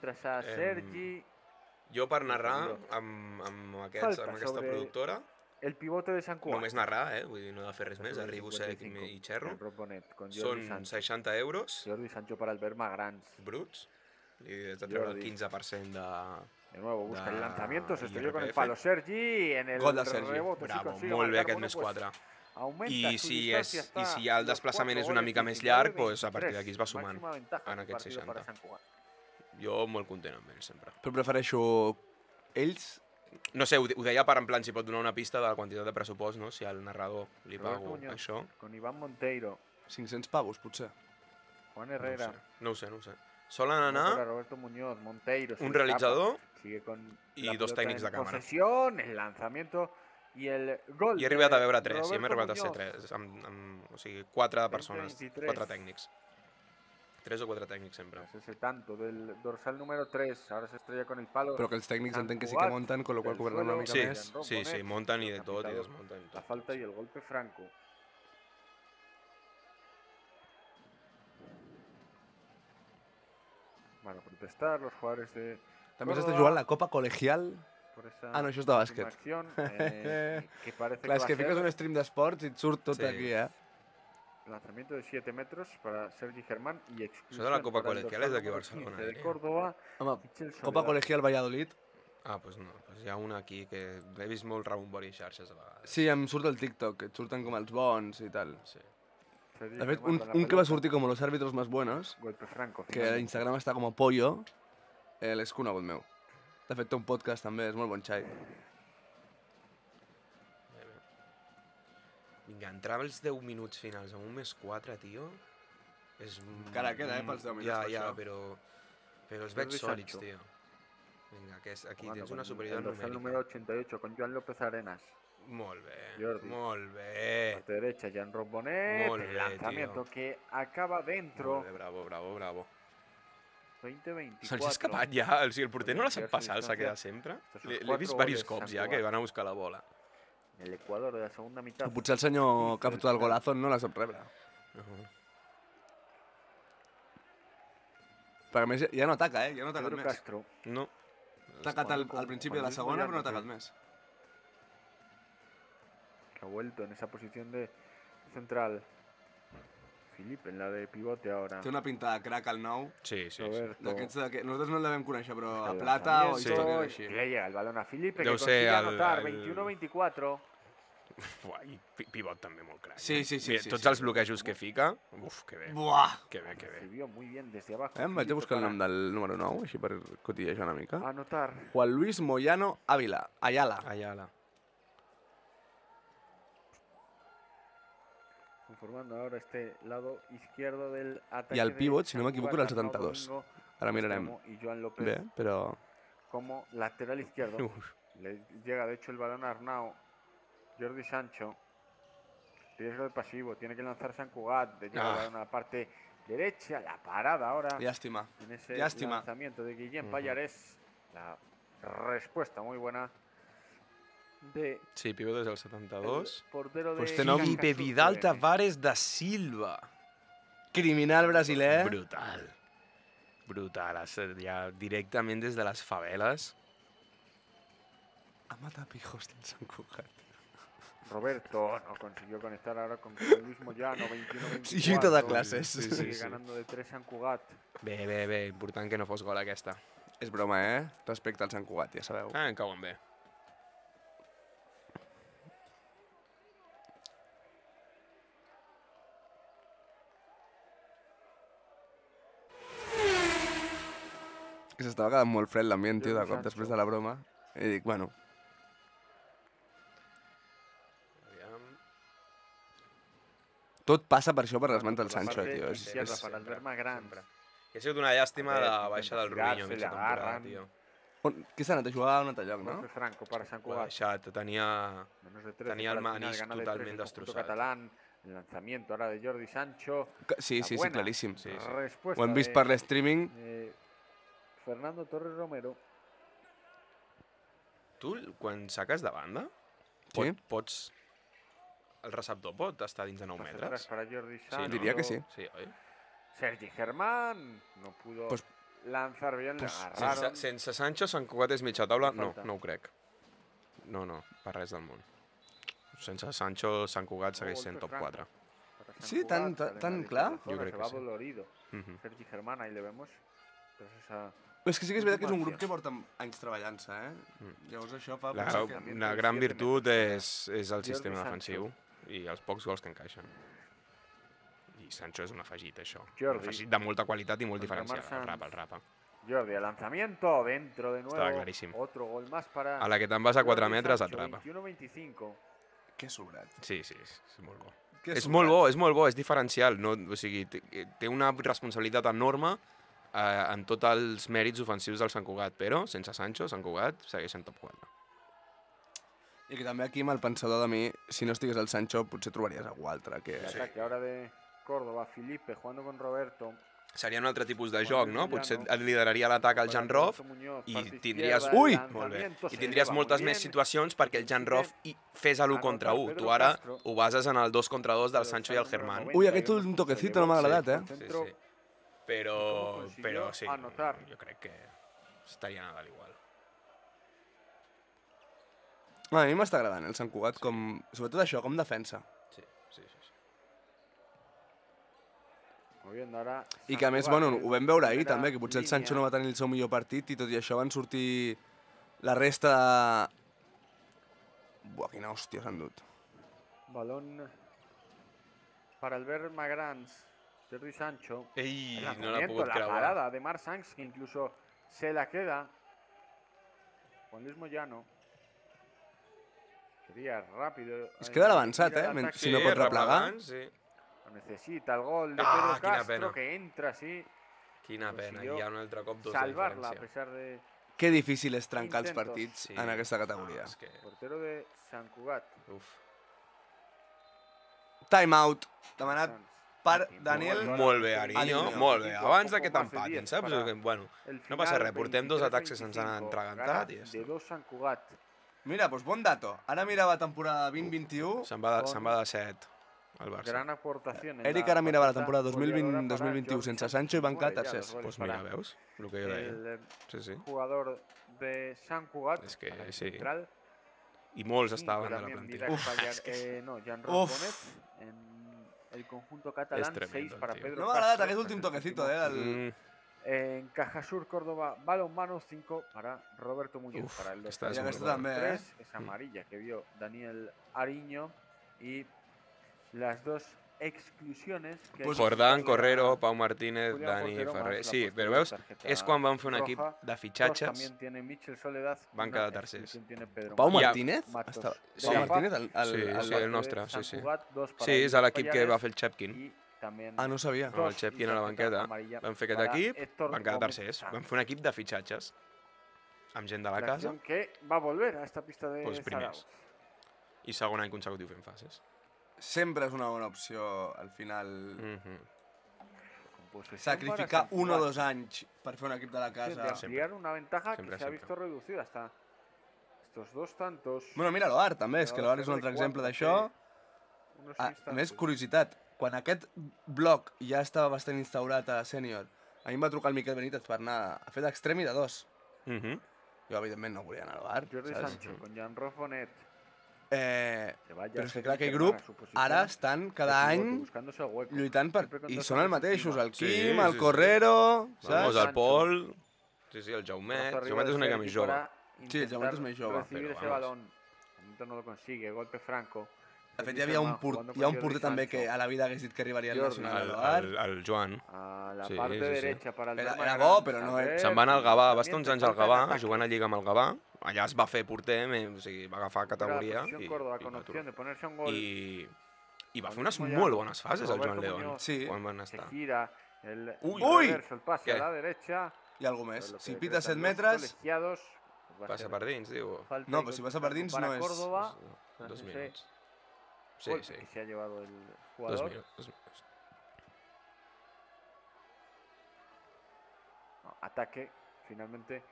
Speaker 2: Jo per narrar amb aquesta productora...
Speaker 3: El pivote de Sant Cugat.
Speaker 2: Només narrar, vull dir, no he de fer res més, arribo sec i xerro. Són 60 euros.
Speaker 3: Jordi Sancho para el Bermagrans.
Speaker 2: Bruts. I has de treure el 15%
Speaker 3: de nuevo busca el lanzamiento, se estrelló con el palo Sergi en el rebote.
Speaker 2: Bravo, molt bé aquest més 4. I si el desplaçament és una mica més llarg, a partir d'aquí es va sumant en aquest 60. Jo molt content amb ells, sempre.
Speaker 1: Però prefereixo ells...
Speaker 2: No sé, ho deia per en plan si pot donar una pista de la quantitat de pressupost, no? Si al narrador li pago això.
Speaker 3: Con Iván Monteiro.
Speaker 1: 500 pavos, potser.
Speaker 3: Juan Herrera.
Speaker 2: No ho sé. Solen anar un realitzador i 2 tècnics de càmera.
Speaker 3: El lanzamiento y el gol.
Speaker 2: I he arribat a veure 3, i hem arribat a ser 3. O sigui, 4 persones, 4 tècnics. 3 o 4 tècnics sempre.
Speaker 3: Es ese tanto del dorsal número 3. Ahora se estrella con el palo.
Speaker 1: Però que els tècnics
Speaker 3: Sant
Speaker 1: entenc que sí que
Speaker 3: Cugat,
Speaker 1: monten, con lo qual
Speaker 3: del
Speaker 1: cobraran una
Speaker 3: suelo.
Speaker 1: mica
Speaker 2: Sí,
Speaker 1: més.
Speaker 2: sí, sí, monten i de tot i
Speaker 3: Capitado,
Speaker 2: desmunten.
Speaker 3: La falta y el golpe franco. Van a protestar los jugadores de
Speaker 1: També s'està
Speaker 3: Córdoba
Speaker 1: jugant la Copa Colegial.
Speaker 3: por esa
Speaker 1: Ah, no, això és de
Speaker 3: última
Speaker 1: bàsquet.
Speaker 3: acción, que parece
Speaker 1: Clar, és
Speaker 3: va
Speaker 1: que
Speaker 3: a ser
Speaker 1: fiques un stream d'esports i et surt tot
Speaker 2: Sí.
Speaker 1: aquí, eh?
Speaker 3: lanzamiento de 7 metros para Sergi Germán y exclusión
Speaker 2: Això de la Copa
Speaker 3: para el
Speaker 2: Colegial
Speaker 3: dorsal
Speaker 2: és d'aquí a
Speaker 3: número
Speaker 2: Barcelona,
Speaker 3: 15 de
Speaker 2: diria.
Speaker 3: Córdoba.
Speaker 1: Home,
Speaker 3: Michel
Speaker 1: Copa
Speaker 3: Soledad.
Speaker 1: Colegial Valladolid.
Speaker 2: Ah, doncs no. Pues hi ha una aquí que l'he vist molt rebombori a xarxes a vegades.
Speaker 1: Sí, em surt el TikTok, que et surten com els bons i tal.
Speaker 2: Sí.
Speaker 3: Sergi
Speaker 1: De fet,
Speaker 3: Germán con la
Speaker 1: un que va
Speaker 3: pelota.
Speaker 1: sortir com los árbitros más buenos,
Speaker 3: Golpe franco.
Speaker 1: que a
Speaker 3: finalmente.
Speaker 1: Instagram està com a pollo, l'és conegut meu. De fet, té un podcast també, és molt bon xai.
Speaker 2: Vinga, entrar als 10 minuts finals amb un +4, tio, és...
Speaker 1: Encara queda, pels 10 minuts
Speaker 2: Ja,
Speaker 1: per
Speaker 2: ja,
Speaker 1: això.
Speaker 2: però els veig
Speaker 3: Jordi
Speaker 2: sòlids,
Speaker 3: Sancho.
Speaker 2: tio. Vinga, aquí
Speaker 3: Jugando
Speaker 2: tens
Speaker 3: con
Speaker 2: una superioritat
Speaker 3: el dorsal
Speaker 2: numèrica.
Speaker 3: número 88 con Joan López Arenas.
Speaker 2: Molt bé,
Speaker 3: Jordi.
Speaker 2: molt bé.
Speaker 3: Parte derecha, Jan Robonet.
Speaker 2: Molt
Speaker 3: El
Speaker 2: bé,
Speaker 3: lanzamiento
Speaker 2: tío.
Speaker 3: que acaba dentro.
Speaker 2: Molt bé, bravo, bravo, bravo.
Speaker 3: 20-24.
Speaker 2: Se'ls ha escapat ja, o sigui, el porter no la sap passar, s'ha quedat sempre.
Speaker 3: Estos son
Speaker 2: L'he
Speaker 3: 4
Speaker 2: vist diversos
Speaker 3: goles,
Speaker 2: cops
Speaker 3: Sant
Speaker 2: ja, que
Speaker 3: Cugat.
Speaker 2: van a buscar la bola.
Speaker 3: El Ecuador de la segunda mitad.
Speaker 1: Potser el senyor que ha fotut el golazo no la sap rebre. Perquè a més ja no ataca, ja no ha atacat
Speaker 3: Pedro
Speaker 1: més.
Speaker 3: Castro.
Speaker 2: No.
Speaker 1: Ha atacat al principi de la segona, però no ha atacat més.
Speaker 3: Que ha vuelto en esa posición de central. Filipe en la de pivote ahora.
Speaker 1: Té una pinta de crack al nou.
Speaker 2: Sí, sí, sí.
Speaker 3: Roberto.
Speaker 1: D'aquests que nosaltres no el devem conèixer, però a
Speaker 3: El
Speaker 1: plata o
Speaker 3: lanzamiento,
Speaker 1: història així.
Speaker 3: y le llega el balón a Filipe,
Speaker 2: Deu
Speaker 3: que
Speaker 2: ser
Speaker 3: consigue
Speaker 2: el-
Speaker 3: anotar.
Speaker 2: el-
Speaker 3: 21-24.
Speaker 2: Uah, i pivot també molt crac.
Speaker 1: Sí,
Speaker 2: eh?
Speaker 1: sí, sí,
Speaker 2: Mira,
Speaker 1: sí,
Speaker 2: tots
Speaker 1: sí.
Speaker 2: els bloquejos que fica, uf, que bé,
Speaker 1: Buah!
Speaker 2: que bé, que bé.
Speaker 3: Recibió muy bien desde abajo.
Speaker 1: Em vaig a
Speaker 3: Filipe
Speaker 1: buscar el
Speaker 3: para
Speaker 1: nom del número 9, així per cotillejar una mica.
Speaker 3: Anotar.
Speaker 1: Juan Luis Moyano Ávila, Ayala.
Speaker 2: Ayala.
Speaker 3: Conformando ahora este lado izquierdo del ataque.
Speaker 1: Y al
Speaker 3: de
Speaker 1: pivot, si no
Speaker 3: Sant
Speaker 1: m'equivoco,
Speaker 3: Cugat,
Speaker 1: era el
Speaker 3: Arnau
Speaker 1: 72.
Speaker 3: Domingo,
Speaker 1: Ara mirarem
Speaker 3: extremo, Y Joan López
Speaker 1: bé, però...
Speaker 3: como lateral izquierdo.
Speaker 2: Uf,
Speaker 3: Le llega de hecho el balón a Arnau. Jordi Sancho. Riesgo de pasivo. Tiene que lanzar San Cugat. Le llega el balón a la parte derecha. La parada ahora.
Speaker 1: Llàstima.
Speaker 3: En ese
Speaker 1: Llàstima.
Speaker 3: lanzamiento de Guillem Pallarés. La respuesta muy buena de
Speaker 2: sí, pivot és el
Speaker 3: el
Speaker 2: 72.
Speaker 3: portero
Speaker 1: Pues
Speaker 3: de
Speaker 1: té nom
Speaker 2: Filipe
Speaker 3: Cacasul
Speaker 2: Vidal
Speaker 3: FM.
Speaker 2: Tavares da Silva.
Speaker 1: Criminal brasiler.
Speaker 2: Brutal. Brutal, ja directament des de les faveles.
Speaker 1: Ha matat pijos del Sant Cugat.
Speaker 3: Roberto no consiguió conectar ahora con Luis Moyano. 21-24.
Speaker 1: Sí, lluita de classes.
Speaker 2: Sí,
Speaker 3: Sigue
Speaker 2: sí.
Speaker 3: ganando de 3 San Cugat.
Speaker 2: Bé, bé, bé, important que no fos gol aquesta.
Speaker 1: És broma, Respecte al Sant Cugat, ja sabeu.
Speaker 2: Ah, em cauen bé.
Speaker 1: Que s'estava quedant molt fred l'ambient, tio, de
Speaker 3: Jordi
Speaker 1: cop,
Speaker 3: Sancho.
Speaker 1: després de la broma. I dic, bueno,
Speaker 2: Aviam.
Speaker 1: tot passa per això, per les mans del
Speaker 3: Por la
Speaker 1: Sancho,
Speaker 3: parte
Speaker 1: tio.
Speaker 3: izquierda para
Speaker 2: sempre,
Speaker 3: Albert Magrán.
Speaker 2: sempre. I ha sigut una llàstima
Speaker 3: A ver,
Speaker 2: la baixa del
Speaker 3: intenta
Speaker 2: Rubiño a
Speaker 3: tirarse,
Speaker 2: mitja
Speaker 3: le
Speaker 2: temporada,
Speaker 3: agarran.
Speaker 2: tio.
Speaker 1: Qui s'ha anat a jugar a un altre lloc, no?
Speaker 3: Golpe franco para San
Speaker 2: Ho ha
Speaker 3: Cugat.
Speaker 2: deixat, tenia...
Speaker 3: Menos de 13
Speaker 2: Tenía el
Speaker 3: para final,
Speaker 2: Manís
Speaker 3: gana de
Speaker 2: totalmente
Speaker 3: 3 el conjunto
Speaker 2: destrozado.
Speaker 3: catalán. El lanzamiento ahora de Jordi Sancho.
Speaker 1: Sí,
Speaker 3: La
Speaker 1: sí,
Speaker 3: buena
Speaker 1: claríssim.
Speaker 2: Sí, sí.
Speaker 3: Respuesta
Speaker 1: Ho hem vist
Speaker 3: de,
Speaker 1: per l'streaming.
Speaker 3: Fernando Torres Romero.
Speaker 2: Tu, quan saques de banda,
Speaker 1: Sí.
Speaker 2: pots... El receptor pot estar dins de 9
Speaker 3: Pase atrás
Speaker 2: metres?
Speaker 3: para Jordi
Speaker 2: Sí,
Speaker 3: Sancho.
Speaker 2: no?
Speaker 1: Diria que sí.
Speaker 2: Sí, oi?
Speaker 3: Sergi Germán. No pudo
Speaker 1: Pues-
Speaker 3: lanzar bien.
Speaker 1: pues,
Speaker 3: le agarraron.
Speaker 2: Sense Sancho, Sant Cugat és mitja taula? No,
Speaker 3: Falta.
Speaker 2: no ho crec. No, per res del món. Sense Sancho, Sant Cugat segueix sent top 4.
Speaker 3: Para San
Speaker 1: Sí,
Speaker 3: Cugat,
Speaker 1: tan-
Speaker 3: sale en
Speaker 1: tan
Speaker 3: la
Speaker 1: clar?
Speaker 3: izquierda
Speaker 2: Jo
Speaker 3: zona,
Speaker 2: crec
Speaker 3: se
Speaker 2: que
Speaker 3: va
Speaker 2: sí.
Speaker 3: dolorido.
Speaker 2: Mhm.
Speaker 3: Sergi Germán, ahí le vemos. Tras esa
Speaker 1: És que sí que és veritat que és un
Speaker 3: Última
Speaker 1: grup que porta anys treballant-se, Llavors això fa...
Speaker 2: La,
Speaker 1: pensar que...
Speaker 2: una gran virtut és el
Speaker 3: Jordi
Speaker 2: sistema
Speaker 3: Sancho.
Speaker 2: defensiu i els pocs gols que encaixen. I Sancho és un afegit, això. Un
Speaker 3: Jordi.
Speaker 2: afegit de molta qualitat i molt
Speaker 3: Contra
Speaker 2: diferencial.
Speaker 3: Marc
Speaker 2: El rapa.
Speaker 3: Jordi, al lanzamiento, dentro de nuevo.
Speaker 2: Estaba claríssim.
Speaker 3: Otro gol más para
Speaker 2: A la que te'n vas a 4
Speaker 3: Jordi
Speaker 2: metres,
Speaker 3: Sancho,
Speaker 2: atrapa.
Speaker 3: 21-25.
Speaker 1: Que sobrat.
Speaker 2: Sí, és molt bo.
Speaker 1: Que
Speaker 2: És
Speaker 1: sobrat.
Speaker 2: molt bo, és molt bo, és diferencial. No, o sigui, té una responsabilitat enorme en tots els mèrits ofensius del Sant Cugat, però sense Sancho, Sant Cugat segueix en top 4.
Speaker 1: I que també aquí, amb el pensador de mi, si no estigués el Sancho, potser trobaries algú altre. Que...
Speaker 3: El ataque ahora de Córdoba, Filipe jugando con Roberto.
Speaker 2: seria un altre tipus de joc, no? Potser et lideraria l'atac al Jan Roth i tindries...
Speaker 1: Ui!
Speaker 2: Molt bé. I tindries moltes més situacions perquè el Jan Roth fes l'1 contra 1. Tu ara ho bases en el 2 contra 2 del Sancho i el Germán.
Speaker 1: Ui, aquest últim toquecito no m'ha agradat,
Speaker 2: Sí, sí. Però sí, jo crec que estarien a dalt igual.
Speaker 1: A mi m'està agradant el Sant Cugat, sobretot això, com defensa.
Speaker 2: Sí.
Speaker 1: I que a més, bueno, ho vam veure ahir també, que potser el Sancho no va tenir el seu millor partit i tot i això van sortir la resta de... Buah, quina hòstia s'han dut.
Speaker 3: Balón para Albert Magrans, Jordi Sancho.
Speaker 2: Ei,
Speaker 3: El
Speaker 2: no l'ha pogut
Speaker 3: la
Speaker 2: creuar.
Speaker 3: parada de Marc Sanz, que incluso se la queda. Juan Luis Moyano. Sería rápido.
Speaker 1: Es queda avançat, si no pot replegar.
Speaker 2: Sí.
Speaker 3: Necesita el gol de
Speaker 2: Ah,
Speaker 3: Pedro
Speaker 2: quina
Speaker 3: Castro,
Speaker 2: pena.
Speaker 3: que entra así.
Speaker 2: Quina pena,
Speaker 3: Consiguió
Speaker 2: hi ha un altre cop 2 de
Speaker 3: Salvarla a
Speaker 2: diferència.
Speaker 3: pesar de...
Speaker 1: Que difícil és trencar els
Speaker 3: Intentos.
Speaker 1: partits
Speaker 2: Sí.
Speaker 1: en aquesta categoria.
Speaker 2: És que...
Speaker 3: Portero de Sant Cugat.
Speaker 2: Uf.
Speaker 1: Time out, demanat per Daniel.
Speaker 2: Molt bé, Ariño,
Speaker 1: Ariño.
Speaker 2: molt bé. Abans de que t'empatin, saps? Bueno,
Speaker 3: El
Speaker 2: no passa
Speaker 3: final,
Speaker 2: res, portem 2 atacs que
Speaker 3: 23-25,
Speaker 2: se'ns han entregantat
Speaker 3: gana
Speaker 2: i ja
Speaker 3: de
Speaker 2: està.
Speaker 3: 2 Sant Cugat.
Speaker 1: Mira, doncs bon dato. Ara mirava temporada 2021.
Speaker 2: Se'n va de 7 al Barça.
Speaker 3: Gran aportación. en
Speaker 1: Eric
Speaker 3: la
Speaker 1: ara mirava la
Speaker 3: faceta
Speaker 1: temporada
Speaker 3: goleadora para
Speaker 1: 2020-2021
Speaker 3: Jordi
Speaker 1: sense
Speaker 3: Sánchez,
Speaker 1: Sancho i van
Speaker 3: nueve
Speaker 1: quedar
Speaker 3: ya
Speaker 1: tercers.
Speaker 3: los goles
Speaker 2: Doncs mira,
Speaker 3: para
Speaker 2: veus? El que jo deia.
Speaker 3: el
Speaker 2: Sí.
Speaker 3: jugador de Sant Cugat.
Speaker 2: És que
Speaker 3: ataque
Speaker 2: sí.
Speaker 3: central.
Speaker 2: I molts
Speaker 3: Cinco
Speaker 2: estaven de la
Speaker 3: también
Speaker 2: plantilla.
Speaker 3: Didac
Speaker 2: Uf,
Speaker 3: Fallar-
Speaker 2: és que
Speaker 3: Jan
Speaker 1: Uf.
Speaker 3: Robonet en el conjunto catalán.
Speaker 2: tremendo
Speaker 3: 6
Speaker 2: el
Speaker 3: para
Speaker 2: tío.
Speaker 3: Pedro
Speaker 1: No m'ha agradat
Speaker 3: Castro,
Speaker 1: aquest últim toquecito,
Speaker 2: Mm,
Speaker 3: En Cajasur, Córdoba, balonmano 5 para Roberto Muñoz.
Speaker 2: Uf,
Speaker 3: para el
Speaker 2: esta
Speaker 1: es muy buena.
Speaker 3: también.
Speaker 1: También,
Speaker 3: 3 es amarilla que vio Daniel Ariño y las dos exclusiones que
Speaker 1: Pues
Speaker 2: Jordán,
Speaker 3: Julián
Speaker 2: Correro, Pau Martínez,
Speaker 3: Julián
Speaker 2: Dani
Speaker 3: Portero
Speaker 2: Ferrer...
Speaker 3: más la
Speaker 2: Sí,
Speaker 3: posterior
Speaker 2: però veus,
Speaker 3: tarjeta
Speaker 2: és quan van fer un
Speaker 3: roja.
Speaker 2: equip de
Speaker 3: Dos
Speaker 2: fitxatges.
Speaker 3: también tiene Michel Soledad.
Speaker 2: Van
Speaker 3: una
Speaker 2: quedar tercers.
Speaker 3: exclusión tiene Pedro
Speaker 1: Pau
Speaker 2: I a-
Speaker 1: Martínez?
Speaker 3: Matos.
Speaker 1: Pau
Speaker 3: Sí.
Speaker 1: Martínez,
Speaker 2: Sí, el nostre, sí, sí. Sí, és l'equip que va fer el Chepkin.
Speaker 3: Y también
Speaker 1: Ah, no sabia.
Speaker 2: Amb el Chepkin a la banqueta. Van fer aquest equip, van quedar tercers. Van fer un equip de fitxatges. Amb gent de la casa
Speaker 3: que va a volver a esta pista de
Speaker 2: Pues primers.
Speaker 3: Zaragoza.
Speaker 2: i segon any consecutiu fent fases.
Speaker 1: Sempre és una bona opció, al final,
Speaker 3: Con posesión
Speaker 1: sacrificar
Speaker 3: para San
Speaker 1: 1 o
Speaker 3: Cugat.
Speaker 1: 2 anys per fer un equip de la
Speaker 3: De
Speaker 1: casa.
Speaker 3: ampliar una ventaja
Speaker 2: Siempre,
Speaker 3: que se ha
Speaker 2: siempre.
Speaker 3: visto reducida hasta estos dos tantos.
Speaker 1: Bueno, mira l'Oar, també, és que l'Oar és un altre exemple d'això.
Speaker 3: Unos
Speaker 1: A
Speaker 3: instantes.
Speaker 1: més, curiositat, quan aquest bloc ja estava bastant instaurat a sènior, a mi em va trucar el Miquel Benítez per anar a fer d'extrem i de 2. Jo, evidentment, no volia anar a l'Oar,
Speaker 3: Jordi
Speaker 1: saps?
Speaker 3: Sancho con Jan Rofonet.
Speaker 1: Però és que clar, aquell grup ara estan cada any lluitant per... I són els mateixos, el
Speaker 2: Sí,
Speaker 1: Quim,
Speaker 2: sí,
Speaker 1: el
Speaker 2: sí.
Speaker 1: Correro,
Speaker 2: Vamos,
Speaker 1: saps?
Speaker 2: el Pol... Sí, sí, el Jaumet. El Jaumet és una mica més jove.
Speaker 1: Sí, el Jaumet és més jove,
Speaker 3: Recibir
Speaker 2: però
Speaker 3: ese
Speaker 2: vamos.
Speaker 3: balón. De momento no lo consigue, golpe franco.
Speaker 1: De fet, hi havia un, hi ha un porter també que a la vida hagués dit que arribaria al
Speaker 3: Jordi.
Speaker 1: Nacional de l'Oar.
Speaker 2: El Joan.
Speaker 3: A la
Speaker 2: Sí,
Speaker 3: parte
Speaker 2: sí, sí.
Speaker 3: derecha para el
Speaker 1: Era
Speaker 3: Bergman.
Speaker 1: bo, però no és-
Speaker 2: Se'n va anar al Gavà, va estar
Speaker 3: También
Speaker 2: uns
Speaker 3: te
Speaker 2: anys al
Speaker 3: falta
Speaker 2: Gavà,
Speaker 3: el ataque.
Speaker 2: jugant a Lliga amb el Gavà. Allà es va fer porter, o sigui, va agafar categoria
Speaker 3: Posición
Speaker 2: i
Speaker 3: Córdoba
Speaker 2: va
Speaker 3: con opción de
Speaker 2: tornar.
Speaker 3: ponerse un gol.
Speaker 2: I va fer unes
Speaker 3: Mismo ya
Speaker 2: molt bones fases, el Joan
Speaker 3: Roberto
Speaker 2: León,
Speaker 3: Muñoz
Speaker 1: Sí.
Speaker 2: quan van
Speaker 3: Se
Speaker 2: estar.
Speaker 3: gira el
Speaker 1: Ui!
Speaker 3: reverso, el pase
Speaker 2: ¿Qué?
Speaker 3: a la derecha.
Speaker 1: I algú
Speaker 3: Pero
Speaker 1: més.
Speaker 3: lo que
Speaker 1: Si pita 7
Speaker 3: decretan los
Speaker 1: metres...
Speaker 3: colegiados, pues va a
Speaker 2: Passa
Speaker 3: ser
Speaker 2: per dins, diu.
Speaker 3: falta
Speaker 1: No,
Speaker 3: y
Speaker 1: però si
Speaker 3: gol
Speaker 1: passa per dins
Speaker 3: para
Speaker 1: no és...
Speaker 3: Córdoba,
Speaker 2: 2
Speaker 3: tras ese
Speaker 2: minuts. Sí,
Speaker 3: golpe
Speaker 2: sí.
Speaker 3: que se ha llevado el
Speaker 2: 2
Speaker 3: jugador.
Speaker 2: minuts.
Speaker 3: No, ataque, finalmente.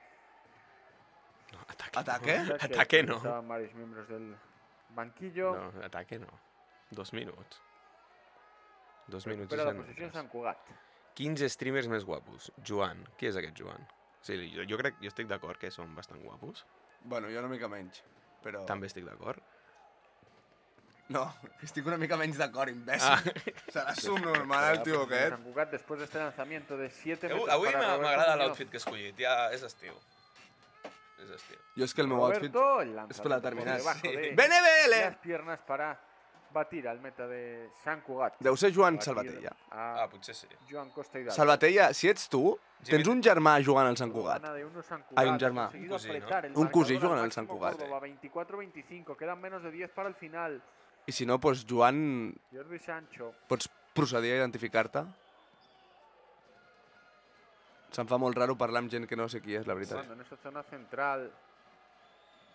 Speaker 2: No, ataque.
Speaker 1: Ataque?
Speaker 2: No. Ataque no.
Speaker 3: Estaban varios miembros del banquillo.
Speaker 2: No, ataque no. 2 minuts. 2 minuts i
Speaker 3: Recupera la
Speaker 2: 7
Speaker 3: posició
Speaker 2: metres.
Speaker 3: Sant Cugat.
Speaker 2: 15 streamers més guapos. Joan. Qui és aquest Joan? Sí, jo crec, jo estic d'acord que són bastant guapos.
Speaker 1: Bueno, jo una mica menys, però...
Speaker 2: També estic d'acord.
Speaker 1: No, estic una mica menys d'acord, imbècil. Serà subnormal, el tio aquest.
Speaker 3: Sant Cugat después de este lanzamiento de 7 metros
Speaker 2: Avui
Speaker 3: para Roberto
Speaker 2: m'agrada
Speaker 3: Muñoz.
Speaker 2: l'outfit que he escollit, ja és estiu. És estiu.
Speaker 1: Jo és que el meu outfit
Speaker 3: Roberto, el
Speaker 1: és per
Speaker 3: lanzamiento por
Speaker 1: determinar.
Speaker 3: debajo
Speaker 2: Sí.
Speaker 3: de
Speaker 1: Benevele!
Speaker 3: las piernas para batir al meta de Sant Cugat.
Speaker 1: Deu ser Joan
Speaker 3: Batir
Speaker 1: Salvatella.
Speaker 3: a
Speaker 2: Potser sí.
Speaker 3: Joan Costa Hidalgo.
Speaker 1: Salvatella, si ets tu, tens un germà jugant al Sant Cugat.
Speaker 3: Gana de uno Sant
Speaker 1: Ai, un
Speaker 3: Cugat,
Speaker 1: germà.
Speaker 3: conseguido
Speaker 2: Un cosí, no?
Speaker 3: apretar el
Speaker 1: Un cosí
Speaker 3: marcador
Speaker 1: jugant
Speaker 3: al
Speaker 1: al Sant
Speaker 3: máximo
Speaker 1: Cugat.
Speaker 3: Córdoba, 24-25, quedan menos de 10 para el final.
Speaker 1: I si no, doncs, Joan,
Speaker 3: Jordi Sancho.
Speaker 1: pots procedir a identificar-te? Se'm fa molt raro parlar amb gent que no sé qui és, la veritat.
Speaker 3: Jugando en esa zona central.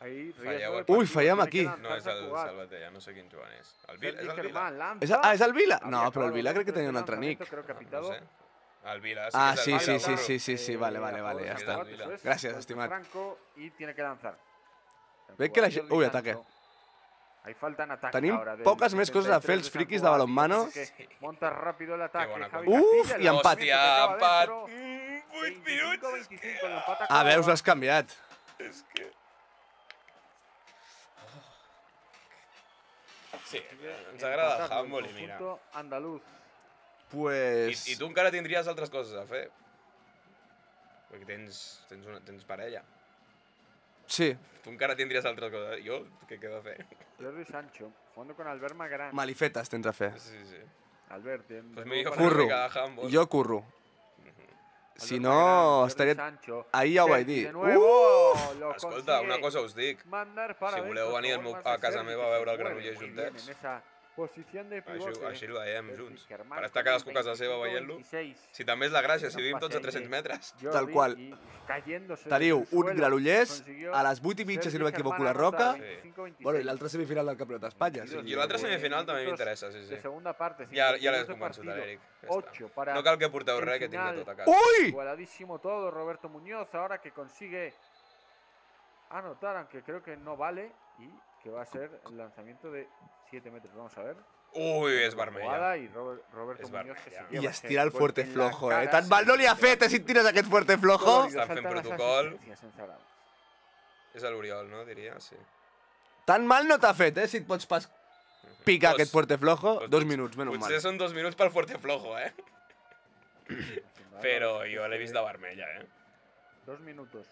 Speaker 3: Ahí,
Speaker 2: Falleu
Speaker 3: riesgo de
Speaker 2: aquí.
Speaker 1: Ui,
Speaker 3: partido,
Speaker 1: fallem
Speaker 3: tiene
Speaker 1: aquí.
Speaker 3: que lanzar
Speaker 2: No és el
Speaker 3: Sant Cugat.
Speaker 2: Salvatella, no sé quin Joan és. El Vila,
Speaker 3: Sergi
Speaker 2: és el Vila?
Speaker 3: Germán lanza.
Speaker 1: És el Vila?
Speaker 3: Había
Speaker 1: No, però el
Speaker 3: acabado
Speaker 1: Vila crec que
Speaker 3: dentro de
Speaker 1: tenia un
Speaker 3: este
Speaker 1: altre nick.
Speaker 3: lanzamiento, Creo que ha
Speaker 2: No
Speaker 3: pitado
Speaker 2: sé. El Vila.
Speaker 1: Ah,
Speaker 2: que és
Speaker 1: sí,
Speaker 2: el
Speaker 1: sí,
Speaker 2: Vila,
Speaker 1: sí,
Speaker 2: burro.
Speaker 1: sí, sí, vale,
Speaker 3: a favor de
Speaker 1: ya
Speaker 3: San
Speaker 1: está.
Speaker 3: Cugat, eso es.
Speaker 1: Gràcies,
Speaker 3: Golpe
Speaker 1: estimat.
Speaker 3: Franco y tiene que lanzar.
Speaker 1: Veig que la gent... Ui,
Speaker 3: Jordi
Speaker 1: ataque.
Speaker 3: Sancho. Hay falta en ataque
Speaker 1: Tenim
Speaker 3: ahora del
Speaker 1: poques més coses a fer
Speaker 3: 73
Speaker 1: els
Speaker 3: de
Speaker 1: friquis
Speaker 3: San
Speaker 1: de
Speaker 3: Cugat.
Speaker 1: balonmano.
Speaker 3: Dios, que monta rápido el ataque.
Speaker 2: bona
Speaker 3: Javi
Speaker 1: Uf,
Speaker 3: Castilla,
Speaker 1: i
Speaker 3: el
Speaker 1: empat.
Speaker 3: lanzamiento que
Speaker 2: Hòstia,
Speaker 3: acaba
Speaker 2: empat.
Speaker 3: dentro.
Speaker 2: 8 minuts.
Speaker 3: 25-25, el empate
Speaker 1: Ah,
Speaker 3: acaba.
Speaker 1: veus, l'has canviat.
Speaker 2: És que... Sí, ens agrada el
Speaker 3: Empatado
Speaker 2: handball i
Speaker 3: el
Speaker 2: mira.
Speaker 3: conjunto andaluz.
Speaker 1: Pues...
Speaker 2: I tu encara tindries altres coses a fer. Perquè tens parella.
Speaker 1: Sí,
Speaker 2: Tu encara tindries altres coses. Jo, què queda a fer?
Speaker 3: Jordi Sancho, jugando con Albert Magrán.
Speaker 1: malifetes tens a fer.
Speaker 2: Sí, sí.
Speaker 3: Albert, bien.
Speaker 2: Pues me dijo
Speaker 1: Curro.
Speaker 2: Fernando de handball.
Speaker 1: Jo curro. Si
Speaker 3: Albert
Speaker 1: no,
Speaker 3: Magrán, Jordi
Speaker 1: estaria...
Speaker 3: Sancho.
Speaker 1: Ahí ja ho vaig
Speaker 3: Sergi
Speaker 1: dir.
Speaker 3: de nuevo, lo
Speaker 2: Escolta,
Speaker 3: consigue
Speaker 2: una cosa us dic.
Speaker 3: mandar para
Speaker 2: Si voleu
Speaker 3: adentro,
Speaker 2: venir
Speaker 3: favor más
Speaker 2: a
Speaker 3: de
Speaker 2: casa
Speaker 3: Sergi,
Speaker 2: meva
Speaker 3: que
Speaker 2: a
Speaker 3: se
Speaker 2: veure el
Speaker 3: mueve
Speaker 2: Granollers
Speaker 3: muy bien
Speaker 2: juntets.
Speaker 3: en esa posición de pivote.
Speaker 2: Així ho veiem
Speaker 3: Sergi
Speaker 2: junts.
Speaker 3: Germán
Speaker 2: Per estar
Speaker 3: con el
Speaker 2: cadascú a casa seva veient-lo.
Speaker 3: 25-26.
Speaker 2: Si també és la gràcia, si
Speaker 3: Un
Speaker 2: vivim tots a
Speaker 3: pase ahí
Speaker 2: 300
Speaker 3: de
Speaker 2: metres.
Speaker 3: Jordi
Speaker 1: Tal qual.
Speaker 3: y cayéndose
Speaker 1: Teniu
Speaker 3: desde el
Speaker 1: un
Speaker 3: suelo,
Speaker 1: Granollers
Speaker 3: consiguió
Speaker 1: a les 8:30, si
Speaker 3: Sergi
Speaker 1: no m'equivoco,
Speaker 3: Germán
Speaker 1: la Roca.
Speaker 3: anotar
Speaker 2: Sí.
Speaker 3: 25-26.
Speaker 1: Bueno, i l'altra semifinal del Campionat d'Espanya. Sí.
Speaker 2: I l'altra semifinal també m'interessa, sí,
Speaker 3: De
Speaker 2: sí.
Speaker 3: segunda parte,
Speaker 2: Ja
Speaker 3: 52
Speaker 2: l'has
Speaker 3: de
Speaker 2: convençut,
Speaker 3: partido,
Speaker 2: l'Eric. Ja està.
Speaker 3: 8 para
Speaker 2: No cal que porteu
Speaker 3: el
Speaker 2: res, que tinc
Speaker 3: final.
Speaker 2: de tot a casa.
Speaker 1: Ui!
Speaker 3: Igualadísimo todo, Roberto Muñoz ahora que consigue anotar, aunque creo que no vale, y que va a ser el lanzamiento de 7 metros. Vamos a ver.
Speaker 2: Ui, és
Speaker 3: La
Speaker 2: vermella.
Speaker 3: jugada y Roberto
Speaker 2: Es
Speaker 3: Muñoz que se
Speaker 2: vermella.
Speaker 3: lleva
Speaker 1: I
Speaker 3: ese
Speaker 1: estira el
Speaker 3: golpe
Speaker 1: fuerte
Speaker 3: en la
Speaker 1: flojo,
Speaker 3: cara.
Speaker 1: Tan mal no li ha fet, si et tires aquest fuerte flojo.
Speaker 3: Dolorido,
Speaker 2: Estan fent
Speaker 3: saltan las
Speaker 2: protocol.
Speaker 3: asistencias en Zaragoza.
Speaker 2: És a l'Oriol, no? Diria, sí.
Speaker 1: Tan mal no t'ha fet, si et pots pas picar
Speaker 2: Dos.
Speaker 1: aquest fuerte flojo.
Speaker 2: Pues
Speaker 1: 2 minuts, menys
Speaker 2: Potser
Speaker 1: mal.
Speaker 2: són 2 minuts pel fuerte flojo, eh?
Speaker 3: Vale,
Speaker 2: Però jo l'he vist de vermella, eh?
Speaker 3: 2 minutos.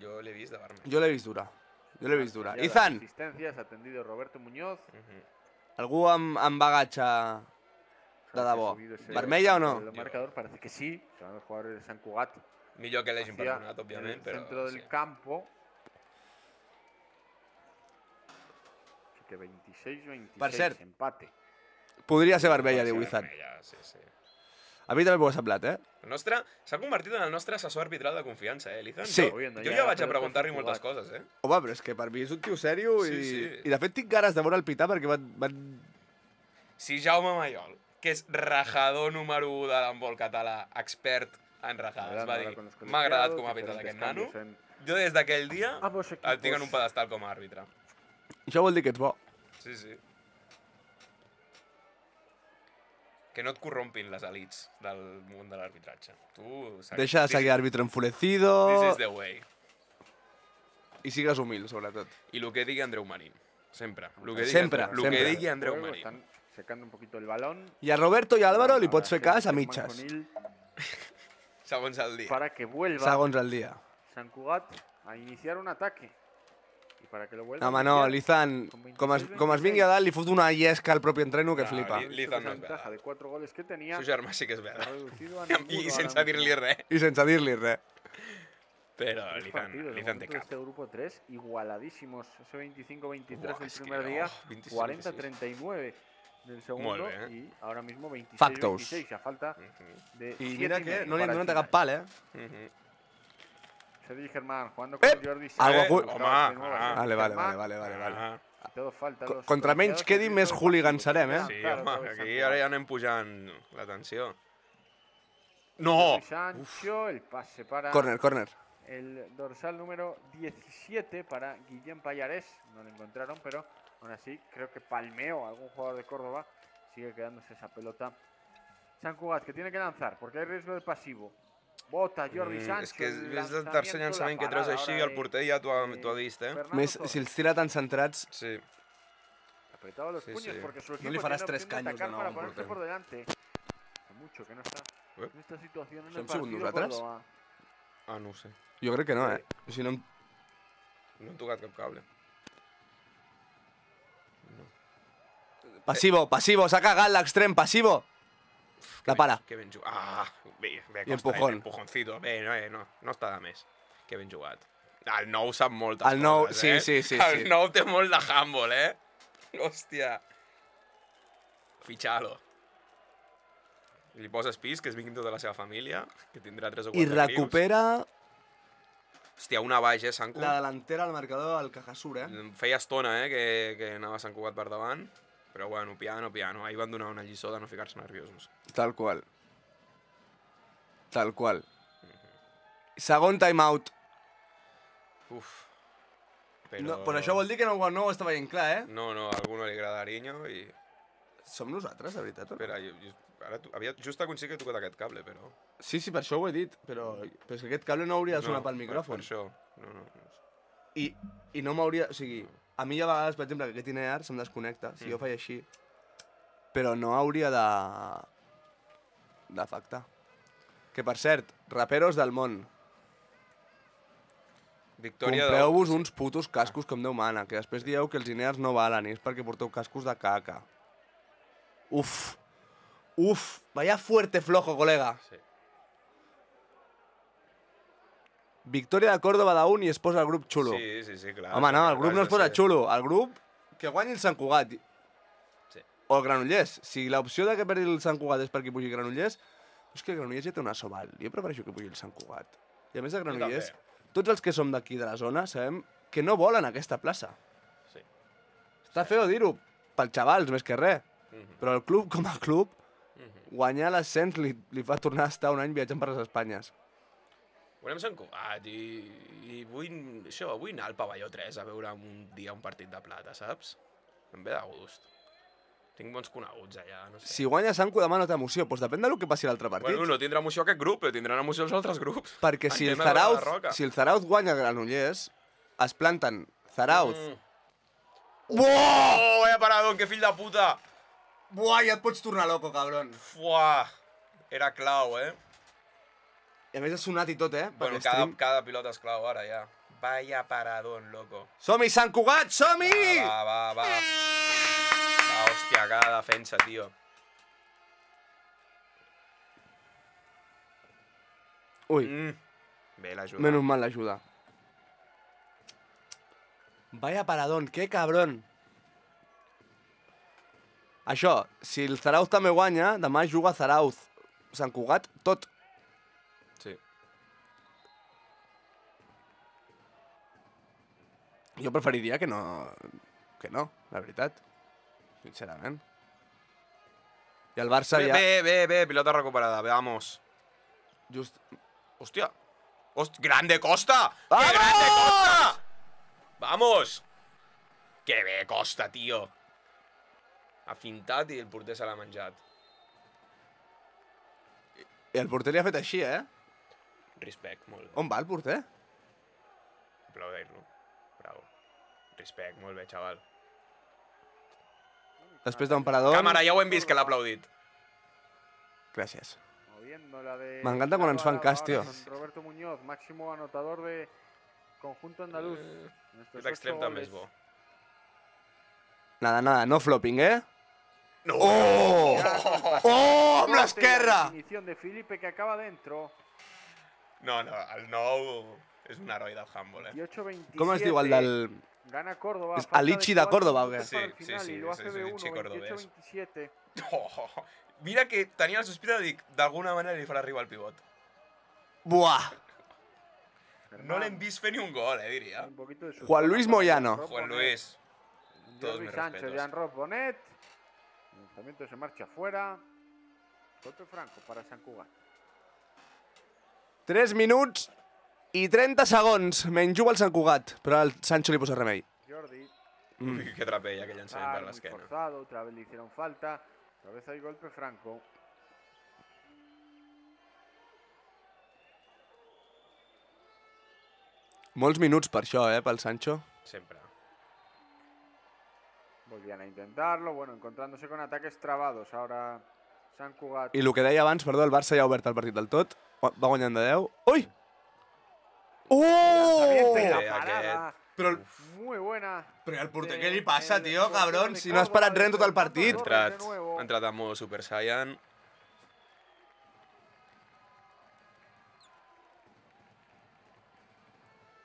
Speaker 2: Jo l'he vist de vermella.
Speaker 1: Jo l'he vist dura. Jo l'he vist dura.
Speaker 3: Ya las
Speaker 1: Izan,
Speaker 3: asistencias atendido Roberto Muñoz.
Speaker 1: algú amb bagatge de debò.
Speaker 3: Subido ese-
Speaker 1: Vermella o no?
Speaker 3: El marcador parece que sí. Se van los jugadores de San Cugat.
Speaker 2: Millor que l'hagin
Speaker 3: hacia
Speaker 2: perdonat, òbviament,
Speaker 3: el
Speaker 2: però...
Speaker 3: centro del
Speaker 2: sí.
Speaker 3: campo. Así que 26-26,
Speaker 1: Per cert,
Speaker 3: empate.
Speaker 1: Podria ser vermella,
Speaker 2: Pot ser
Speaker 1: diu Izan.
Speaker 2: vermella, sí, sí.
Speaker 1: A mi també m'ho ha semblat,
Speaker 2: El nostre... S'ha convertit en el nostre assessor arbitral de confiança, l'Izan?
Speaker 1: Sí.
Speaker 2: Jo ja vaig a preguntar-li moltes coses,
Speaker 1: Home, però és que per mi és un tio sèrio
Speaker 2: Sí,
Speaker 1: i...
Speaker 2: sí.
Speaker 1: I de fet tinc ganes de veure el pitar perquè van...
Speaker 2: Si Jaume Mayol, que és rajador número 1 de l'handbol català, expert en rajades, va dir m'ha agradat com ha pitat aquest nano, jo des d'aquell dia el tinc en un pedestal com a àrbitre.
Speaker 1: Això vol dir que ets bo.
Speaker 2: Sí, sí. Que no et corrompin les elits del món de l'arbitratge. Tu...
Speaker 1: Deixa de seguir àrbitre enfurecido
Speaker 2: This is the way.
Speaker 1: i sigues humil, sobretot.
Speaker 2: I el que digui Andreu Marín. Sempre.
Speaker 1: Sempre,
Speaker 2: El que
Speaker 1: sempre.
Speaker 2: digui Andreu
Speaker 3: Juego,
Speaker 2: Marín.
Speaker 3: están secando un poquito el balón.
Speaker 1: I a Roberto i a Álvaro li pots fer
Speaker 3: Ahora
Speaker 1: cas a
Speaker 3: Germán
Speaker 1: mitges,
Speaker 3: Conil
Speaker 2: Segons el dia.
Speaker 3: Para que vuelva
Speaker 1: segons el dia.
Speaker 3: San Cugat a iniciar un ataque. Y para que lo vuelva
Speaker 1: Home,
Speaker 3: a
Speaker 1: no,
Speaker 3: iniciar,
Speaker 1: l'Izan,
Speaker 3: con
Speaker 1: com es vingui a dalt, li fot una llesca al propi entreno que
Speaker 2: No,
Speaker 1: flipa.
Speaker 2: L'Izan no
Speaker 3: esa
Speaker 2: és
Speaker 3: ventaja de
Speaker 2: verdad.
Speaker 3: 4 goles que tenía.
Speaker 2: Su germà sí que és
Speaker 3: ha
Speaker 2: verdad.
Speaker 3: reducido a
Speaker 2: I
Speaker 3: ninguno
Speaker 2: sense
Speaker 3: ahora
Speaker 2: dir-li
Speaker 3: mismo.
Speaker 2: res.
Speaker 1: I sense dir-li res.
Speaker 2: Però
Speaker 3: Tres
Speaker 2: l'Izan
Speaker 3: partidos de
Speaker 2: té
Speaker 3: momento de
Speaker 2: cap.
Speaker 3: este grupo 3, igualadísimos. Ese 25-23
Speaker 2: Buah,
Speaker 3: del
Speaker 2: es que
Speaker 3: primer
Speaker 2: no,
Speaker 3: día,
Speaker 2: 26,
Speaker 3: 40-39 del segundo
Speaker 2: Molt bé,
Speaker 3: y ahora mismo 26-26
Speaker 1: Factos.
Speaker 3: a falta de
Speaker 1: I
Speaker 3: 7
Speaker 1: mira
Speaker 3: y
Speaker 1: que
Speaker 3: medio
Speaker 1: no li han
Speaker 3: para el
Speaker 1: donat cap
Speaker 3: final.
Speaker 1: pal,
Speaker 3: Sergi Germán jugando con Jordi Sancho.
Speaker 1: Algo
Speaker 2: home,
Speaker 3: De nuevo,
Speaker 2: ah.
Speaker 3: Sergi
Speaker 1: Vale.
Speaker 3: Germán. Todo falta. los
Speaker 1: Contra menys
Speaker 3: colegiados
Speaker 1: quedi,
Speaker 3: que
Speaker 1: més
Speaker 3: todo
Speaker 1: hooligans
Speaker 3: pasivo.
Speaker 1: serem,
Speaker 2: Sí,
Speaker 3: Claro,
Speaker 2: home,
Speaker 3: otra vez
Speaker 2: aquí
Speaker 3: San
Speaker 2: ara
Speaker 3: Cugat.
Speaker 2: ja anem pujant la tensió. No!
Speaker 3: Jordi Sancho, el pase para
Speaker 1: Corner.
Speaker 3: el dorsal número 17 para Guillem Pallarés. No lo encontraron, pero aún así creo que palmeó a algún jugador de Córdoba. Sigue quedándose esa pelota. San Cugat, que tiene que lanzar porque hay riesgo de pasivo. Bota Jordi Sancho.
Speaker 2: És que
Speaker 3: el
Speaker 2: és el tercer llançament que treus així, el porter ja t'ho ha vist,
Speaker 3: Fernando
Speaker 1: Més,
Speaker 3: Torres.
Speaker 1: si els tira tan centrats...
Speaker 2: Sí.
Speaker 3: Apretado los
Speaker 2: Sí,
Speaker 3: puños
Speaker 2: sí.
Speaker 3: porque su
Speaker 1: No
Speaker 3: equipo
Speaker 1: le faràs
Speaker 3: tiene
Speaker 1: 3
Speaker 3: opción de
Speaker 1: caños de
Speaker 3: atacar
Speaker 1: nou
Speaker 3: para
Speaker 1: al
Speaker 3: ponerse
Speaker 1: porter.
Speaker 3: por delante. Hace mucho que no está
Speaker 2: Eh?
Speaker 3: en esta situación en
Speaker 1: Som
Speaker 3: el
Speaker 1: sigut
Speaker 3: partido
Speaker 1: nosaltres?
Speaker 3: Córdoba.
Speaker 2: Ah, no ho sé.
Speaker 1: Jo crec que no, Si no...
Speaker 2: No hem tocat cap cable.
Speaker 1: Passivo, s'ha cagat l'extrem, passivo. La para.
Speaker 2: Que ben jugat. Ah, bé,
Speaker 1: I empujón.
Speaker 2: Empujoncito. Bé, no està de més. Que ben jugat. El nou sap moltes
Speaker 1: El nou,
Speaker 2: coses,
Speaker 1: sí.
Speaker 2: El nou té molt de handball, Hòstia. Fichalo. Li poses pis, que es vinguin tota la seva família, que tindrà 3 o 4
Speaker 1: I recupera
Speaker 2: Hòstia, una baix, Sanku.
Speaker 1: la delantera al marcador al Cajasur,
Speaker 2: Feia estona, que anava Sant Cugat per davant. Però bueno, piano, piano. Ahir van donar una lliçó de no ficar-se nerviosos.
Speaker 1: Tal qual. Tal qual. Segon timeout.
Speaker 2: Uf. Però...
Speaker 1: No, però això vol dir que no ho està veient clar, eh?
Speaker 2: No, a algú no li agrada Ariño i...
Speaker 1: Som nosaltres, de veritat? O no?
Speaker 2: Espera, ara just aconseguit que he tocat aquest cable, però...
Speaker 1: Sí, per això ho he dit, però és que aquest cable no hauria de sonar pel micròfon.
Speaker 2: Per això, no.
Speaker 1: I no m'hauria... O sigui, a mi hi ha vegades, per exemple, que aquest INEAR se'm desconnecta, si jo faig així, però no hauria d'afectar. Que, per cert, raperos del món,
Speaker 2: Victòria
Speaker 1: compreu-vos uns putos cascos com Déu mana, que després dieu que els INEARs no valen, i és perquè porteu cascos de caca. Uf, vaya fuerte flojo, colega.
Speaker 2: Sí.
Speaker 1: Victòria de Córdoba d'un i es posa el grup xulo.
Speaker 2: Sí, clar.
Speaker 1: Home, no, el grup no es posa xulo. El grup que guanyi el Sant Cugat.
Speaker 2: Sí.
Speaker 1: O el Granollers. Si l'opció de que perdi el Sant Cugat és perquè pugi el Granollers, és que el Granollers ja té una soval. Jo prefereixo que pugi el Sant Cugat. I a més el Granollers, tots els que som d'aquí de la zona sabem que no volen aquesta plaça.
Speaker 2: Sí.
Speaker 1: Està feo dir-ho, pels xavals més que res. Però el club, com a club, guanyar l'ascens li fa tornar a estar un any viatjant per les Espanyes.
Speaker 2: Volem Sant Cugat i vull anar al pavelló 3 a veure un dia un partit de plata, saps? Em ve de gust. Tinc bons coneguts allà, no sé.
Speaker 1: Si guanya Sant Cugat demà no té emoció, doncs depèn del que passi a l'altre partit.
Speaker 2: Bueno, no tindrà emoció aquest grup, però tindran emoció els altres grups.
Speaker 1: Perquè si el Zarauz guanya Granollers, es planten Zarauz.
Speaker 2: Oh, vaya paradón, que fill de puta!
Speaker 1: Buah, ja et pots tornar loco, cabron.
Speaker 2: Fuà! Era clau, eh?
Speaker 1: I a més ha sonat i tot, eh?
Speaker 2: Bueno, cada pilota és clau ara, ja. Vaya paradón, loco.
Speaker 1: Som-hi, Sant Cugat, som-hi!
Speaker 2: Va, hòstia, cada defensa, tio.
Speaker 1: Ui,
Speaker 2: Bé, l'ajuda.
Speaker 1: menos mal l'ajuda. Vaya paradón, que cabron. Això, si el Zarauz també guanya, demà juga Zarauz. Sant Cugat, tot.
Speaker 2: Sí.
Speaker 1: Jo preferiria que no, la veritat. Sincerament. I el Barça ja...
Speaker 2: Bé, pilota recuperada, vamos.
Speaker 1: Just...
Speaker 2: Hòstia. ¡Grande Costa!
Speaker 1: ¡Vamos!
Speaker 2: ¡Qué grande Costa! ¡Vamos! ¡Que bé Costa, tio! Ha fintat i el porter se l'ha menjat.
Speaker 1: I el porter li ha fet així, eh?
Speaker 2: Respect, molt bé.
Speaker 1: On va el porter?
Speaker 2: Aplaudir-lo. Bravo. Respect, molt bé, xaval.
Speaker 1: Després d'un parador...
Speaker 2: Càmera, ja ho hem vist que l'ha aplaudit.
Speaker 1: Gràcies.
Speaker 3: Me
Speaker 1: encanta cuando nos fan cas, tío.
Speaker 3: Roberto Muñoz, máximo anotador de conjunto andaluz.
Speaker 2: Aquest extrem també és bo.
Speaker 1: Nada, no flopping, eh?
Speaker 2: No!
Speaker 1: ¡Oh! ¡Oh! ¡Amb l'esquerra!
Speaker 3: Definición de Felipe que acaba dentro.
Speaker 2: No, el nou és un heroi del handball, eh?
Speaker 3: 18-27.
Speaker 1: Com es diu el del...
Speaker 3: Gana Córdoba.
Speaker 1: És Alichi de Córdoba, o què?
Speaker 2: Sí,
Speaker 3: Y lo hace
Speaker 2: és
Speaker 3: de
Speaker 2: Alichi
Speaker 3: 1,
Speaker 2: cordobès.
Speaker 3: 28-27.
Speaker 2: Oh, mira que tenia la sospita de dir d'alguna manera li farà arribar el pivot.
Speaker 1: Buah!
Speaker 2: No l'hem vist fer ni un gol, diria.
Speaker 3: Un poquito de
Speaker 1: Juan Luis Moyano.
Speaker 2: Juan Luis. Todos
Speaker 3: Jordi
Speaker 2: mis
Speaker 3: Sánchez,
Speaker 2: respetos.
Speaker 3: Jan Ross Bonet. El lanzamiento se marcha fuera. Golpe franco para Sant Cugat.
Speaker 1: 3 minuts i 30 segons. Menys juga el Sant Cugat, però al Sancho li posa remei.
Speaker 3: Jordi.
Speaker 2: Ui, que trapella que llançament per
Speaker 3: Muy
Speaker 2: l'esquena.
Speaker 3: forzado, otra vez le hicieron falta. Otra vez hay golpe franco.
Speaker 1: Molts minuts per això, pel Sancho.
Speaker 2: Sempre.
Speaker 3: Volvían a intentarlo, bueno, encontrándose con ataques trabados. Ahora Sant Cugat.
Speaker 1: I el que deia abans, perdó, el Barça ja ha obert el partit del tot. Va guanyant de 10. Ui!
Speaker 3: Lanzamiento y
Speaker 1: Oh!
Speaker 3: la parada.
Speaker 1: Però,
Speaker 3: Muy buena.
Speaker 1: però al porter,
Speaker 3: de-
Speaker 1: què li passa,
Speaker 3: el
Speaker 1: tio,
Speaker 3: portero
Speaker 1: cabron?
Speaker 3: de
Speaker 1: Si no has
Speaker 3: Córdoba,
Speaker 1: parat res en tot el partit.
Speaker 3: de
Speaker 2: Ha entrat en modo Super Saiyan.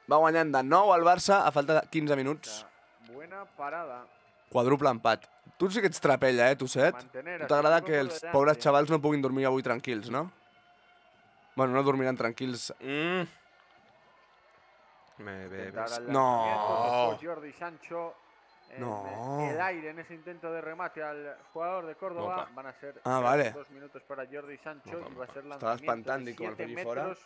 Speaker 1: Va guanyant de 9 al Barça a falta de 15 minuts.
Speaker 3: Buena parada.
Speaker 1: Quadruple empat. Tu sí que ets trapella, Tosset?
Speaker 3: Mantener
Speaker 1: Tu
Speaker 3: a
Speaker 1: t'agrada
Speaker 3: su
Speaker 1: que
Speaker 3: equipo
Speaker 1: els
Speaker 3: por
Speaker 1: pobres
Speaker 3: delante.
Speaker 1: xavals no puguin dormir avui tranquils, no? Bueno, no dormiran tranquils.
Speaker 2: Bé.
Speaker 3: Intentar el
Speaker 1: No.
Speaker 3: lanzamiento, después Jordi Sancho. en
Speaker 1: No.
Speaker 3: el aire en ese intento de remate al jugador de Córdoba.
Speaker 2: Opa.
Speaker 3: Van a ser
Speaker 1: vale.
Speaker 3: 2 minutos para Jordi Sancho
Speaker 2: Opa,
Speaker 3: y va a ser
Speaker 1: Estaba
Speaker 3: lanzamiento
Speaker 1: espantando
Speaker 3: de
Speaker 1: y como el
Speaker 3: 7
Speaker 1: allí fuera.
Speaker 3: metros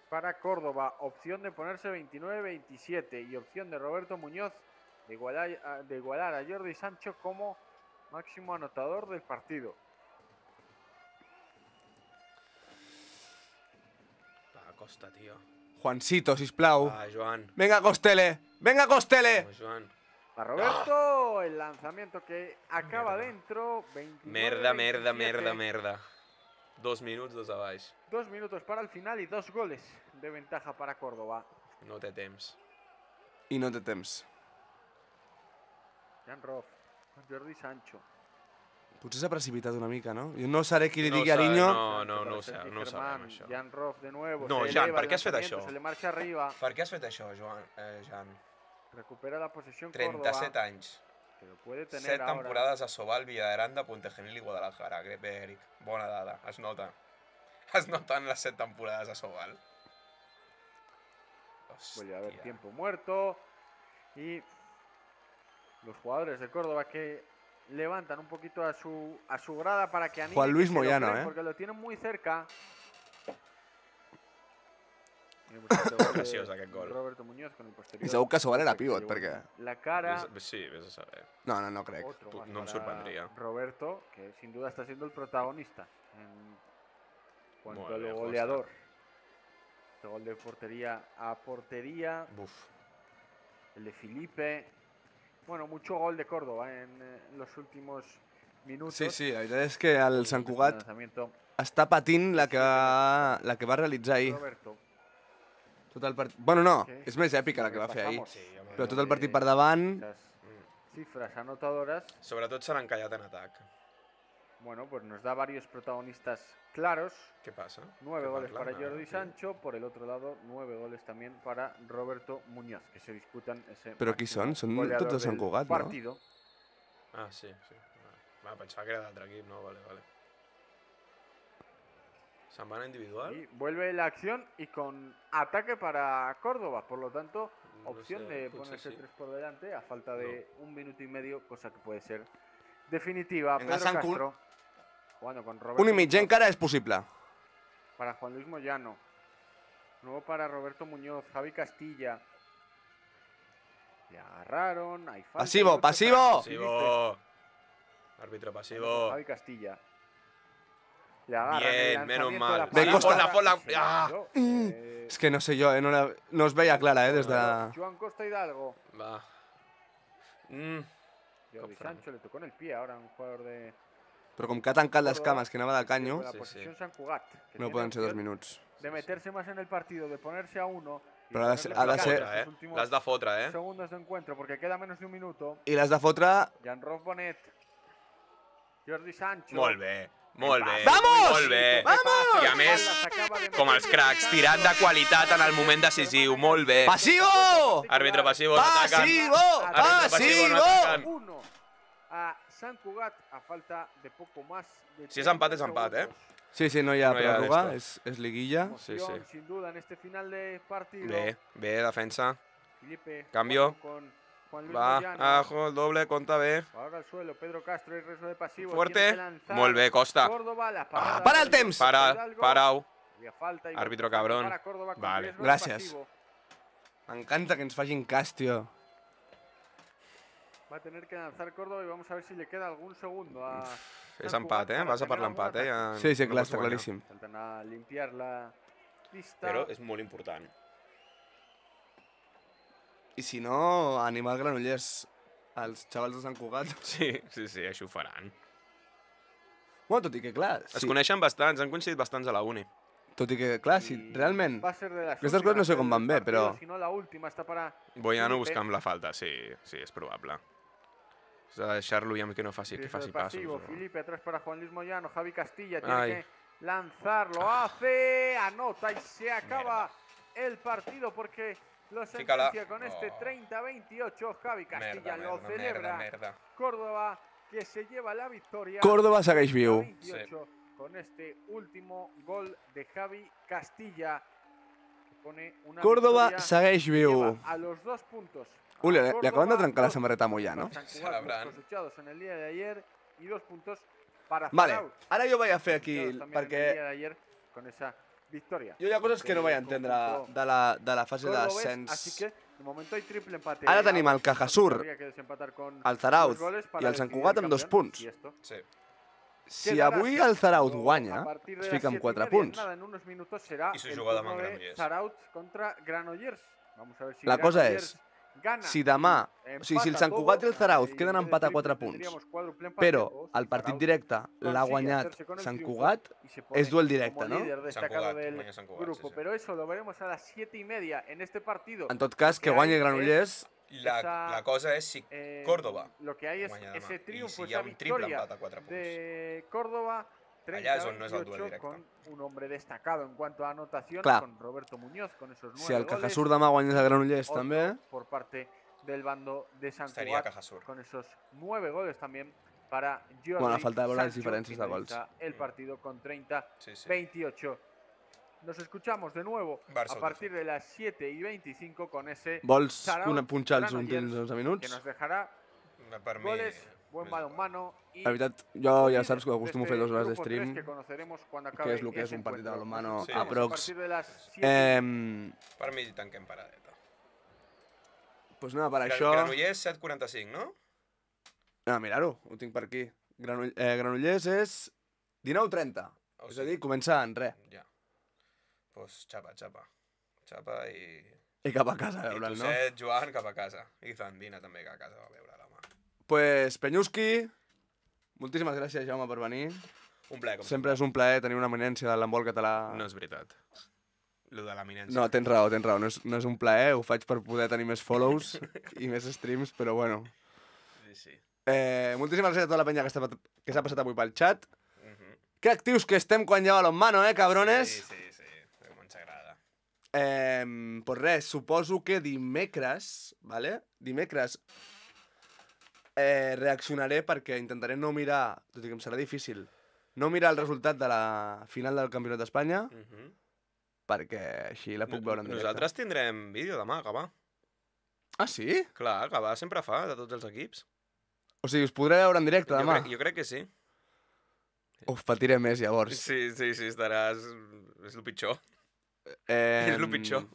Speaker 3: para Córdoba. Opción de ponerse 29-27 y opción de Roberto Muñoz de igualar a Jordi Sancho como máximo anotador del partido.
Speaker 2: Va, Costa, tio.
Speaker 1: Juancito, sisplau.
Speaker 2: Va, Joan.
Speaker 1: Venga, Costele. Venga, Costele.
Speaker 2: Vamos, Joan.
Speaker 3: A Roberto, el lanzamiento que acaba
Speaker 2: Merda.
Speaker 3: dentro.
Speaker 2: merda,
Speaker 3: 29-27.
Speaker 2: 2 minuts, 2 a baix.
Speaker 3: 2 minutos para el final y 2 goles de ventaja para Córdoba.
Speaker 2: No té temps.
Speaker 1: I no té temps.
Speaker 3: Jan Roff, Jordi Sancho.
Speaker 1: Potser s'ha precipitat una mica, no? Jo no seré qui li
Speaker 2: No
Speaker 1: digui a
Speaker 2: sabe,
Speaker 1: Ariño.
Speaker 2: no ho sabem, això.
Speaker 3: Jan Roff de nuevo.
Speaker 2: No,
Speaker 3: se
Speaker 2: Jan,
Speaker 3: eleva
Speaker 2: per
Speaker 3: el
Speaker 2: què has fet
Speaker 3: lanzamiento,
Speaker 2: això?
Speaker 3: Se le marcha arriba.
Speaker 2: Per què has fet això, Jan?
Speaker 3: Recupera la posesión
Speaker 2: 37
Speaker 3: Córdoba.
Speaker 2: anys.
Speaker 3: Que lo puede tener
Speaker 2: 7
Speaker 3: ahora.
Speaker 2: temporades a Sobal, Villaderanda, Puntegenil i Guadalajara. Bé, Eric. Bona dada, es nota. Es noten les 7 temporades a Sobal.
Speaker 3: Vuelve a haber
Speaker 2: Hòstia.
Speaker 3: tiempo muerto. Y los jugadores de Córdoba que levantan un poquito a su grada para que anime.
Speaker 1: Juan Luis
Speaker 3: que se lo
Speaker 1: Moyano,
Speaker 3: creen, porque lo tienen muy cerca. Tenemos este gol de
Speaker 2: Preciós, aquest gol.
Speaker 3: Roberto Muñoz con el posterior.
Speaker 1: I segur que Sobal era
Speaker 3: que se
Speaker 1: pivot,
Speaker 3: llevó
Speaker 1: perquè...
Speaker 3: La cara.
Speaker 2: Sí, vés a saber.
Speaker 1: No crec.
Speaker 3: Otro más
Speaker 2: no em
Speaker 3: para
Speaker 2: sorprendría.
Speaker 3: Roberto, que sin duda está siendo el protagonista en cuanto
Speaker 2: Molt
Speaker 3: a
Speaker 2: bé,
Speaker 3: lo goleador. Este gol de portería a portería.
Speaker 2: Buf.
Speaker 3: El de Felipe. Bueno, mucho gol de Córdoba en los últimos minutos.
Speaker 1: Sí, la veritat és que el Sant Cugat
Speaker 3: Lanzamiento
Speaker 1: està patint la que va realitzar ahir.
Speaker 3: Roberto.
Speaker 1: Tot el partit... Bueno, no,
Speaker 3: que
Speaker 1: és més èpica la que va fer ahir.
Speaker 3: repasamos,
Speaker 2: Sí, home.
Speaker 1: Però tot el partit per davant...
Speaker 3: Esas cifras anotadoras.
Speaker 2: Sobretot se l'han encallat en atac.
Speaker 3: Bueno, pues nos da varios protagonistas claros.
Speaker 2: Què passa?
Speaker 3: 9
Speaker 2: Què
Speaker 3: goles
Speaker 2: parlen,
Speaker 3: para Jordi
Speaker 2: tio?
Speaker 3: Sancho, por el otro lado 9 goles también para Roberto Muñoz, que se disputan ese
Speaker 1: Però qui
Speaker 3: máximo
Speaker 1: són? Són
Speaker 3: goleador
Speaker 1: tots de Sant
Speaker 3: del
Speaker 1: Cugat, no?
Speaker 3: partido.
Speaker 2: Ah, sí. Va, pensava que era d'altre equip, no? Vale. ¿Se'n van a individual?
Speaker 3: Y vuelve la acción y con ataque para Córdoba, por lo tanto,
Speaker 2: No
Speaker 3: opción
Speaker 2: sé,
Speaker 3: de
Speaker 2: potser
Speaker 3: ponerse
Speaker 2: sí.
Speaker 3: 3 por delante a falta de 1 minuto y medio, cosa que puede ser definitiva.
Speaker 1: Venga,
Speaker 3: Pedro
Speaker 1: Sant Cul-
Speaker 3: Castro, jugando con Roberto
Speaker 1: 1 i mig
Speaker 3: Muñoz
Speaker 1: encara és possible.
Speaker 3: para Juan Luis Moyano. Nuevo para Roberto Muñoz, Javi Castilla. Le agarraron, hay falta.
Speaker 1: Pasivo,
Speaker 3: y ocho
Speaker 1: pasivo.
Speaker 3: para Felipe.
Speaker 2: Pasivo! Árbitro pasivo.
Speaker 3: Javi Castilla. Le agarran
Speaker 2: Bien,
Speaker 3: el
Speaker 2: menos
Speaker 3: lanzamiento de
Speaker 2: mal.
Speaker 3: la
Speaker 1: Ven, Costa.
Speaker 2: Ponla.
Speaker 3: Se
Speaker 2: Ah.
Speaker 3: cayó,
Speaker 1: És que no sé jo, no es veia clara, des de...
Speaker 3: Joan Costa Hidalgo.
Speaker 2: Va.
Speaker 3: Jordi
Speaker 2: Fran.
Speaker 3: Sancho le tocó en el pie ahora a un jugador de
Speaker 1: Però com que ha tancat les cames, que anava de canyo,
Speaker 3: la
Speaker 2: Sí,
Speaker 3: posición
Speaker 2: sí.
Speaker 3: San Cugat, que
Speaker 1: no
Speaker 3: tiene
Speaker 1: poden ser 2
Speaker 3: opción
Speaker 1: minuts.
Speaker 3: de meterse más en el partido, de ponerse a 1.
Speaker 1: Però ha de ser-
Speaker 2: L'has L'has de fotre,
Speaker 3: segundos de encuentro porque queda menos de un minuto.
Speaker 1: I les de fotre...
Speaker 3: Jan Rof Bonet. Jordi Sancho.
Speaker 2: Molt bé. Molt bé.
Speaker 1: Vamos!
Speaker 2: Molt bé.
Speaker 1: Vamos!
Speaker 2: I a més, com els cracs, tirant de qualitat en el moment decisiu. Molt bé.
Speaker 1: Pasivo!
Speaker 2: Àrbitre passivo, no ataquen.
Speaker 1: Pasivo!
Speaker 2: Árbitro pasivo, no
Speaker 1: Pasivo!
Speaker 2: atacan.
Speaker 3: 1 a San Cugat a falta de poco más. De
Speaker 2: Si és empat,
Speaker 3: 30
Speaker 2: és empat,
Speaker 3: segundos.
Speaker 1: Sí, no hi ha
Speaker 2: No hi ha
Speaker 1: pròrroga,
Speaker 2: d'esto.
Speaker 1: és liguilla.
Speaker 2: Sí,
Speaker 3: Emoción,
Speaker 2: sí.
Speaker 3: sin duda en este final de partido.
Speaker 2: Bé, defensa.
Speaker 3: Felipe
Speaker 2: Cambio.
Speaker 3: jugando con Juan Luis
Speaker 2: Va,
Speaker 3: Moyano.
Speaker 2: ajo, el doble, compta bé.
Speaker 3: Ahora al suelo, Pedro Castro y resto de pasivos.
Speaker 2: Fuerte.
Speaker 3: Tiene que lanzar
Speaker 2: Molt bé, Costa.
Speaker 3: Córdoba, la parada
Speaker 1: para el
Speaker 3: de
Speaker 1: temps.
Speaker 3: Hidalgo.
Speaker 2: Parau.
Speaker 3: Había falta y
Speaker 2: Árbitro
Speaker 3: gol
Speaker 2: cabrón.
Speaker 3: para Córdoba con
Speaker 2: Vale.
Speaker 3: riesgo de
Speaker 1: Gràcies.
Speaker 3: pasivo.
Speaker 1: M'encanta que ens facin cas, tio.
Speaker 3: Va a tener que lanzar Córdoba y vamos a ver si le queda algún segundo a
Speaker 2: És
Speaker 3: San
Speaker 2: empat,
Speaker 3: Cugat para
Speaker 2: Vas a per
Speaker 3: tener algún
Speaker 2: l'empat,
Speaker 3: ataque.
Speaker 2: Ja
Speaker 1: Sí,
Speaker 2: no
Speaker 1: clar,
Speaker 2: pots
Speaker 1: està
Speaker 2: guanyar.
Speaker 1: claríssim.
Speaker 3: Faltan a limpiar la pista.
Speaker 2: Però és molt important.
Speaker 1: I si no, animar Granollers als xavals de Sant Cugat.
Speaker 2: Sí, això ho faran.
Speaker 1: Bueno, tot i que, clar,
Speaker 2: Es coneixen bastants, han coincidit bastants a la uni.
Speaker 1: tot i que, clar, si
Speaker 3: Y
Speaker 1: realment...
Speaker 3: va a ser de las
Speaker 1: Aquestes coses no sé
Speaker 3: últimas
Speaker 1: com van
Speaker 3: del
Speaker 1: bé, però...
Speaker 3: partido, Si no, la última está para
Speaker 2: Boiano
Speaker 3: Felipe.
Speaker 2: buscant la falta, sí, és probable. S'ha de deixar-lo i amb que no faci, que
Speaker 3: Riesgo
Speaker 2: faci
Speaker 3: de
Speaker 2: passos.
Speaker 3: pasivo,
Speaker 2: No?
Speaker 3: Felipe atrás para Juan Luis Moyano, Javi Castilla tiene
Speaker 2: Ay.
Speaker 3: que lanzarlo, hace, anota y se acaba el partido porque lo
Speaker 2: Fícala.
Speaker 3: sentencia con este
Speaker 2: Oh.
Speaker 3: 30-28, Javi Castilla
Speaker 2: Merda,
Speaker 3: lo
Speaker 2: merda,
Speaker 3: celebra,
Speaker 2: merda.
Speaker 3: Córdoba que se lleva la victoria.
Speaker 1: Córdoba segueix viu.
Speaker 3: 28 con este último gol de Javi Castilla. supone una
Speaker 1: Córdoba
Speaker 3: victoria
Speaker 1: segueix
Speaker 3: que
Speaker 1: viu.
Speaker 3: lleva a los 2 puntos.
Speaker 1: Ui, li
Speaker 3: a
Speaker 1: acaben de
Speaker 3: Córdoba,
Speaker 1: trencar la
Speaker 3: 2
Speaker 1: samarreta a
Speaker 3: puntos
Speaker 1: Moyà, no?
Speaker 3: para Sant Cugat,
Speaker 2: Celebrant.
Speaker 3: los cosechados en el día de ayer, y 2 puntos para
Speaker 1: Vale,
Speaker 3: Zarauz,
Speaker 1: ara jo vaig a fer aquí,
Speaker 3: cosechados también en el
Speaker 1: perquè
Speaker 3: día de ayer con esa victoria.
Speaker 1: jo hi ha coses que no vaig
Speaker 3: ante el
Speaker 1: entendre
Speaker 3: conjunto
Speaker 1: de la fase
Speaker 3: cordobés,
Speaker 1: d'ascens.
Speaker 3: así que de momento hay triple empate.
Speaker 1: Ara tenim el Cajasur,
Speaker 3: Habría que desempatar con
Speaker 1: el Zarauz
Speaker 3: dos goles
Speaker 1: i
Speaker 3: para
Speaker 1: el Sant
Speaker 3: decidir
Speaker 1: Cugat
Speaker 3: el
Speaker 1: amb 2
Speaker 3: campeón,
Speaker 1: punts.
Speaker 3: y esto
Speaker 2: Sí.
Speaker 1: Si
Speaker 3: quedará
Speaker 1: avui
Speaker 3: así.
Speaker 1: el Zarauz
Speaker 3: Luego,
Speaker 1: guanya,
Speaker 3: a partir de
Speaker 1: es
Speaker 3: las
Speaker 1: fica amb
Speaker 3: 7:30,
Speaker 1: 4 punts.
Speaker 3: Nada, en unos minutos será
Speaker 2: Y se
Speaker 3: el
Speaker 2: juega demà
Speaker 3: turno
Speaker 2: en
Speaker 3: de
Speaker 2: Granollers.
Speaker 3: Zarauz contra Granollers. Vamos a ver si
Speaker 1: La cosa
Speaker 3: Granollers
Speaker 1: és,
Speaker 3: gana
Speaker 1: si demà,
Speaker 3: y
Speaker 1: o sigui, si el
Speaker 3: empata
Speaker 1: Sant Cugat i el
Speaker 3: todo,
Speaker 1: Zarauz
Speaker 3: y
Speaker 1: queden
Speaker 3: en vez de
Speaker 1: empat a
Speaker 3: triple
Speaker 1: 4 punts,
Speaker 3: tendríamos cuádruple empate,
Speaker 1: però
Speaker 3: o si
Speaker 1: el partit
Speaker 3: Zarauz
Speaker 1: directe l'ha
Speaker 3: consigue
Speaker 1: guanyat
Speaker 3: hacerse con el
Speaker 1: Sant
Speaker 3: triunfo
Speaker 1: Cugat,
Speaker 3: y se pone
Speaker 1: és duel
Speaker 3: como
Speaker 1: directe, no?
Speaker 3: líder
Speaker 2: Sant
Speaker 3: destacado
Speaker 2: Cugat,
Speaker 3: del
Speaker 2: guanya Sant Cugat,
Speaker 3: grupo.
Speaker 2: sí, sí.
Speaker 3: Pero eso lo veremos a las 7:30 en este partido.
Speaker 1: En tot cas, que
Speaker 3: Lo
Speaker 1: guanyi
Speaker 3: hay
Speaker 1: Granollers,
Speaker 2: La cosa és si Córdoba
Speaker 3: lo que hay es
Speaker 2: guanya demà.
Speaker 3: ese triunfo,
Speaker 2: I si hi ha
Speaker 3: esa
Speaker 2: un triple
Speaker 3: victoria
Speaker 2: empat a 4 punts.
Speaker 3: de Córdoba,
Speaker 2: Allá es on no és el
Speaker 3: 38,
Speaker 2: duel directe.
Speaker 3: con un hombre destacado en cuanto a anotación,
Speaker 1: Clar.
Speaker 3: con Roberto Muñoz, con esos 9
Speaker 1: si el
Speaker 3: goles.
Speaker 1: Cajasur demà guanyés a Granollers
Speaker 3: Otro
Speaker 1: també,
Speaker 3: por parte del bando de Sant
Speaker 2: estaria a
Speaker 3: Cugat,
Speaker 2: Cajasur.
Speaker 3: con esos 9 goles también para Jordi
Speaker 1: Bueno, a falta de veure les
Speaker 3: Sancho,
Speaker 1: diferències de gols.
Speaker 3: finaliza el partido con 30-28.
Speaker 2: Sí, sí.
Speaker 3: Nos escuchamos de nuevo
Speaker 2: Barça
Speaker 3: a partir de las 7:25 con ese
Speaker 1: vols
Speaker 3: Zarauz,
Speaker 1: punxar els
Speaker 3: Granollers,
Speaker 1: últims 11
Speaker 3: que
Speaker 1: minuts?
Speaker 3: nos dejará
Speaker 2: Per mi,
Speaker 3: goles, buen
Speaker 2: més
Speaker 3: balonmano y
Speaker 1: La veritat, jo ja
Speaker 3: líder
Speaker 1: saps que
Speaker 3: de
Speaker 1: acostumo a
Speaker 3: este
Speaker 1: fer 2 hores
Speaker 3: grupo
Speaker 1: d'estream,
Speaker 3: 3 que conoceremos cuando
Speaker 1: que
Speaker 3: acabe
Speaker 1: és el que és
Speaker 3: ese
Speaker 1: un partit de
Speaker 3: encuentro.
Speaker 1: balonmano
Speaker 3: Nos
Speaker 2: Sí.
Speaker 1: a
Speaker 3: escuchamos
Speaker 1: prox.
Speaker 3: a partir de las 7.
Speaker 2: Per mi tanquem paradeta.
Speaker 1: Pues nada, per això...
Speaker 2: Granollers 7:45, no?
Speaker 1: Ah, mirar-ho, ho tinc per aquí. Granollers és 19:30.
Speaker 2: Oh,
Speaker 1: És a dir, comença en res.
Speaker 2: Ja. Pues xapa, xapa. Xapa i...
Speaker 1: I cap a casa a
Speaker 2: I
Speaker 1: veure'l,
Speaker 2: tu
Speaker 1: no?
Speaker 2: set, Joan, cap a casa. I Zandina també, que a casa va veure la mà.
Speaker 1: Pues, Penyuski, moltíssimes gràcies, Jaume, per venir.
Speaker 2: Un plaer, com
Speaker 1: Sempre és un plaer tenir una eminència de l'handbol català.
Speaker 2: No és veritat. Lo de l'eminència.
Speaker 1: No, tens raó. No és un plaer, ho faig per poder tenir més follows i més streams, però bueno.
Speaker 2: Sí, sí.
Speaker 1: Moltíssimes gràcies a tota la penya que s'ha passat avui pel xat.
Speaker 2: Mhm.
Speaker 1: Que actius que estem quan hi ha balonmano, cabrones?
Speaker 2: Sí, sí, sí. Com ens agrada.
Speaker 1: Pues res, suposo que dimecres, vale? Dimecres reaccionaré perquè intentaré no mirar, tot i que em serà difícil, no mirar el resultat de la final del Campionat d'Espanya,
Speaker 2: Mhm.
Speaker 1: perquè així la puc veure en directe.
Speaker 2: Nosaltres tindrem vídeo demà, Gavà.
Speaker 1: Ah, sí?
Speaker 2: Clar, Gavà sempre fa, de tots els equips.
Speaker 1: O sigui, us podré veure en directe demà?
Speaker 2: Jo crec que sí.
Speaker 1: Uf, patiré més, llavors.
Speaker 2: Sí, estaràs... És el pitjor.
Speaker 1: És
Speaker 2: el pitjor.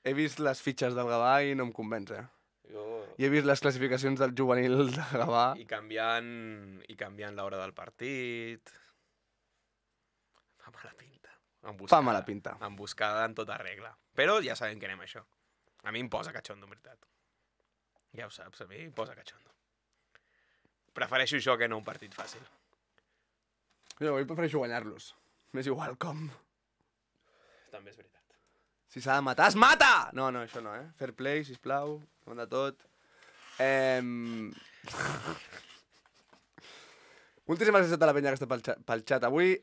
Speaker 1: He vist les fitxes del Gavà i no em convenç,
Speaker 2: Jo...
Speaker 1: I he vist les classificacions del juvenil de Gavà.
Speaker 2: I canviant l'hora del partit... Fa mala pinta.
Speaker 1: Fa mala pinta.
Speaker 2: Emboscada en tota regla. Però ja sabem que anem a això. A mi em posa catxondo, en veritat. Ja ho saps, a mi em posa catxondo. Prefereixo això que no un partit fàcil.
Speaker 1: Jo avui prefereixo guanyar-los. M'és igual com.
Speaker 2: També és veritat.
Speaker 1: Si s'ha de matar, es mata! No, això no, Fair play, sisplau, davant de tot. Moltíssimes gràcies a tota la penya que està pel xat avui.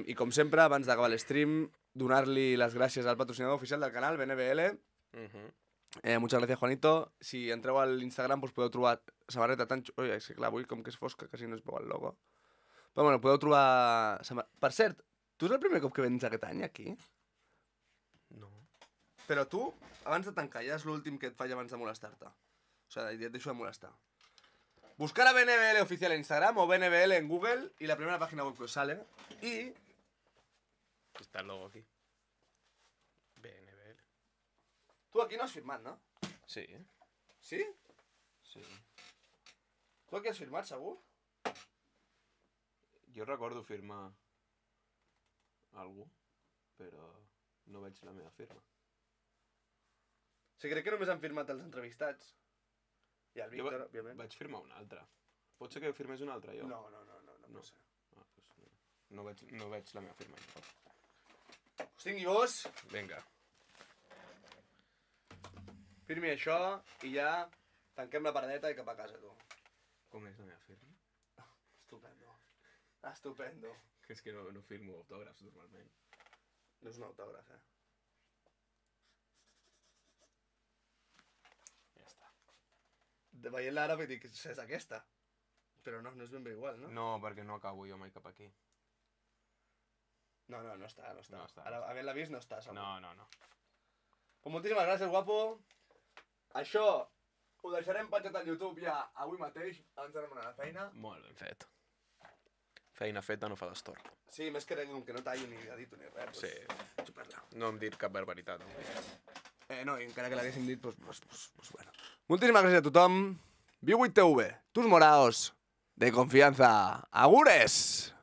Speaker 1: I com sempre, abans d'acabar l'stream, donar-li les gràcies al patrocinador oficial del canal, BNBL. Muchas gracias, Juanito. Si entreu a l'Instagram pues podeu trobar samarreta tan... Ui, és que clar, avui com que és fosca, quasi no es veu el logo. Però bueno, podeu trobar... Per cert, tu és el primer cop que vens aquest any aquí?
Speaker 2: No.
Speaker 1: Però tu, abans de tancar, ja és l'últim que et faig abans de molestar-te. O sigui, ja et deixo de molestar. Buscar a BNBL oficial en Instagram o BNBL en Google y la primera página web que os sale. Y...
Speaker 2: Està el logo aquí. BNBL.
Speaker 1: Tu aquí no has firmat, no?
Speaker 2: Sí.
Speaker 1: Sí?
Speaker 2: Sí.
Speaker 1: Tu aquí has firmat, segur?
Speaker 2: Jo recordo firmar algú, però no veig la meva firma.
Speaker 1: Sí, crec que només han firmat els entrevistats. I el Víctor, òbviament.
Speaker 2: Vaig firmar un altre. Pot ser que firmés un altre, jo?
Speaker 1: No pot ser.
Speaker 2: Ah, doncs no veig la meva firma.
Speaker 1: Us tingui vos,
Speaker 2: Vinga.
Speaker 1: firmi això i ja tanquem la paradeta i cap a casa, tu.
Speaker 2: Com és la meva firma?
Speaker 1: Estupendo. Estupendo.
Speaker 2: Que és que no firmo autògrafs normalment.
Speaker 1: No és un autògraf,
Speaker 2: Ja està.
Speaker 1: Veient l'àrab i dic, és aquesta. Però no és ben bé igual, no?
Speaker 2: No, perquè no acabo jo mai cap aquí.
Speaker 1: No està.
Speaker 2: No està.
Speaker 1: Ara, havent-la vist, no està, segur.
Speaker 2: No.
Speaker 1: Pues moltíssimes gràcies, guapo. Això ho deixarem penjat al YouTube ja avui mateix, abans d'anar a la feina.
Speaker 2: Molt ben fet. Feina feta no fa destorb.
Speaker 1: Sí, més que no tallo ni edito ni res.
Speaker 2: Sí.
Speaker 1: Xuparla.
Speaker 2: No hem dit cap barbaritat.
Speaker 1: No, i encara que l'haguéssim dit, pues bueno. Moltíssimes gràcies a tothom. Viu 8TV, tus moraos de confianza. Agures!